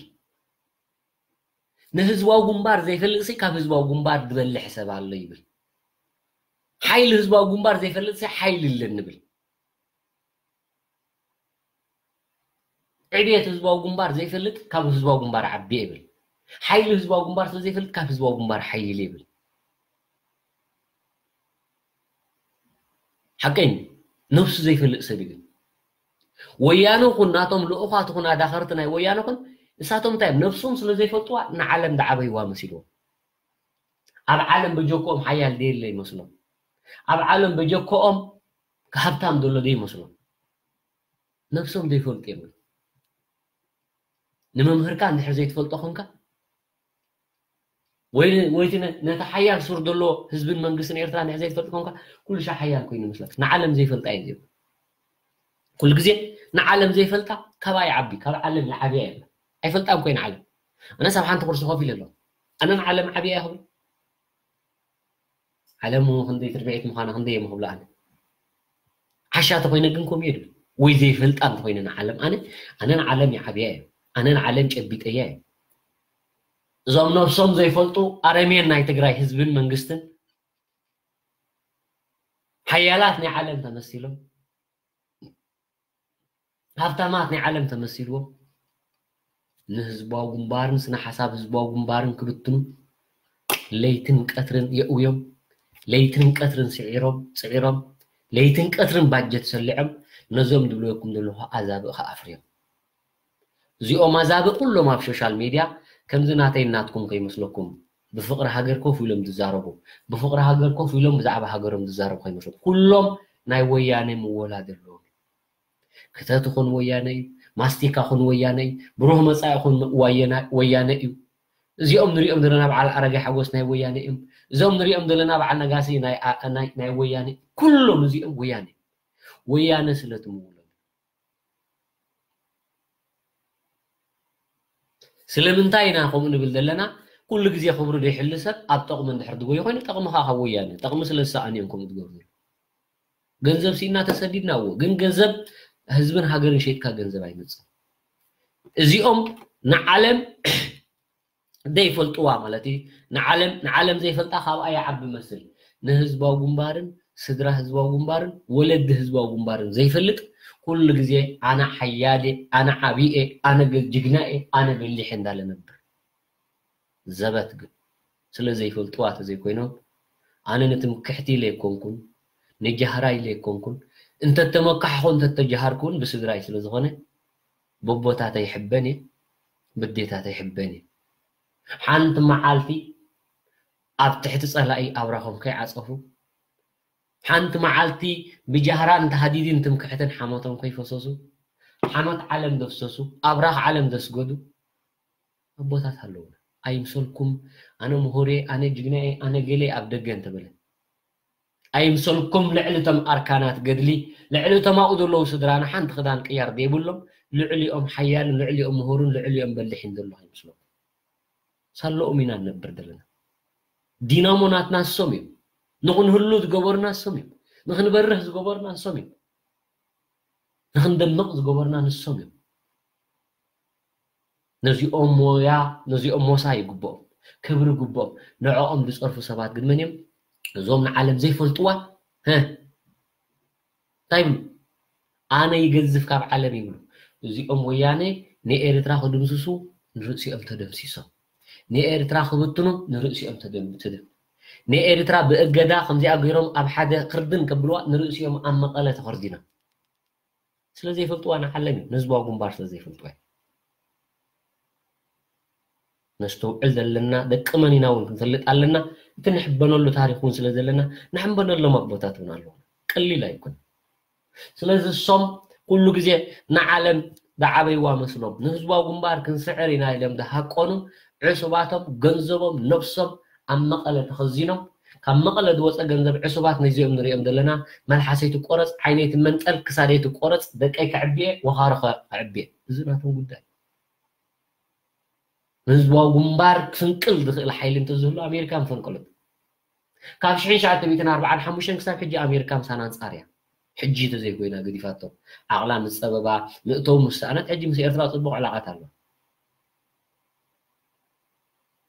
ንህዝባዊ ግንባር ዘይፈልጥሲ ካብ ህዝባዊ ግንባር ዝበልሕ ሰብ ኣሎ ይብል። ሓይሊ ህዝባዊ ግንባር ዘይፈልጥሲ ሓይሊ ኣለኒ ይብል። ዕብየት ህዝባዊ ግንባር ዘይፈልጥ ካብ ህዝባዊ ግንባር ዓቢ ይብል። ሓይሊ ህዝባዊ ግንባር ስለ ዘይፈልጥ ካብ ህዝባዊ ግንባር ሓይሊ ይብል። ሓቀኝ ነብሱ ዘይፈልጥ ሰብ እዩ። ግን ወያነ ኹን ናቶም ልኡኻት ኹን ኣዳኸርቲ ናይ ወያነ ኹን እሳቶም እንታይ እዮም? ነብሶም ስለ ዘይፈልጥዋ ንዓለም ዝዓበይዋ መሲልዎም። ኣብ ዓለም በጀክኦም ሓያል ደየለ ይመስሎም። ኣብ ዓለም በጀክኦም ሃብታም ዘሎ ደይመስሎም። ነብሶም ዘይፈልጡ እዮም። ግን ንመምህርካ እንድሕር ዘይትፈልጦ ኾንካ ወይ ወይ እቲ ነ- ነቲ ሓያል ሱር ዘሎ ህዝብን መንግስትን ኤርትራ እንድሕር ዘይትፈልጥ ኾንካ ኩሉ ሻዕ ሓያል ኮይኑ ይመስለካ። ንዓለም ዘይፈልጣ እዩ ዝብል። ኩሉ ግዜ ንዓለም ዘይፈልጣ ካባይ ዓቢ ካብ ዓለም ይዓብያ የብላ። ኣይፈልጣን ኮይነ ዓለም። ኣነስ ኣብ ሓንቲ ኩርሲ ኮፍ ኢለ ኣለኹ። ኣነ ንዓለም ዓብያ እየ ክብል ዓለም ክንደይ ትርብዒት ምዃና ክንደይ እዮም ክብሉ ኣነ ዓሻ ተኮይነ ግን ከምኡ እየ ድብል ወይ ዘይፈልጣ እንተኮይነ ንዓለም ኣነ ኣነ ንዓለም ይዓብያ እየ ኣነ ንዓለም ጨቢጠያ እየ እዞም ነብሶም ዘይፈልጡ ኣረሜን ናይ ትግራይ ህዝብን መንግስትን ሓያላት ናይ ዓለም ተመሲሎም ሃብታማት ናይ ዓለም ተመሲልዎም ንህዝባዊ ግንባርን ስነ ሓሳብ ህዝባዊ ግንባርን ክብትኑ ለይትን ቀትርን የእውዮም ለይትን ቀትርን ስዒሮም ፅዒሮም ለይትን ቀትርን ባጀት ሰሊዖም ነዞም ድብለኩም ዘለኹ ኣዛብእ ከኣፍርዮም እዚኦም ኣዛብእ ኩሎም ኣብ ሶሻል ሚድያ ከምዚ ናተይ ናትኩም ከይመስለኩም ብፍቅሪ ሃገር ኮፍ ኢሎም ዝዛረቡ ብፍቅሪ ሃገር ኮፍ ኢሎም ብዛዕባ ሃገሮም ዝዛረቡ ከይመስለኩም ኩሎም ናይ ወያነ ምወላ ዘለዎም ክተት ኹን ወያነ እዩ ማስቲካ ኹን ወያነ እዩ ብሩህ መፃኢ ኹን ወያነ እዩ እዚኦም ንሪኦም ዘለና በዓል ኣረጋይ ሓጎስ ናይ ወያነ እዮም እዞም ንሪኦም ዘለና በዓል ነጋሲ ናይ ወያነ ኩሎም እዚኦም ወያነ ወያነ ስለ ትምውሎም ስለምንታይ ኢና ከምኡ ንብል ዘለና ኩሉ ግዜ ክብሩ ዘይሕሉ ሰብ ኣብ ጠቕሚ እንድሕር ድጎይ ኮይኑ ጠቕምኻ ካብ ወያነ ጠቕሚ ስለ ዝሰኣኑ እዮም ከምኡ ዝገብሩ ገንዘብ ሲእና ተሰዲድና እዎ ግን ገንዘብ ህዝብን ሃገርን ሸይጥካ ገንዘብ ኣይመፅእ እዚኦም ንዓለም ዘይፈልጥዋ ማለት እዩ ንዓለም ንዓለም ዘይፈልጣ ካብኣ ይዓቢ መስል ንህዝባዊ ግንባርን ስድራ ህዝባዊ ግንባርን ወለዲ ህዝባዊ ግንባርን ዘይፈልጥ ኩሉ ግዜ ኣነ ሓያል ኣነ ዓብየ ኣነ ጅግና እየ ኣነ በሊሕ እንዳለ ነብር ዘበት ግን ስለ ዘይፈልጥዋ ተዘይኮይኖም ኣነ ንትምክሕቲ ኢለ ኣይኮንኩን ንጃህራ ኢለ ኣይኮንኩን እንተተመካሕኹ እንተተጃሃርኩን ብስድራይ ስለ ዝኾነ በቦታተይ ይሕበን እየ ብዴታተይ ይሕበን እየ ሓንቲ መዓልቲ ኣብ ትሕቲ ጸላኢ ኣብራኾም ከይዓጸፉ ሓንቲ መዓልቲ ብጃህራን ተሃዲድን ትምክሕትን ሓሞቶም ከይፈሰሱ ሓሞት ዓለም ዘፍሰሱ ኣብራኽ ዓለም ዘስገዱ ኣቦታት ኣለውና ኣይምሰልኩም ኣነ ምሁር እየ ኣነ ጅግና እየ ኣነ ገለ ኣብ ደገ እንተበለ ኣይምሰልኩም ልዕሊ እቶም ኣርካናት ገድሊ ልዕሊ እቶም ኣብኡ ዘለዉ ስድራና ሓንቲ ክዳን ቅያር ዘይብሎም ልዕሊኦም ሓያልን ልዕሊኦም ምሁርን ልዕሊኦም በሊሕን ዘሎ ኣይምስለኩም ሳለኦም ኢና ንነብር ዘለና ዲናሞ ናትና ንሶም እዮም ንክንህሉ ዝገበሩና ንሶም እዮም ንክንበርህ ዝገበሩና ንሶም እዮም ንክንደምቕ ዝገበሩና ንሶም እዮም ነዚኦም ሞያ ነዚኦም ሞሳ ይግብኦም ክብሪ ይግብኦም ንዕኦም ዝፀርፉ ሰባት ግን መን እዮም እዞም ንዓለም ዘይፈልጥዋ እንታይ ይብሉ? ኣነ ይገዝፍ ካብ ዓለም ይብሉ። እዚኦም ወያነ ንኤርትራ ክድምስሱ ንርእሲኦም ተደምሲሶም፣ ንኤርትራ ክብትኑ ንርእሲኦም ተደምትድም፣ ንኤርትራ ብእገዳ ከምዚኣ ገይሮም ኣብ ሓደ ክርድን ከብልዋ ንርእሲኦም ኣብ መቐለ ተኸርዲኖም። ስለ ዘይፈልጥዋ ንዓለም እዩ፣ ንህዝባዊ ግንባር ስለ ዘይፈልጥዋ እዩ። ነስተውዕል ዘለና ደቂ መን ኢና እውን ክንፈልጥ ኣለና። እቲ ንሕበነሉ ታሪክ እውን ስለ ዘለና ንሕበነሎም ኣቦታት እውን ኣለዉ። ቀሊል ኣይኮን። ስለዚ እሶም ኩሉ ግዜ ንዓለም ዝዓበይዋ መስሎም ንህዝባዊ ግንባር ክንስዕር ኢና ኢሎም ዝሃቀኑ ዕሱባቶም ገንዘቦም ነብሶም ኣብ መቐለ ተኸዚኖም ካብ መቐለ ዝወፀ ገንዘብ ዕሱባት ነዚኦም ንሪኦም ዘለና መልሓሰይ ትቆረፅ ዓይነይ ትመንጠል ክሳደይ ትቆረፅ ደቀይ ከዕብየ ወኻሮ ከዕብየ እዚ ናቶም ጉዳይ። ንህዝባዊ ግንባር ክፍንቅል ዝኽእል ሓይሊ እንተዝህሉ ኣሜሪካ ምፈንቀሉት። ካብ ሽሕን ትሽዓተ ሚእትን ኣርባዓን ሓሙሽተን ክሳብ ሕጂ ኣሜሪካ ምሳና ኣንጻር እያ። ሕጂ ተዘይኮይና ገዲፋቶ ዓቕላ ምስ ጸበባ ምእተው ምስ ሰኣነት ሕጂ ምስ ኤርትራ ጽቡቕ ዕላቓት ኣሎ።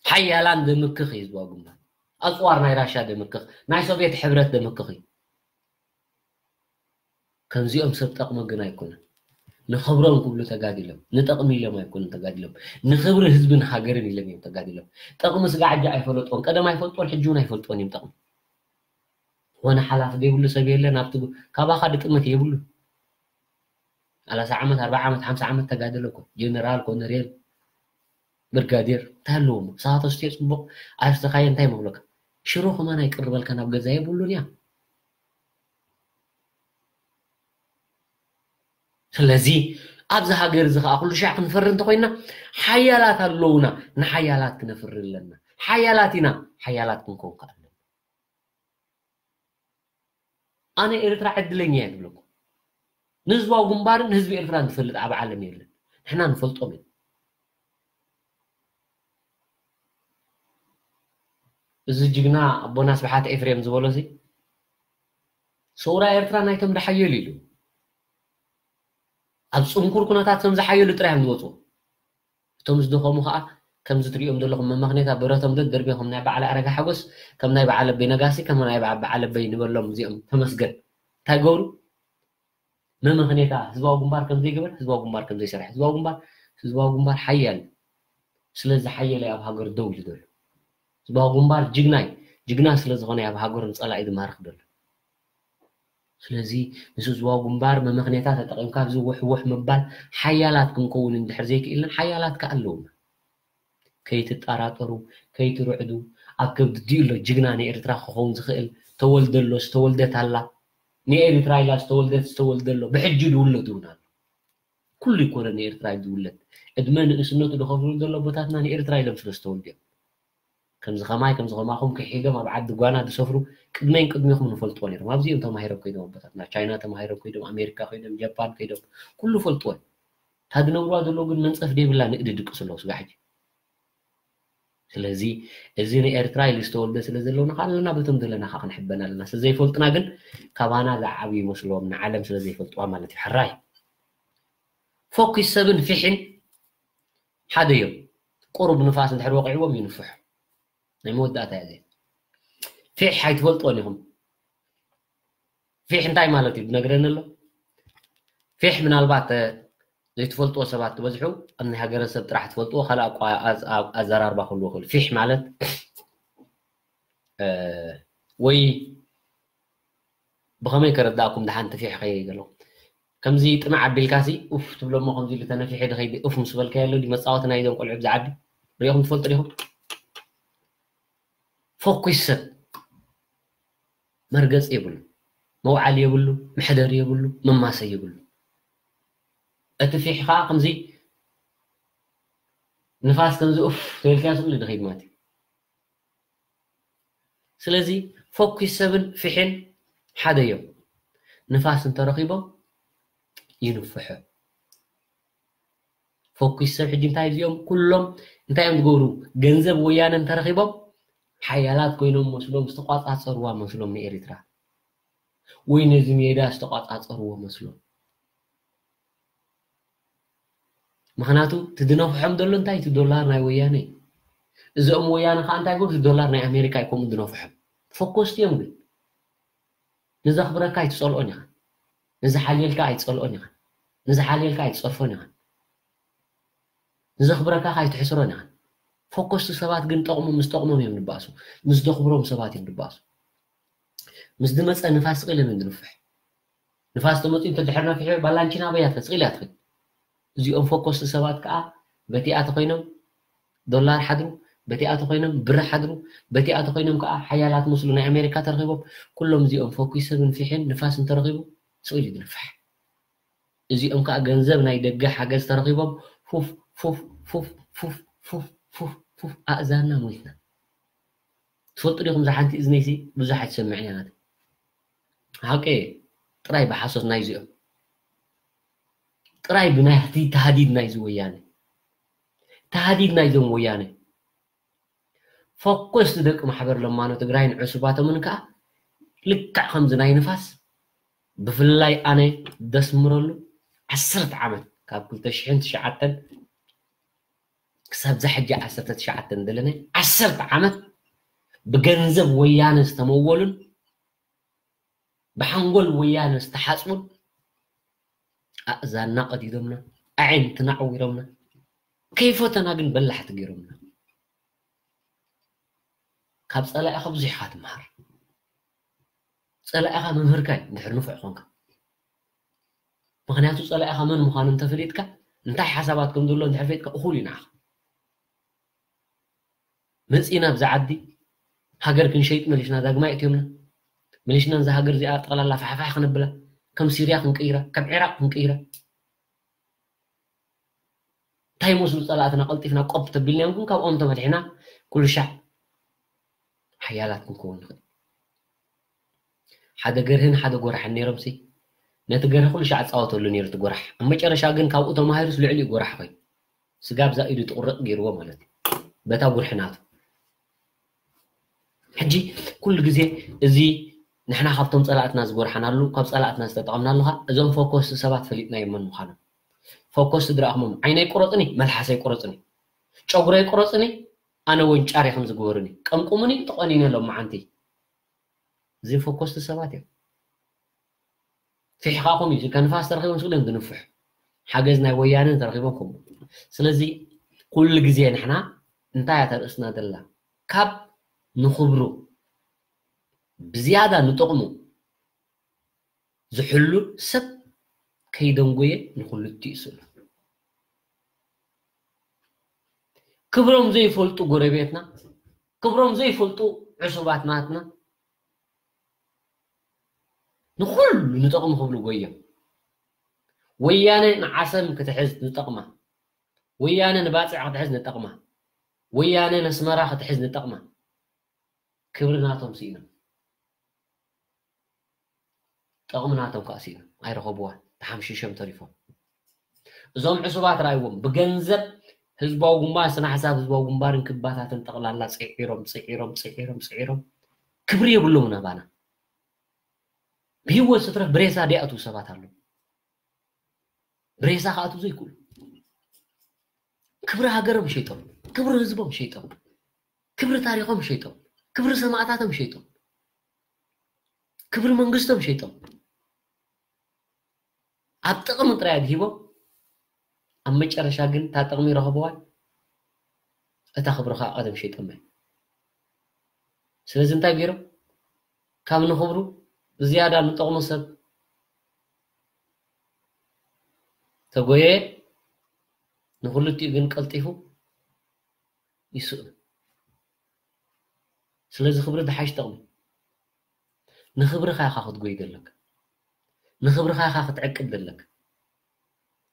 ሓያላን ደምክኽ እዩ ህዝባዊ ግንባር። ኣጽዋር ናይ ራሻ ደምክኽ፣ ናይ ሶቪየት ሕብረት ደምክኽ እዩ። ከምዚኦም ሰብ ጠቕሚ ግን ኣይኮነን። ንኽብሮም ክብሉ ተጋዲሎም፣ ንጠቕሚ ኢሎም ኣይኮኑን ተጋዲሎም። ንኽብሪ ህዝብን ሃገርን ኢሎም እዮም ተጋዲሎም። ጠቕሚ ስጋዕ ሕጂ ኣይፈለጥዎን፣ ቀደም ኣይፈልጥዎን፣ ሕጂ እውን ኣይፈልጥዎን እዮም ጠቕሚ። ዝኾነ ሓላፊ ዘይብሉ ሰብ የለን ኣብቲ ካባኻ ድጥምት የብሉ። ሰላሳ ዓመት፣ ኣርባዓ ዓመት፣ ሓምሳ ዓመት ተጋደለ እኮ ጀነራል፣ ኮነሬል፣ ብርጋዴር እንታይ ኣለዎም? ንስኻ ተስትዮ ጽቡቕ ኣይስተኻየ እንታይ መብለካ? ሽሮ ከማን ኣይቅርበልካ ናብ ገዛ የብሉን እያ። ስለዚ ኣብዚ ሃገር እዚ ከዓ ኩሉ ሻዕ ክንፈሪ እንተኮይና ሓያላት ኣለውና፣ ንሓያላት ክነፍሪ ኣለና። ሓያላት ኢና፣ ሓያላት ክንከውን ከዓ ኣለና። ኣነ ኤርትራ ዕድለኛ እየ ዝብለኩም። ንህዝባዊ ግንባርን ንህዝቢ ኤርትራን ዝፈልጥ ኣብ ዓለም የለን። ንሕና ንፈልጦም ኢና። እዚ ጅግና ኣቦና ስብሓት ኤፍሬም ዝበሎ ሲ ሰውራ ኤርትራ ናይቶም ዝሓየሉ ኢሉ ኣብ ጽንኩር ኩነታት ከም ዝሓየሉ ጥራይ እዮም ዝወፁ። እቶም ዝደኸሙ ከዓ ከምዚ ትሪኦም ዘለኹም መመኽኔታ ብረቶም ደደርቢዮም ከም ናይ በዓል ኣረጋ ሓጎስ ከም ናይ በዓል ኣበይ ነጋሲ ከም ናይ በዓል ኣበይ ንበሎም እዚኦም ተመስገን እንታይ ገብሩ መመኽኔታ ህዝባዊ ግንባር ከም ዘይገበር ህዝባዊ ግንባር ከም ዘይሰርሕ ህዝባዊ ግንባር ህዝባዊ ግንባር ሓያል ስለ ዝሓየለ ኣብ ሃገር ደው ኢሉ ዘሎ ህዝባዊ ግንባር ጅግናይ ጅግና ስለ ዝኾነ ኣብ ሃገሩ ንፀላኢ ዝማርኽ ዘሎ ስለዚ ምስ ህዝባዊ ግንባር መመኽኔታ ተጠቒምካ ኣብዚ ውሕውሕ ምባል ሓያላት ክንከውን እንድሕር ዘይክኢልና ሓያላት ከ ኣለውና ከይትጠራጠሩ ከይትርዕዱ ኣብ ከብዲ ኣሎ ጅግና ንኤርትራ ክኸውን ዝኽእል ተወልደ ኣሎ ዝተወልደት ኣላ ንኤርትራ ኢላ ዝተወልደት ዝተወልደ ኣሎ ብሕጂ ዝውለድ እውን ኣሎ ኩሉ ይኮነ ንኤርትራ እዩ ዝውለድ ዕድመ ንእስነቱ ዝኸፍሉ ዘሎ ኣቦታትና ንኤርትራ ኢሎም ስለ ዝተወልዱ እዮም ከምዚ ከማይ ከምዚ ከማኹም ክሒዶም ኣብ ዓዲ ጓና ዝሰፍሩ ቅድመይን ቅድሚኹም ንፈልጥዎ ነይሮም ኣብዚኦም ተማሂሮም ከይዶም ኣቦታትና ቻይና ተማሂሮም ከይዶም ኣሜሪካ ከይዶም ጃፓን ከይዶም ኩሉ ፈልጥዎ እዩ እታ ዝነብርዋ ዘለዉ ግን መንፀፍ ዘይብላ ንእዲ ድቅሱ ኣለዉ ስጋዕ ሕጂ ስለዚ እዚ ንኤርትራ ኢሉ ዝተወልደ ስለ ዘለውና ከዓ ኣለና በቶም ዘለና ከዓ ክንሕበን ኣለና ስለ ዘይፈልጡና ግን ካባና ዝዓብዩ ይመስልዎም ንዓለም ስለ ዘይፈልጥዋ ማለት እዩ ሕራይ ፎኪስ ሰብን ፊሕን ሓደ እዮም ቁሩብ ንፋስ እንድሕር ወቂዕዎም ይንፍሑ ናይ መወዳእታ እያ እዚኣ ፊሕ ኣይትፈልጥዎን ኢኹም ፊሕ እንታይ ማለት እዩ ዝነግረኒ ኣሎ ፊሕ ምናልባት ዘይትፈልጥዎ ሰባት ትበዝሑ ኣብ ናይ ሃገረሰብ ጥራሕ ትፈልጥዎ ካልእ ኣዘራርባ ክህልዎ ክእል ፊሕ ማለት ወይ ብኸመይ ከረዳእኩም ድሓንቲ ፊሕ ከይገለኹም ከምዚ ጥምዕ ኣቢልካሲ ኡፍ ትብለሞ ከምዚ ኢሉ ተነፊሐ ድኸይዲ ኡፍ ምስ በልካዮ ኣሎ መፃወቲ ናይዞም ቆልዑ ብዚ ዓዲ ሪኢኹም ትፈልጡ ዲኹም ፎኩስ ሰብ መርገፂ የብሉ መውዓሊ የብሉ መሕደሪ የብሉ መማሰ የብሉ እቲ ፊሕ ከዓ ከምዚ ንፋስ ከምዚ ኡፍ ተልካያ ስብሉ ድኸይድ ማለት እዩ ስለዚ ፎኩስ ሰብን ፊሕን ሓደ እዮም ንፋስ እንተረኺቦም ይንፍሑ ፎኩስ ሰብ ሕጂ እንታይ እዚኦም ኩሎም እንታይ እዮም ዝገብሩ ገንዘብ ወያነ እንተረኺቦም ሓያላት ኮይኖም መስሎም ዝተቋፃፀርዋ መስሎም ንኤርትራ ወይ ነዚ ሜዳ ዝተቋፃፀርዎ መስሎም ምክንያቱ ትድነፍሖም ዘሎ እንታይ እቲ ዶላር ናይ ወያነ እዚኦም ወያነ ከዓ እንታይ ገሩ ዶላር ናይ ኣሜሪካ ይኮም ድነፍሖም ፎኮስቲ እዮም ግን። ንዘኽብረካ ኣይትጸልኦን ኢኻ። ንዝሓልየልካ ኣይትጸልኦን ኢኻ። ንዝሓልየልካ ኣይትጸርፎን ኢኻ። ንዘኽብረካ ኣይትሕስሮን ኢኻ። ፎኮስቲ ሰባት ግን ጠቕሙ ምስ ጠቕሞም እዮም ዝበኣሱ። ምስ ዘኽብሮም ሰባት እዮም ዝበኣሱ። ምስ ዝመጸ ንፋስ ስቕ ኢሎም እዮም ዝንፍሕ። ንፋስ ተመጺኡ እንተድሕር ነፊሑ ባላንቺና በያ ትኸድ ስቕ ኢላ ትኸድ። እዚኦም ፎኮስቲ ሰባት ከዓ በቲኣ ተኾይኖም ዶላር ሓድሩ፣ በቲኣ ተኾይኖም ብር ሓድሩ፣ በቲኣ ተኾይኖም ከዓ ሓያላት ምስሉ ናይ ኣሜሪካ ተረኺቦም። ኩሎም እዚኦም ፎኪሶም ንፊሕን ንፋስ እንተረኺቡ ስቕ ኢሉ ዝንፍሕ። እዚኦም ከዓ ገንዘብ ናይ ደገ ሓገዝ ተረኺቦም ፉፍ ፉፍ ፉፍ ፉፍ ፉፍ ፉፍ ፉፍ ኣእዛንና ሞይትና። ትፈልጡ ዲኹም? እዛ ሓንቲ እዝነይሲ ብዙሕ ኣይትሰምዕን እያ ናተይ። ሓቂ ጥራይ ብሓሶት ናይዚኦም ጥራይ ብናይቲ ተሃዲድ ናይዚ ወያነ ተሃዲድ ናይዞም ወያነ ፎኮስቲ ደቂ ማሕበር ለማኖ ትግራይን ዕሱባቶምን ከዓ ልክዕ ከምዚ ናይ ንፋስ ብፍላይ ኣነ ደስምረሉ ዓሰርተ ዓመት ካብ ክልተ ሽሕን ትሽዓተን ክሳብ ዛ ሕጂ ዓሰርተ ትሽዓተ እንደለነ ዓሰርተ ዓመት ብገንዘብ ወያነ ዝተመወሉን ብሓንጎል ወያነ ዝተሓፅቡን ኣእዛንና ቀዲዶምና ኣዒንትና ዓዊሮምና ከይፈተና ግን በላሕቲ ገይሮምና። ካብ ፀላኢኻ ብዙሕ ኢኻ ትመሃር። ፀላኢኻ መምህርካ እዩ እንድሕር ንፉዕ ኮንካ። ምኽንያቱ ፀላኢኻ መን ምዃኑ እንተፈሊጥካ እንታይ ሓሳባት ከም ዘሎ እንድሕር ፈሊጥካ እኹል እዩ ንዓኻ። መፂና ኣብዚ ዓዲ ሃገር ክንሸይጥ መሊስና ዳግማይ እትዮምና መሊስና እዛ ሃገር እዚኣ ጠቕላላ ፋሕፋሕ ክነብላ ከም ሲርያ ክንቅይራ ካብ ዒራቅ ክንቅይራ እንታይ መስሉ ፀላእትና ቀልጢፍና ቆብ ተቢልናዮም ግን ካብኦም ተመድሒና ኩሉ ሻዕ ሓያላት ክንከውን ንኽእል ሓደ ገርህን ሓደ ጎራሕን ነይሮምሲ ነቲ ገርህ ኩሉ ሻዕ ፃወተሉ ነይሩ እቲ ጎራሕ ኣብ መጨረሻ ግን ካብኡ ተማሂሩስ ልዕሊኡ ጎራሕ ኮይኑ ስጋ ብዛ ኢዱ ትቁረጥ ገይርዎ ማለት እዩ በታ ጉርሒ ናቱ ሕጂ ኩሉ ግዜ እዚ ንሕና ካብቶም ፀላእትና ዝጎርሓናሉ ካብ ፀላእትና ዝተጠቐምናሉ ኸ እዞም ፎኮስቲ ሰባት ፈሊጥናዮም መን ምዃኖም ፎኮስቲ ድረኣኹሞም ዓይነይ ቁረፅኒ መልሓሰይ ቁረፅኒ ጨጉረይ ቁረፅኒ ኣነ ወንጫር ኢኹም ዝግበሩኒ ቀምቁሙኒ ተቆኒነ ሎም መዓንቲ እዚ ፎኮስቲ ሰባት እዮም ፊሕኻኹም እዩ ከንፋስ ተረኺቦም ስግደም ዝንፍሕ ሓገዝ ናይ ወያነ ተረኺቦም ከምኡ ስለዚ ኩሉ ግዜ ንሕና እንታይ እያ ተርእስና ዘላ ካብ ንኽብሩ ብዝያዳ ንጥቕሙ ዝሕሉ ሰብ ከይደንጎየ ንኽልቲኡ ስእሉ ክብሮም ዘይፈልጡ ጎረቤትና ክብሮም ዘይፈልጡ ዕሱባት ናትና ንኹሉ ንጠቕሙ ክብሉ ጎዮም ወያነ ንዓሰብ ክትሕዝ ንጠቕማ ወያነ ንባፅዕ ክትሕዝ ንጠቕማ ወያነ ነስመራ ክትሕዝ ንጠቕማ ክብሪ ናቶም ስኢኖም ጠቕሚ ናቶም ከዓ ስኢኖም ኣይረኸብዋ ተሓምሽሾም ተሪፎም እዞም ዕሱባት ረኣይዎም ብገንዘብ ህዝባዊ ግንባር ስነ ሓሳብ ህዝባዊ ግንባርን ክባታትን ጠቕላላ ፅዒሮም ፅዒሮም ፅዒሮም ፅዒሮም ክብሪ የብሎም ናባና ብህይወት ስትረፍ ብሬሳ ዲኣቱ ሰባት ኣለዉ ብሬሳ ክኣቱ ዘይክእሉ ክብሪ ሃገሮም ሸይጦም ክብሪ ህዝቦም ሸይጦም ክብሪ ታሪኾም ሸይጦም ክብሪ ሰማእታቶም ሸይጦም ክብሪ መንግስቶም ሸይጦም ኣብ ጥቕሚ ጥራይ ኣድሂቦም ኣብ መጨረሻ ግን እታ ጥቕሚ ይረኸብዋ እታ ክብሪ ከዓ ቀደም ሸይጦም እዮም ስለዚ እንታይ ገይሮም ካብ ንኽብሩ ብዝያዳ ንጠቕሙ ሰብ ተጎየ ንክልቲኡ ግን ቀልጢፉ ይስእኑ ስለዚ ክብሪ ዝሓሽ ጠቕሚ ንኽብርኻ ኢኻ ክትጎይ ዘለካ ንኽብርኻ ኢኻ ክትዕቅብ ዘለካ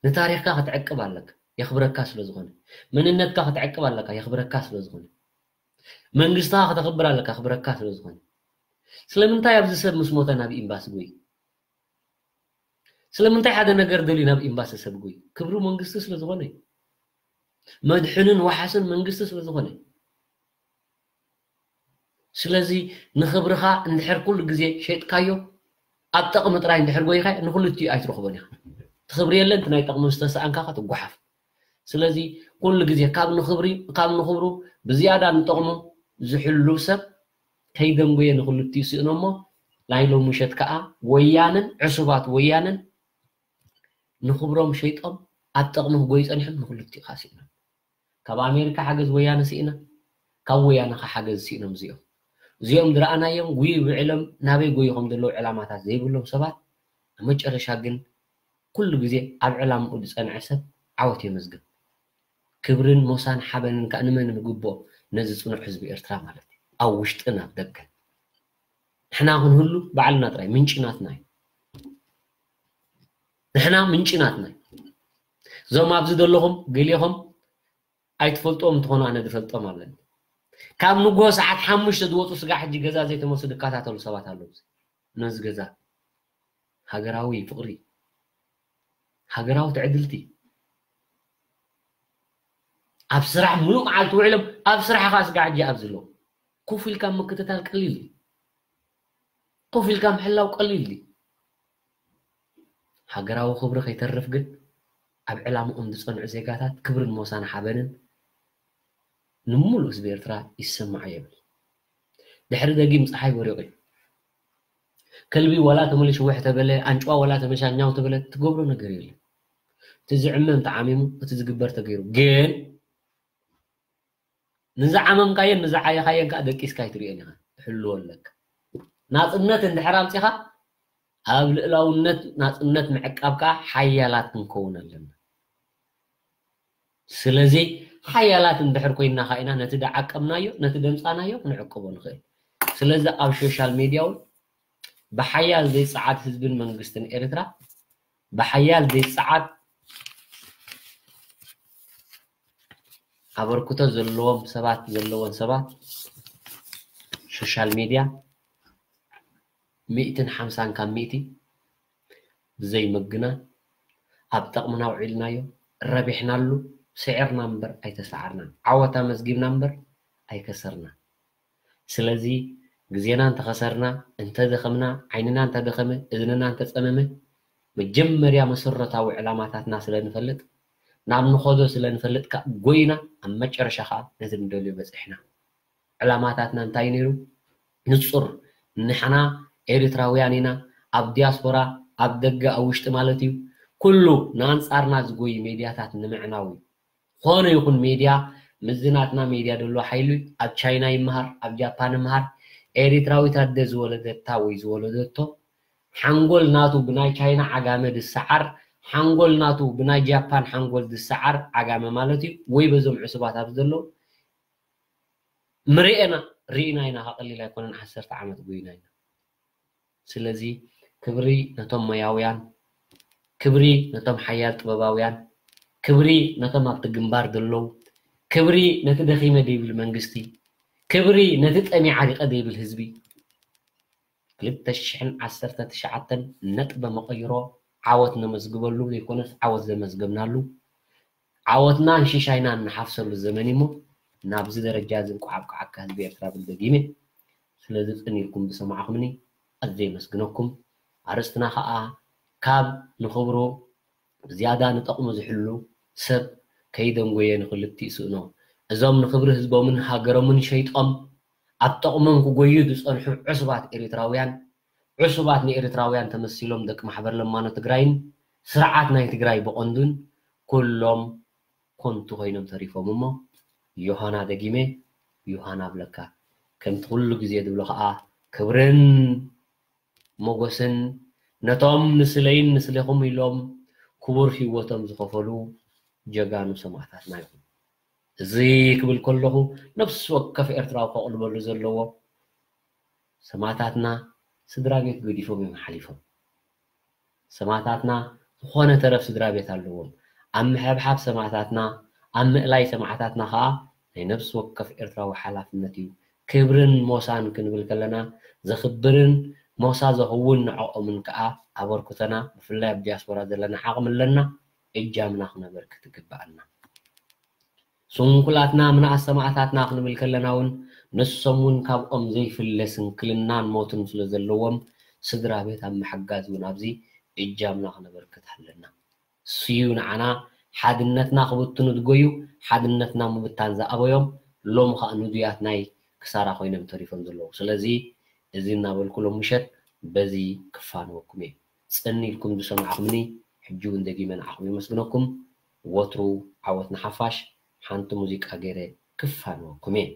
ንታሪኽካ ክትዕቅብ ኣለካ የኽብረካ ስለ ዝኾነ መንነትካ ክትዕቅብ ኣለካ የኽብረካ ስለ ዝኾነ መንግስትኻ ከተኽብር ኣለካ ክብረካ ስለ ዝኾነ ስለምንታይ ኣብዚ ሰብ ምስ ሞተ ናብ ኤምባሲ ጎይ ስለምንታይ ሓደ ነገር ደልዩ ናብ ኤምባሲ ሰብ ጎይ ክብሪ መንግስቲ ስለ ዝኾነ መድሕንን ዋሓስን መንግስቲ ስለ ዝኾነ ስለዚ ንኽብርኻ እንድሕር ኩሉ ግዜ ሸጥካዮ ኣብ ጠቕሚ ጥራይ እንድሕር ጎይኻ ንክልቲኡ ኣይትረኽቦን ኢኻ ትኽብሪ የለን እቲ ናይ ጠቕሚ ዝተሰኣንካ ክትጓሓፍ ስለዚ ኩሉ ግዜ ካብ ንኽብሪ ካብ ንኽብሩ ብዝያዳ ንጠቕሙ ዝሕሉ ሰብ ከይደንጎየ ንክልቲኡ ስእኖ እሞ ናይ ሎም ምሸት ከዓ ወያነን ዕሱባት ወያነን ንክብሮም ሸይጦም ኣብ ጠቕሚ ክጎዩ ጸኒሖም ንክልቲኡ ከዓ ስኢኖም። ካብ ኣሜሪካ ሓገዝ ወያነ ስኢና፣ ካብ ወያነ ከዓ ሓገዝ ስኢኖም እዚኦም። እዚኦም ዝረኣናዮም ጉይ ብዕሎም ናበይ ጎዩ ከም ዘለዉ ዕላማታት ዘይብሎም ሰባት ኣብ መጨረሻ ግን ኩሉ ግዜ ኣብ ዕላምኡ ዝጸንዐ ሰብ ዓወት የመዝግብ። ክብርን ሞሳን ሓበንን ከዓ ንመን ንግብኦ? ነዚ ጽኑዕ ህዝቢ ኤርትራ ማለት እዩ። ኣብ ውሽጥን ኣብ ደገን ንሕና ክንህሉ ባዕልና ጥራይ ምንጪ ናትና እዩ። ንሕና ምንጪ ናትና እዩ። እዞም ኣብዚ ዘለኹም ገሌኹም ኣይትፈልጦም እንትኾኑ ኣነ ዝፈልጦም ኣለኒ። ካብ ንግሆ ሰዓት ሓሙሽተ ዝወፁ ስጋ ሕጂ ገዛ ዘይተመልሱ ዝከታተሉ ሰባት ኣለዉ። ነዚ ገዛ ሃገራዊ ፍቕሪ፣ ሃገራዊ ትዕድልቲ፣ ኣብ ስራሕ ሙሉእ መዓልቲ ውዕሎም ኣብ ስራሕ ኸዓ ስጋ ሕጂ ኣብዚ ኣለዉ። ኮፍ ኢልካ ምክትታል ቀሊል እዩ። ኮፍ ኢልካ ምሕላው ቀሊል እዩ። ሃገራዊ ክብሪ ከይተርፍ ግን ኣብ ዕላምኦም ዝጸንዑ ዜጋታት ክብርን ሞሳን ሓበንን ንምሉእ ህዝቢ ኤርትራ ይሰማዖ የብል። ድሕሪ ደጊም ጸሓይ በሪቑ እዩ። ከልቢ ዋላ ተመሊሱ ውሕ ተበለ፣ ኣንጭዋ ዋላ ተመሻኛው ተበለ ትገብሮ ነገር የለን። እቲ ዝዕመም ተዓሚሙ፣ እቲ ዝግበር ተገይሩ። ግን ንዝዓመምካዮን ንዝዓየኻዮን ከዓ ደቂስካ ኣይትርእዮን ኢኻ፣ ትሕልዎ ኣለካ። ናጽነት እንድሕር ኣምጺኻ ኣብ ልእላውነት ናጽነት ምዕቃብ ከዓ ሓያላት ክንከውን ኣለና። ስለዚ ሓያላት እንድሕር ኮይንና ከዓ ኢና ነቲ ዝዓቀብናዮ ነቲ ዘምጻናዮ ክንዕቅቦ ንኽእል። ስለዚ ኣብ ሶሻል ሜድያ እውን ብሓያል ዘይጸዓድ ህዝብን መንግስትን ኤርትራ ብሓያል ዘይጸዓድ ኣበርክቶ ዘለዎም ሰባት ዘለወን ሰባት ሶሻል ሜድያ ሚእትን ሓምሳን ካብ ሚእቲ ብዘይ ምግናን ኣብ ጠቕምና ውዒልናዮ ረቢሕናሉ ስዒርና እምበር ኣይተሰዓርናን ዓወት ኣመዝጊብና እምበር ኣይከሰርናን። ስለዚ ግዜና እንተኸሰርና እንተደኸምና ዓይንና እንተደኸመ እዝንና እንተጸመመ መጀመርያ መሰረታዊ ዕላማታትና ስለ ንፈልጥ ናብ ንኸዶ ስለ ንፈልጥ ከዓ ጎይና ኣብ መጨረሻ ከዓ ነቲ ንደልዮ በጺሕና። ዕላማታትና እንታይ ነይሩ? ንጹር። ንሕና ኤርትራውያን ኢና። ኣብ ዲያስፖራ ኣብ ደገ ኣብ ውሽጢ ማለት እዩ ኩሉ ንኣንጻርና ዝጎይ ሜድያታት ንምዕናው እዩ። ኾነ ይኹን ሜድያ ምስዚ ናትና ሜድያ ዘሎ ሓይሉ ኣብ ቻይና ይመሃር ኣብ ጃፓን ይመሃር ኤሪትራዊት ኣደ ዝወለደታ ወይ ዝወለደቶ ሓንጎል ናቱ ብናይ ቻይና ዓጋመ ዝሰዓር ሓንጎል ናቱ ብናይ ጃፓን ሓንጎል ዝሰዓር ዓጋመ ማለት እዩ ወይ በዞም ዕሱባት ኣብዚ ዘለዉ ምርኤና ርኢና ኢና ካቐሊል ኣይኮነን ዓሰርተ ዓመት ጎይና ኢና ስለዚ ክብሪ ነቶም ሞያውያን ክብሪ ነቶም ሓያል ጥበባውያን ክብሪ ነቶም ኣብቲ ግንባር ዘለዉ ክብሪ ነቲ ደኺመ ደይብል መንግስቲ ክብሪ ነቲ ጠሚዓ ሪቐ ደይብል ህዝቢ ክልተ ሽሕን ዓሰርተ ትሽዓተን ነጥበ መቐይሮ ዓወት ነመዝግበሉ ዘይኮነስ ዓወት ዘመዝገብናሉ ዓወትና ንሽሻይና እንሓፍሰሉ ዘመን እሞ ናብዚ ደረጃ እዚ እንቋዕ ኣብቅዓካ ህዝቢ ኤርትራ ብል ደጊመ ስለዚ ጽን ኢልኩም ዝሰማዕኹምኒ ኣዝየ የመስግነኩም ኣርእስትና ኸኣ ካብ ንኽብሩ ዝያዳ ንጠቕሙ ዝሕሉ ሰብ ከይደንጎየ ንኽልቲኡ ስእኖ እዞም ንኽብሪ ህዝቦምን ሃገሮምን ሸይጦም ኣብ ጠቕሞም ክጎዩ ዝጸንሑ ዕሱባት ኤሪትራውያን ዕሱባት ንኤርትራውያን ተመሲሎም ደቂ ማሕበር ለማኖ ትግራይን ስርዓት ናይ ትግራይ ብቐንዱን ኩሎም ኮንቱ ኮይኖም ተሪፎም እሞ ዮሃና ደጊመ ዮሃና ኣብለካ ከምቲ ኩሉ ግዜ ዝብሎ ከዓ ክብርን ሞጎስን ነቶም ንስለይን ንስለኹም ኢሎም ክቡር ህይወቶም ዝኸፈሉ ጀጋኑ ሰማእታትና ይኹን። እዚ ክብል ከለኹ ነፍሲ ወከፍ ኤርትራዊ ከቕልበሉ ዘለዎ ሰማእታትና ስድራ ቤት ገዲፎም እዮም ሓሊፎም። ሰማእታትና ዝኾነ ተረፍ ስድራ ቤት ኣለዎም። ኣብ ምሕብሓብ ሰማእታትና፣ ኣብ ምእላይ ሰማእታትና ኸኣ ናይ ነፍሲ ወከፍ ኤርትራዊ ሓላፍነት እዩ። ክብርን ሞሳን ክንብል ከለና ዘኽብርን ሞሳ ዘኸውን ንዕኦምን ከኣ ኣበርክቶና ብፍላይ ኣብ ዲያስፖራ ዘለና ዓቕሚ ኣለና እጃምና ክነበርክት ይግበኣና። ስንኩላትና ምንኣስ ሰማእታትና ክንብል ከለና እውን ንሶም እውን ካብኦም ዘይፍለ ስንክልናን ሞትን ስለ ዘለዎም ስድራ ቤት ኣብ ምሕጋዝ እውን ኣብዚ እጃምና ክነበርክት ኣለና። ስዩ ንዓና ሓድነትና ክብትኑ ዝጎዩ ሓድነትና ምብታን ዝኣበዮም ሎም ከዓ ንዱያት ናይ ክሳራ ኮይኖም ተሪፎም ዘለዉ። ስለዚ እዚ እናበልኩ ሎም ምሸት በዚ ክፋነወኩም እየ። ጽን ኢልኩም ዝሰማዕኩምኒ ሕጂ እውን ደጊመ ንዓኹም የመስግነኩም። ወትሩ ዓወት ንሓፋሽ። ሓንቲ ሙዚቃ ገይረ ክፋነወኩም እየ።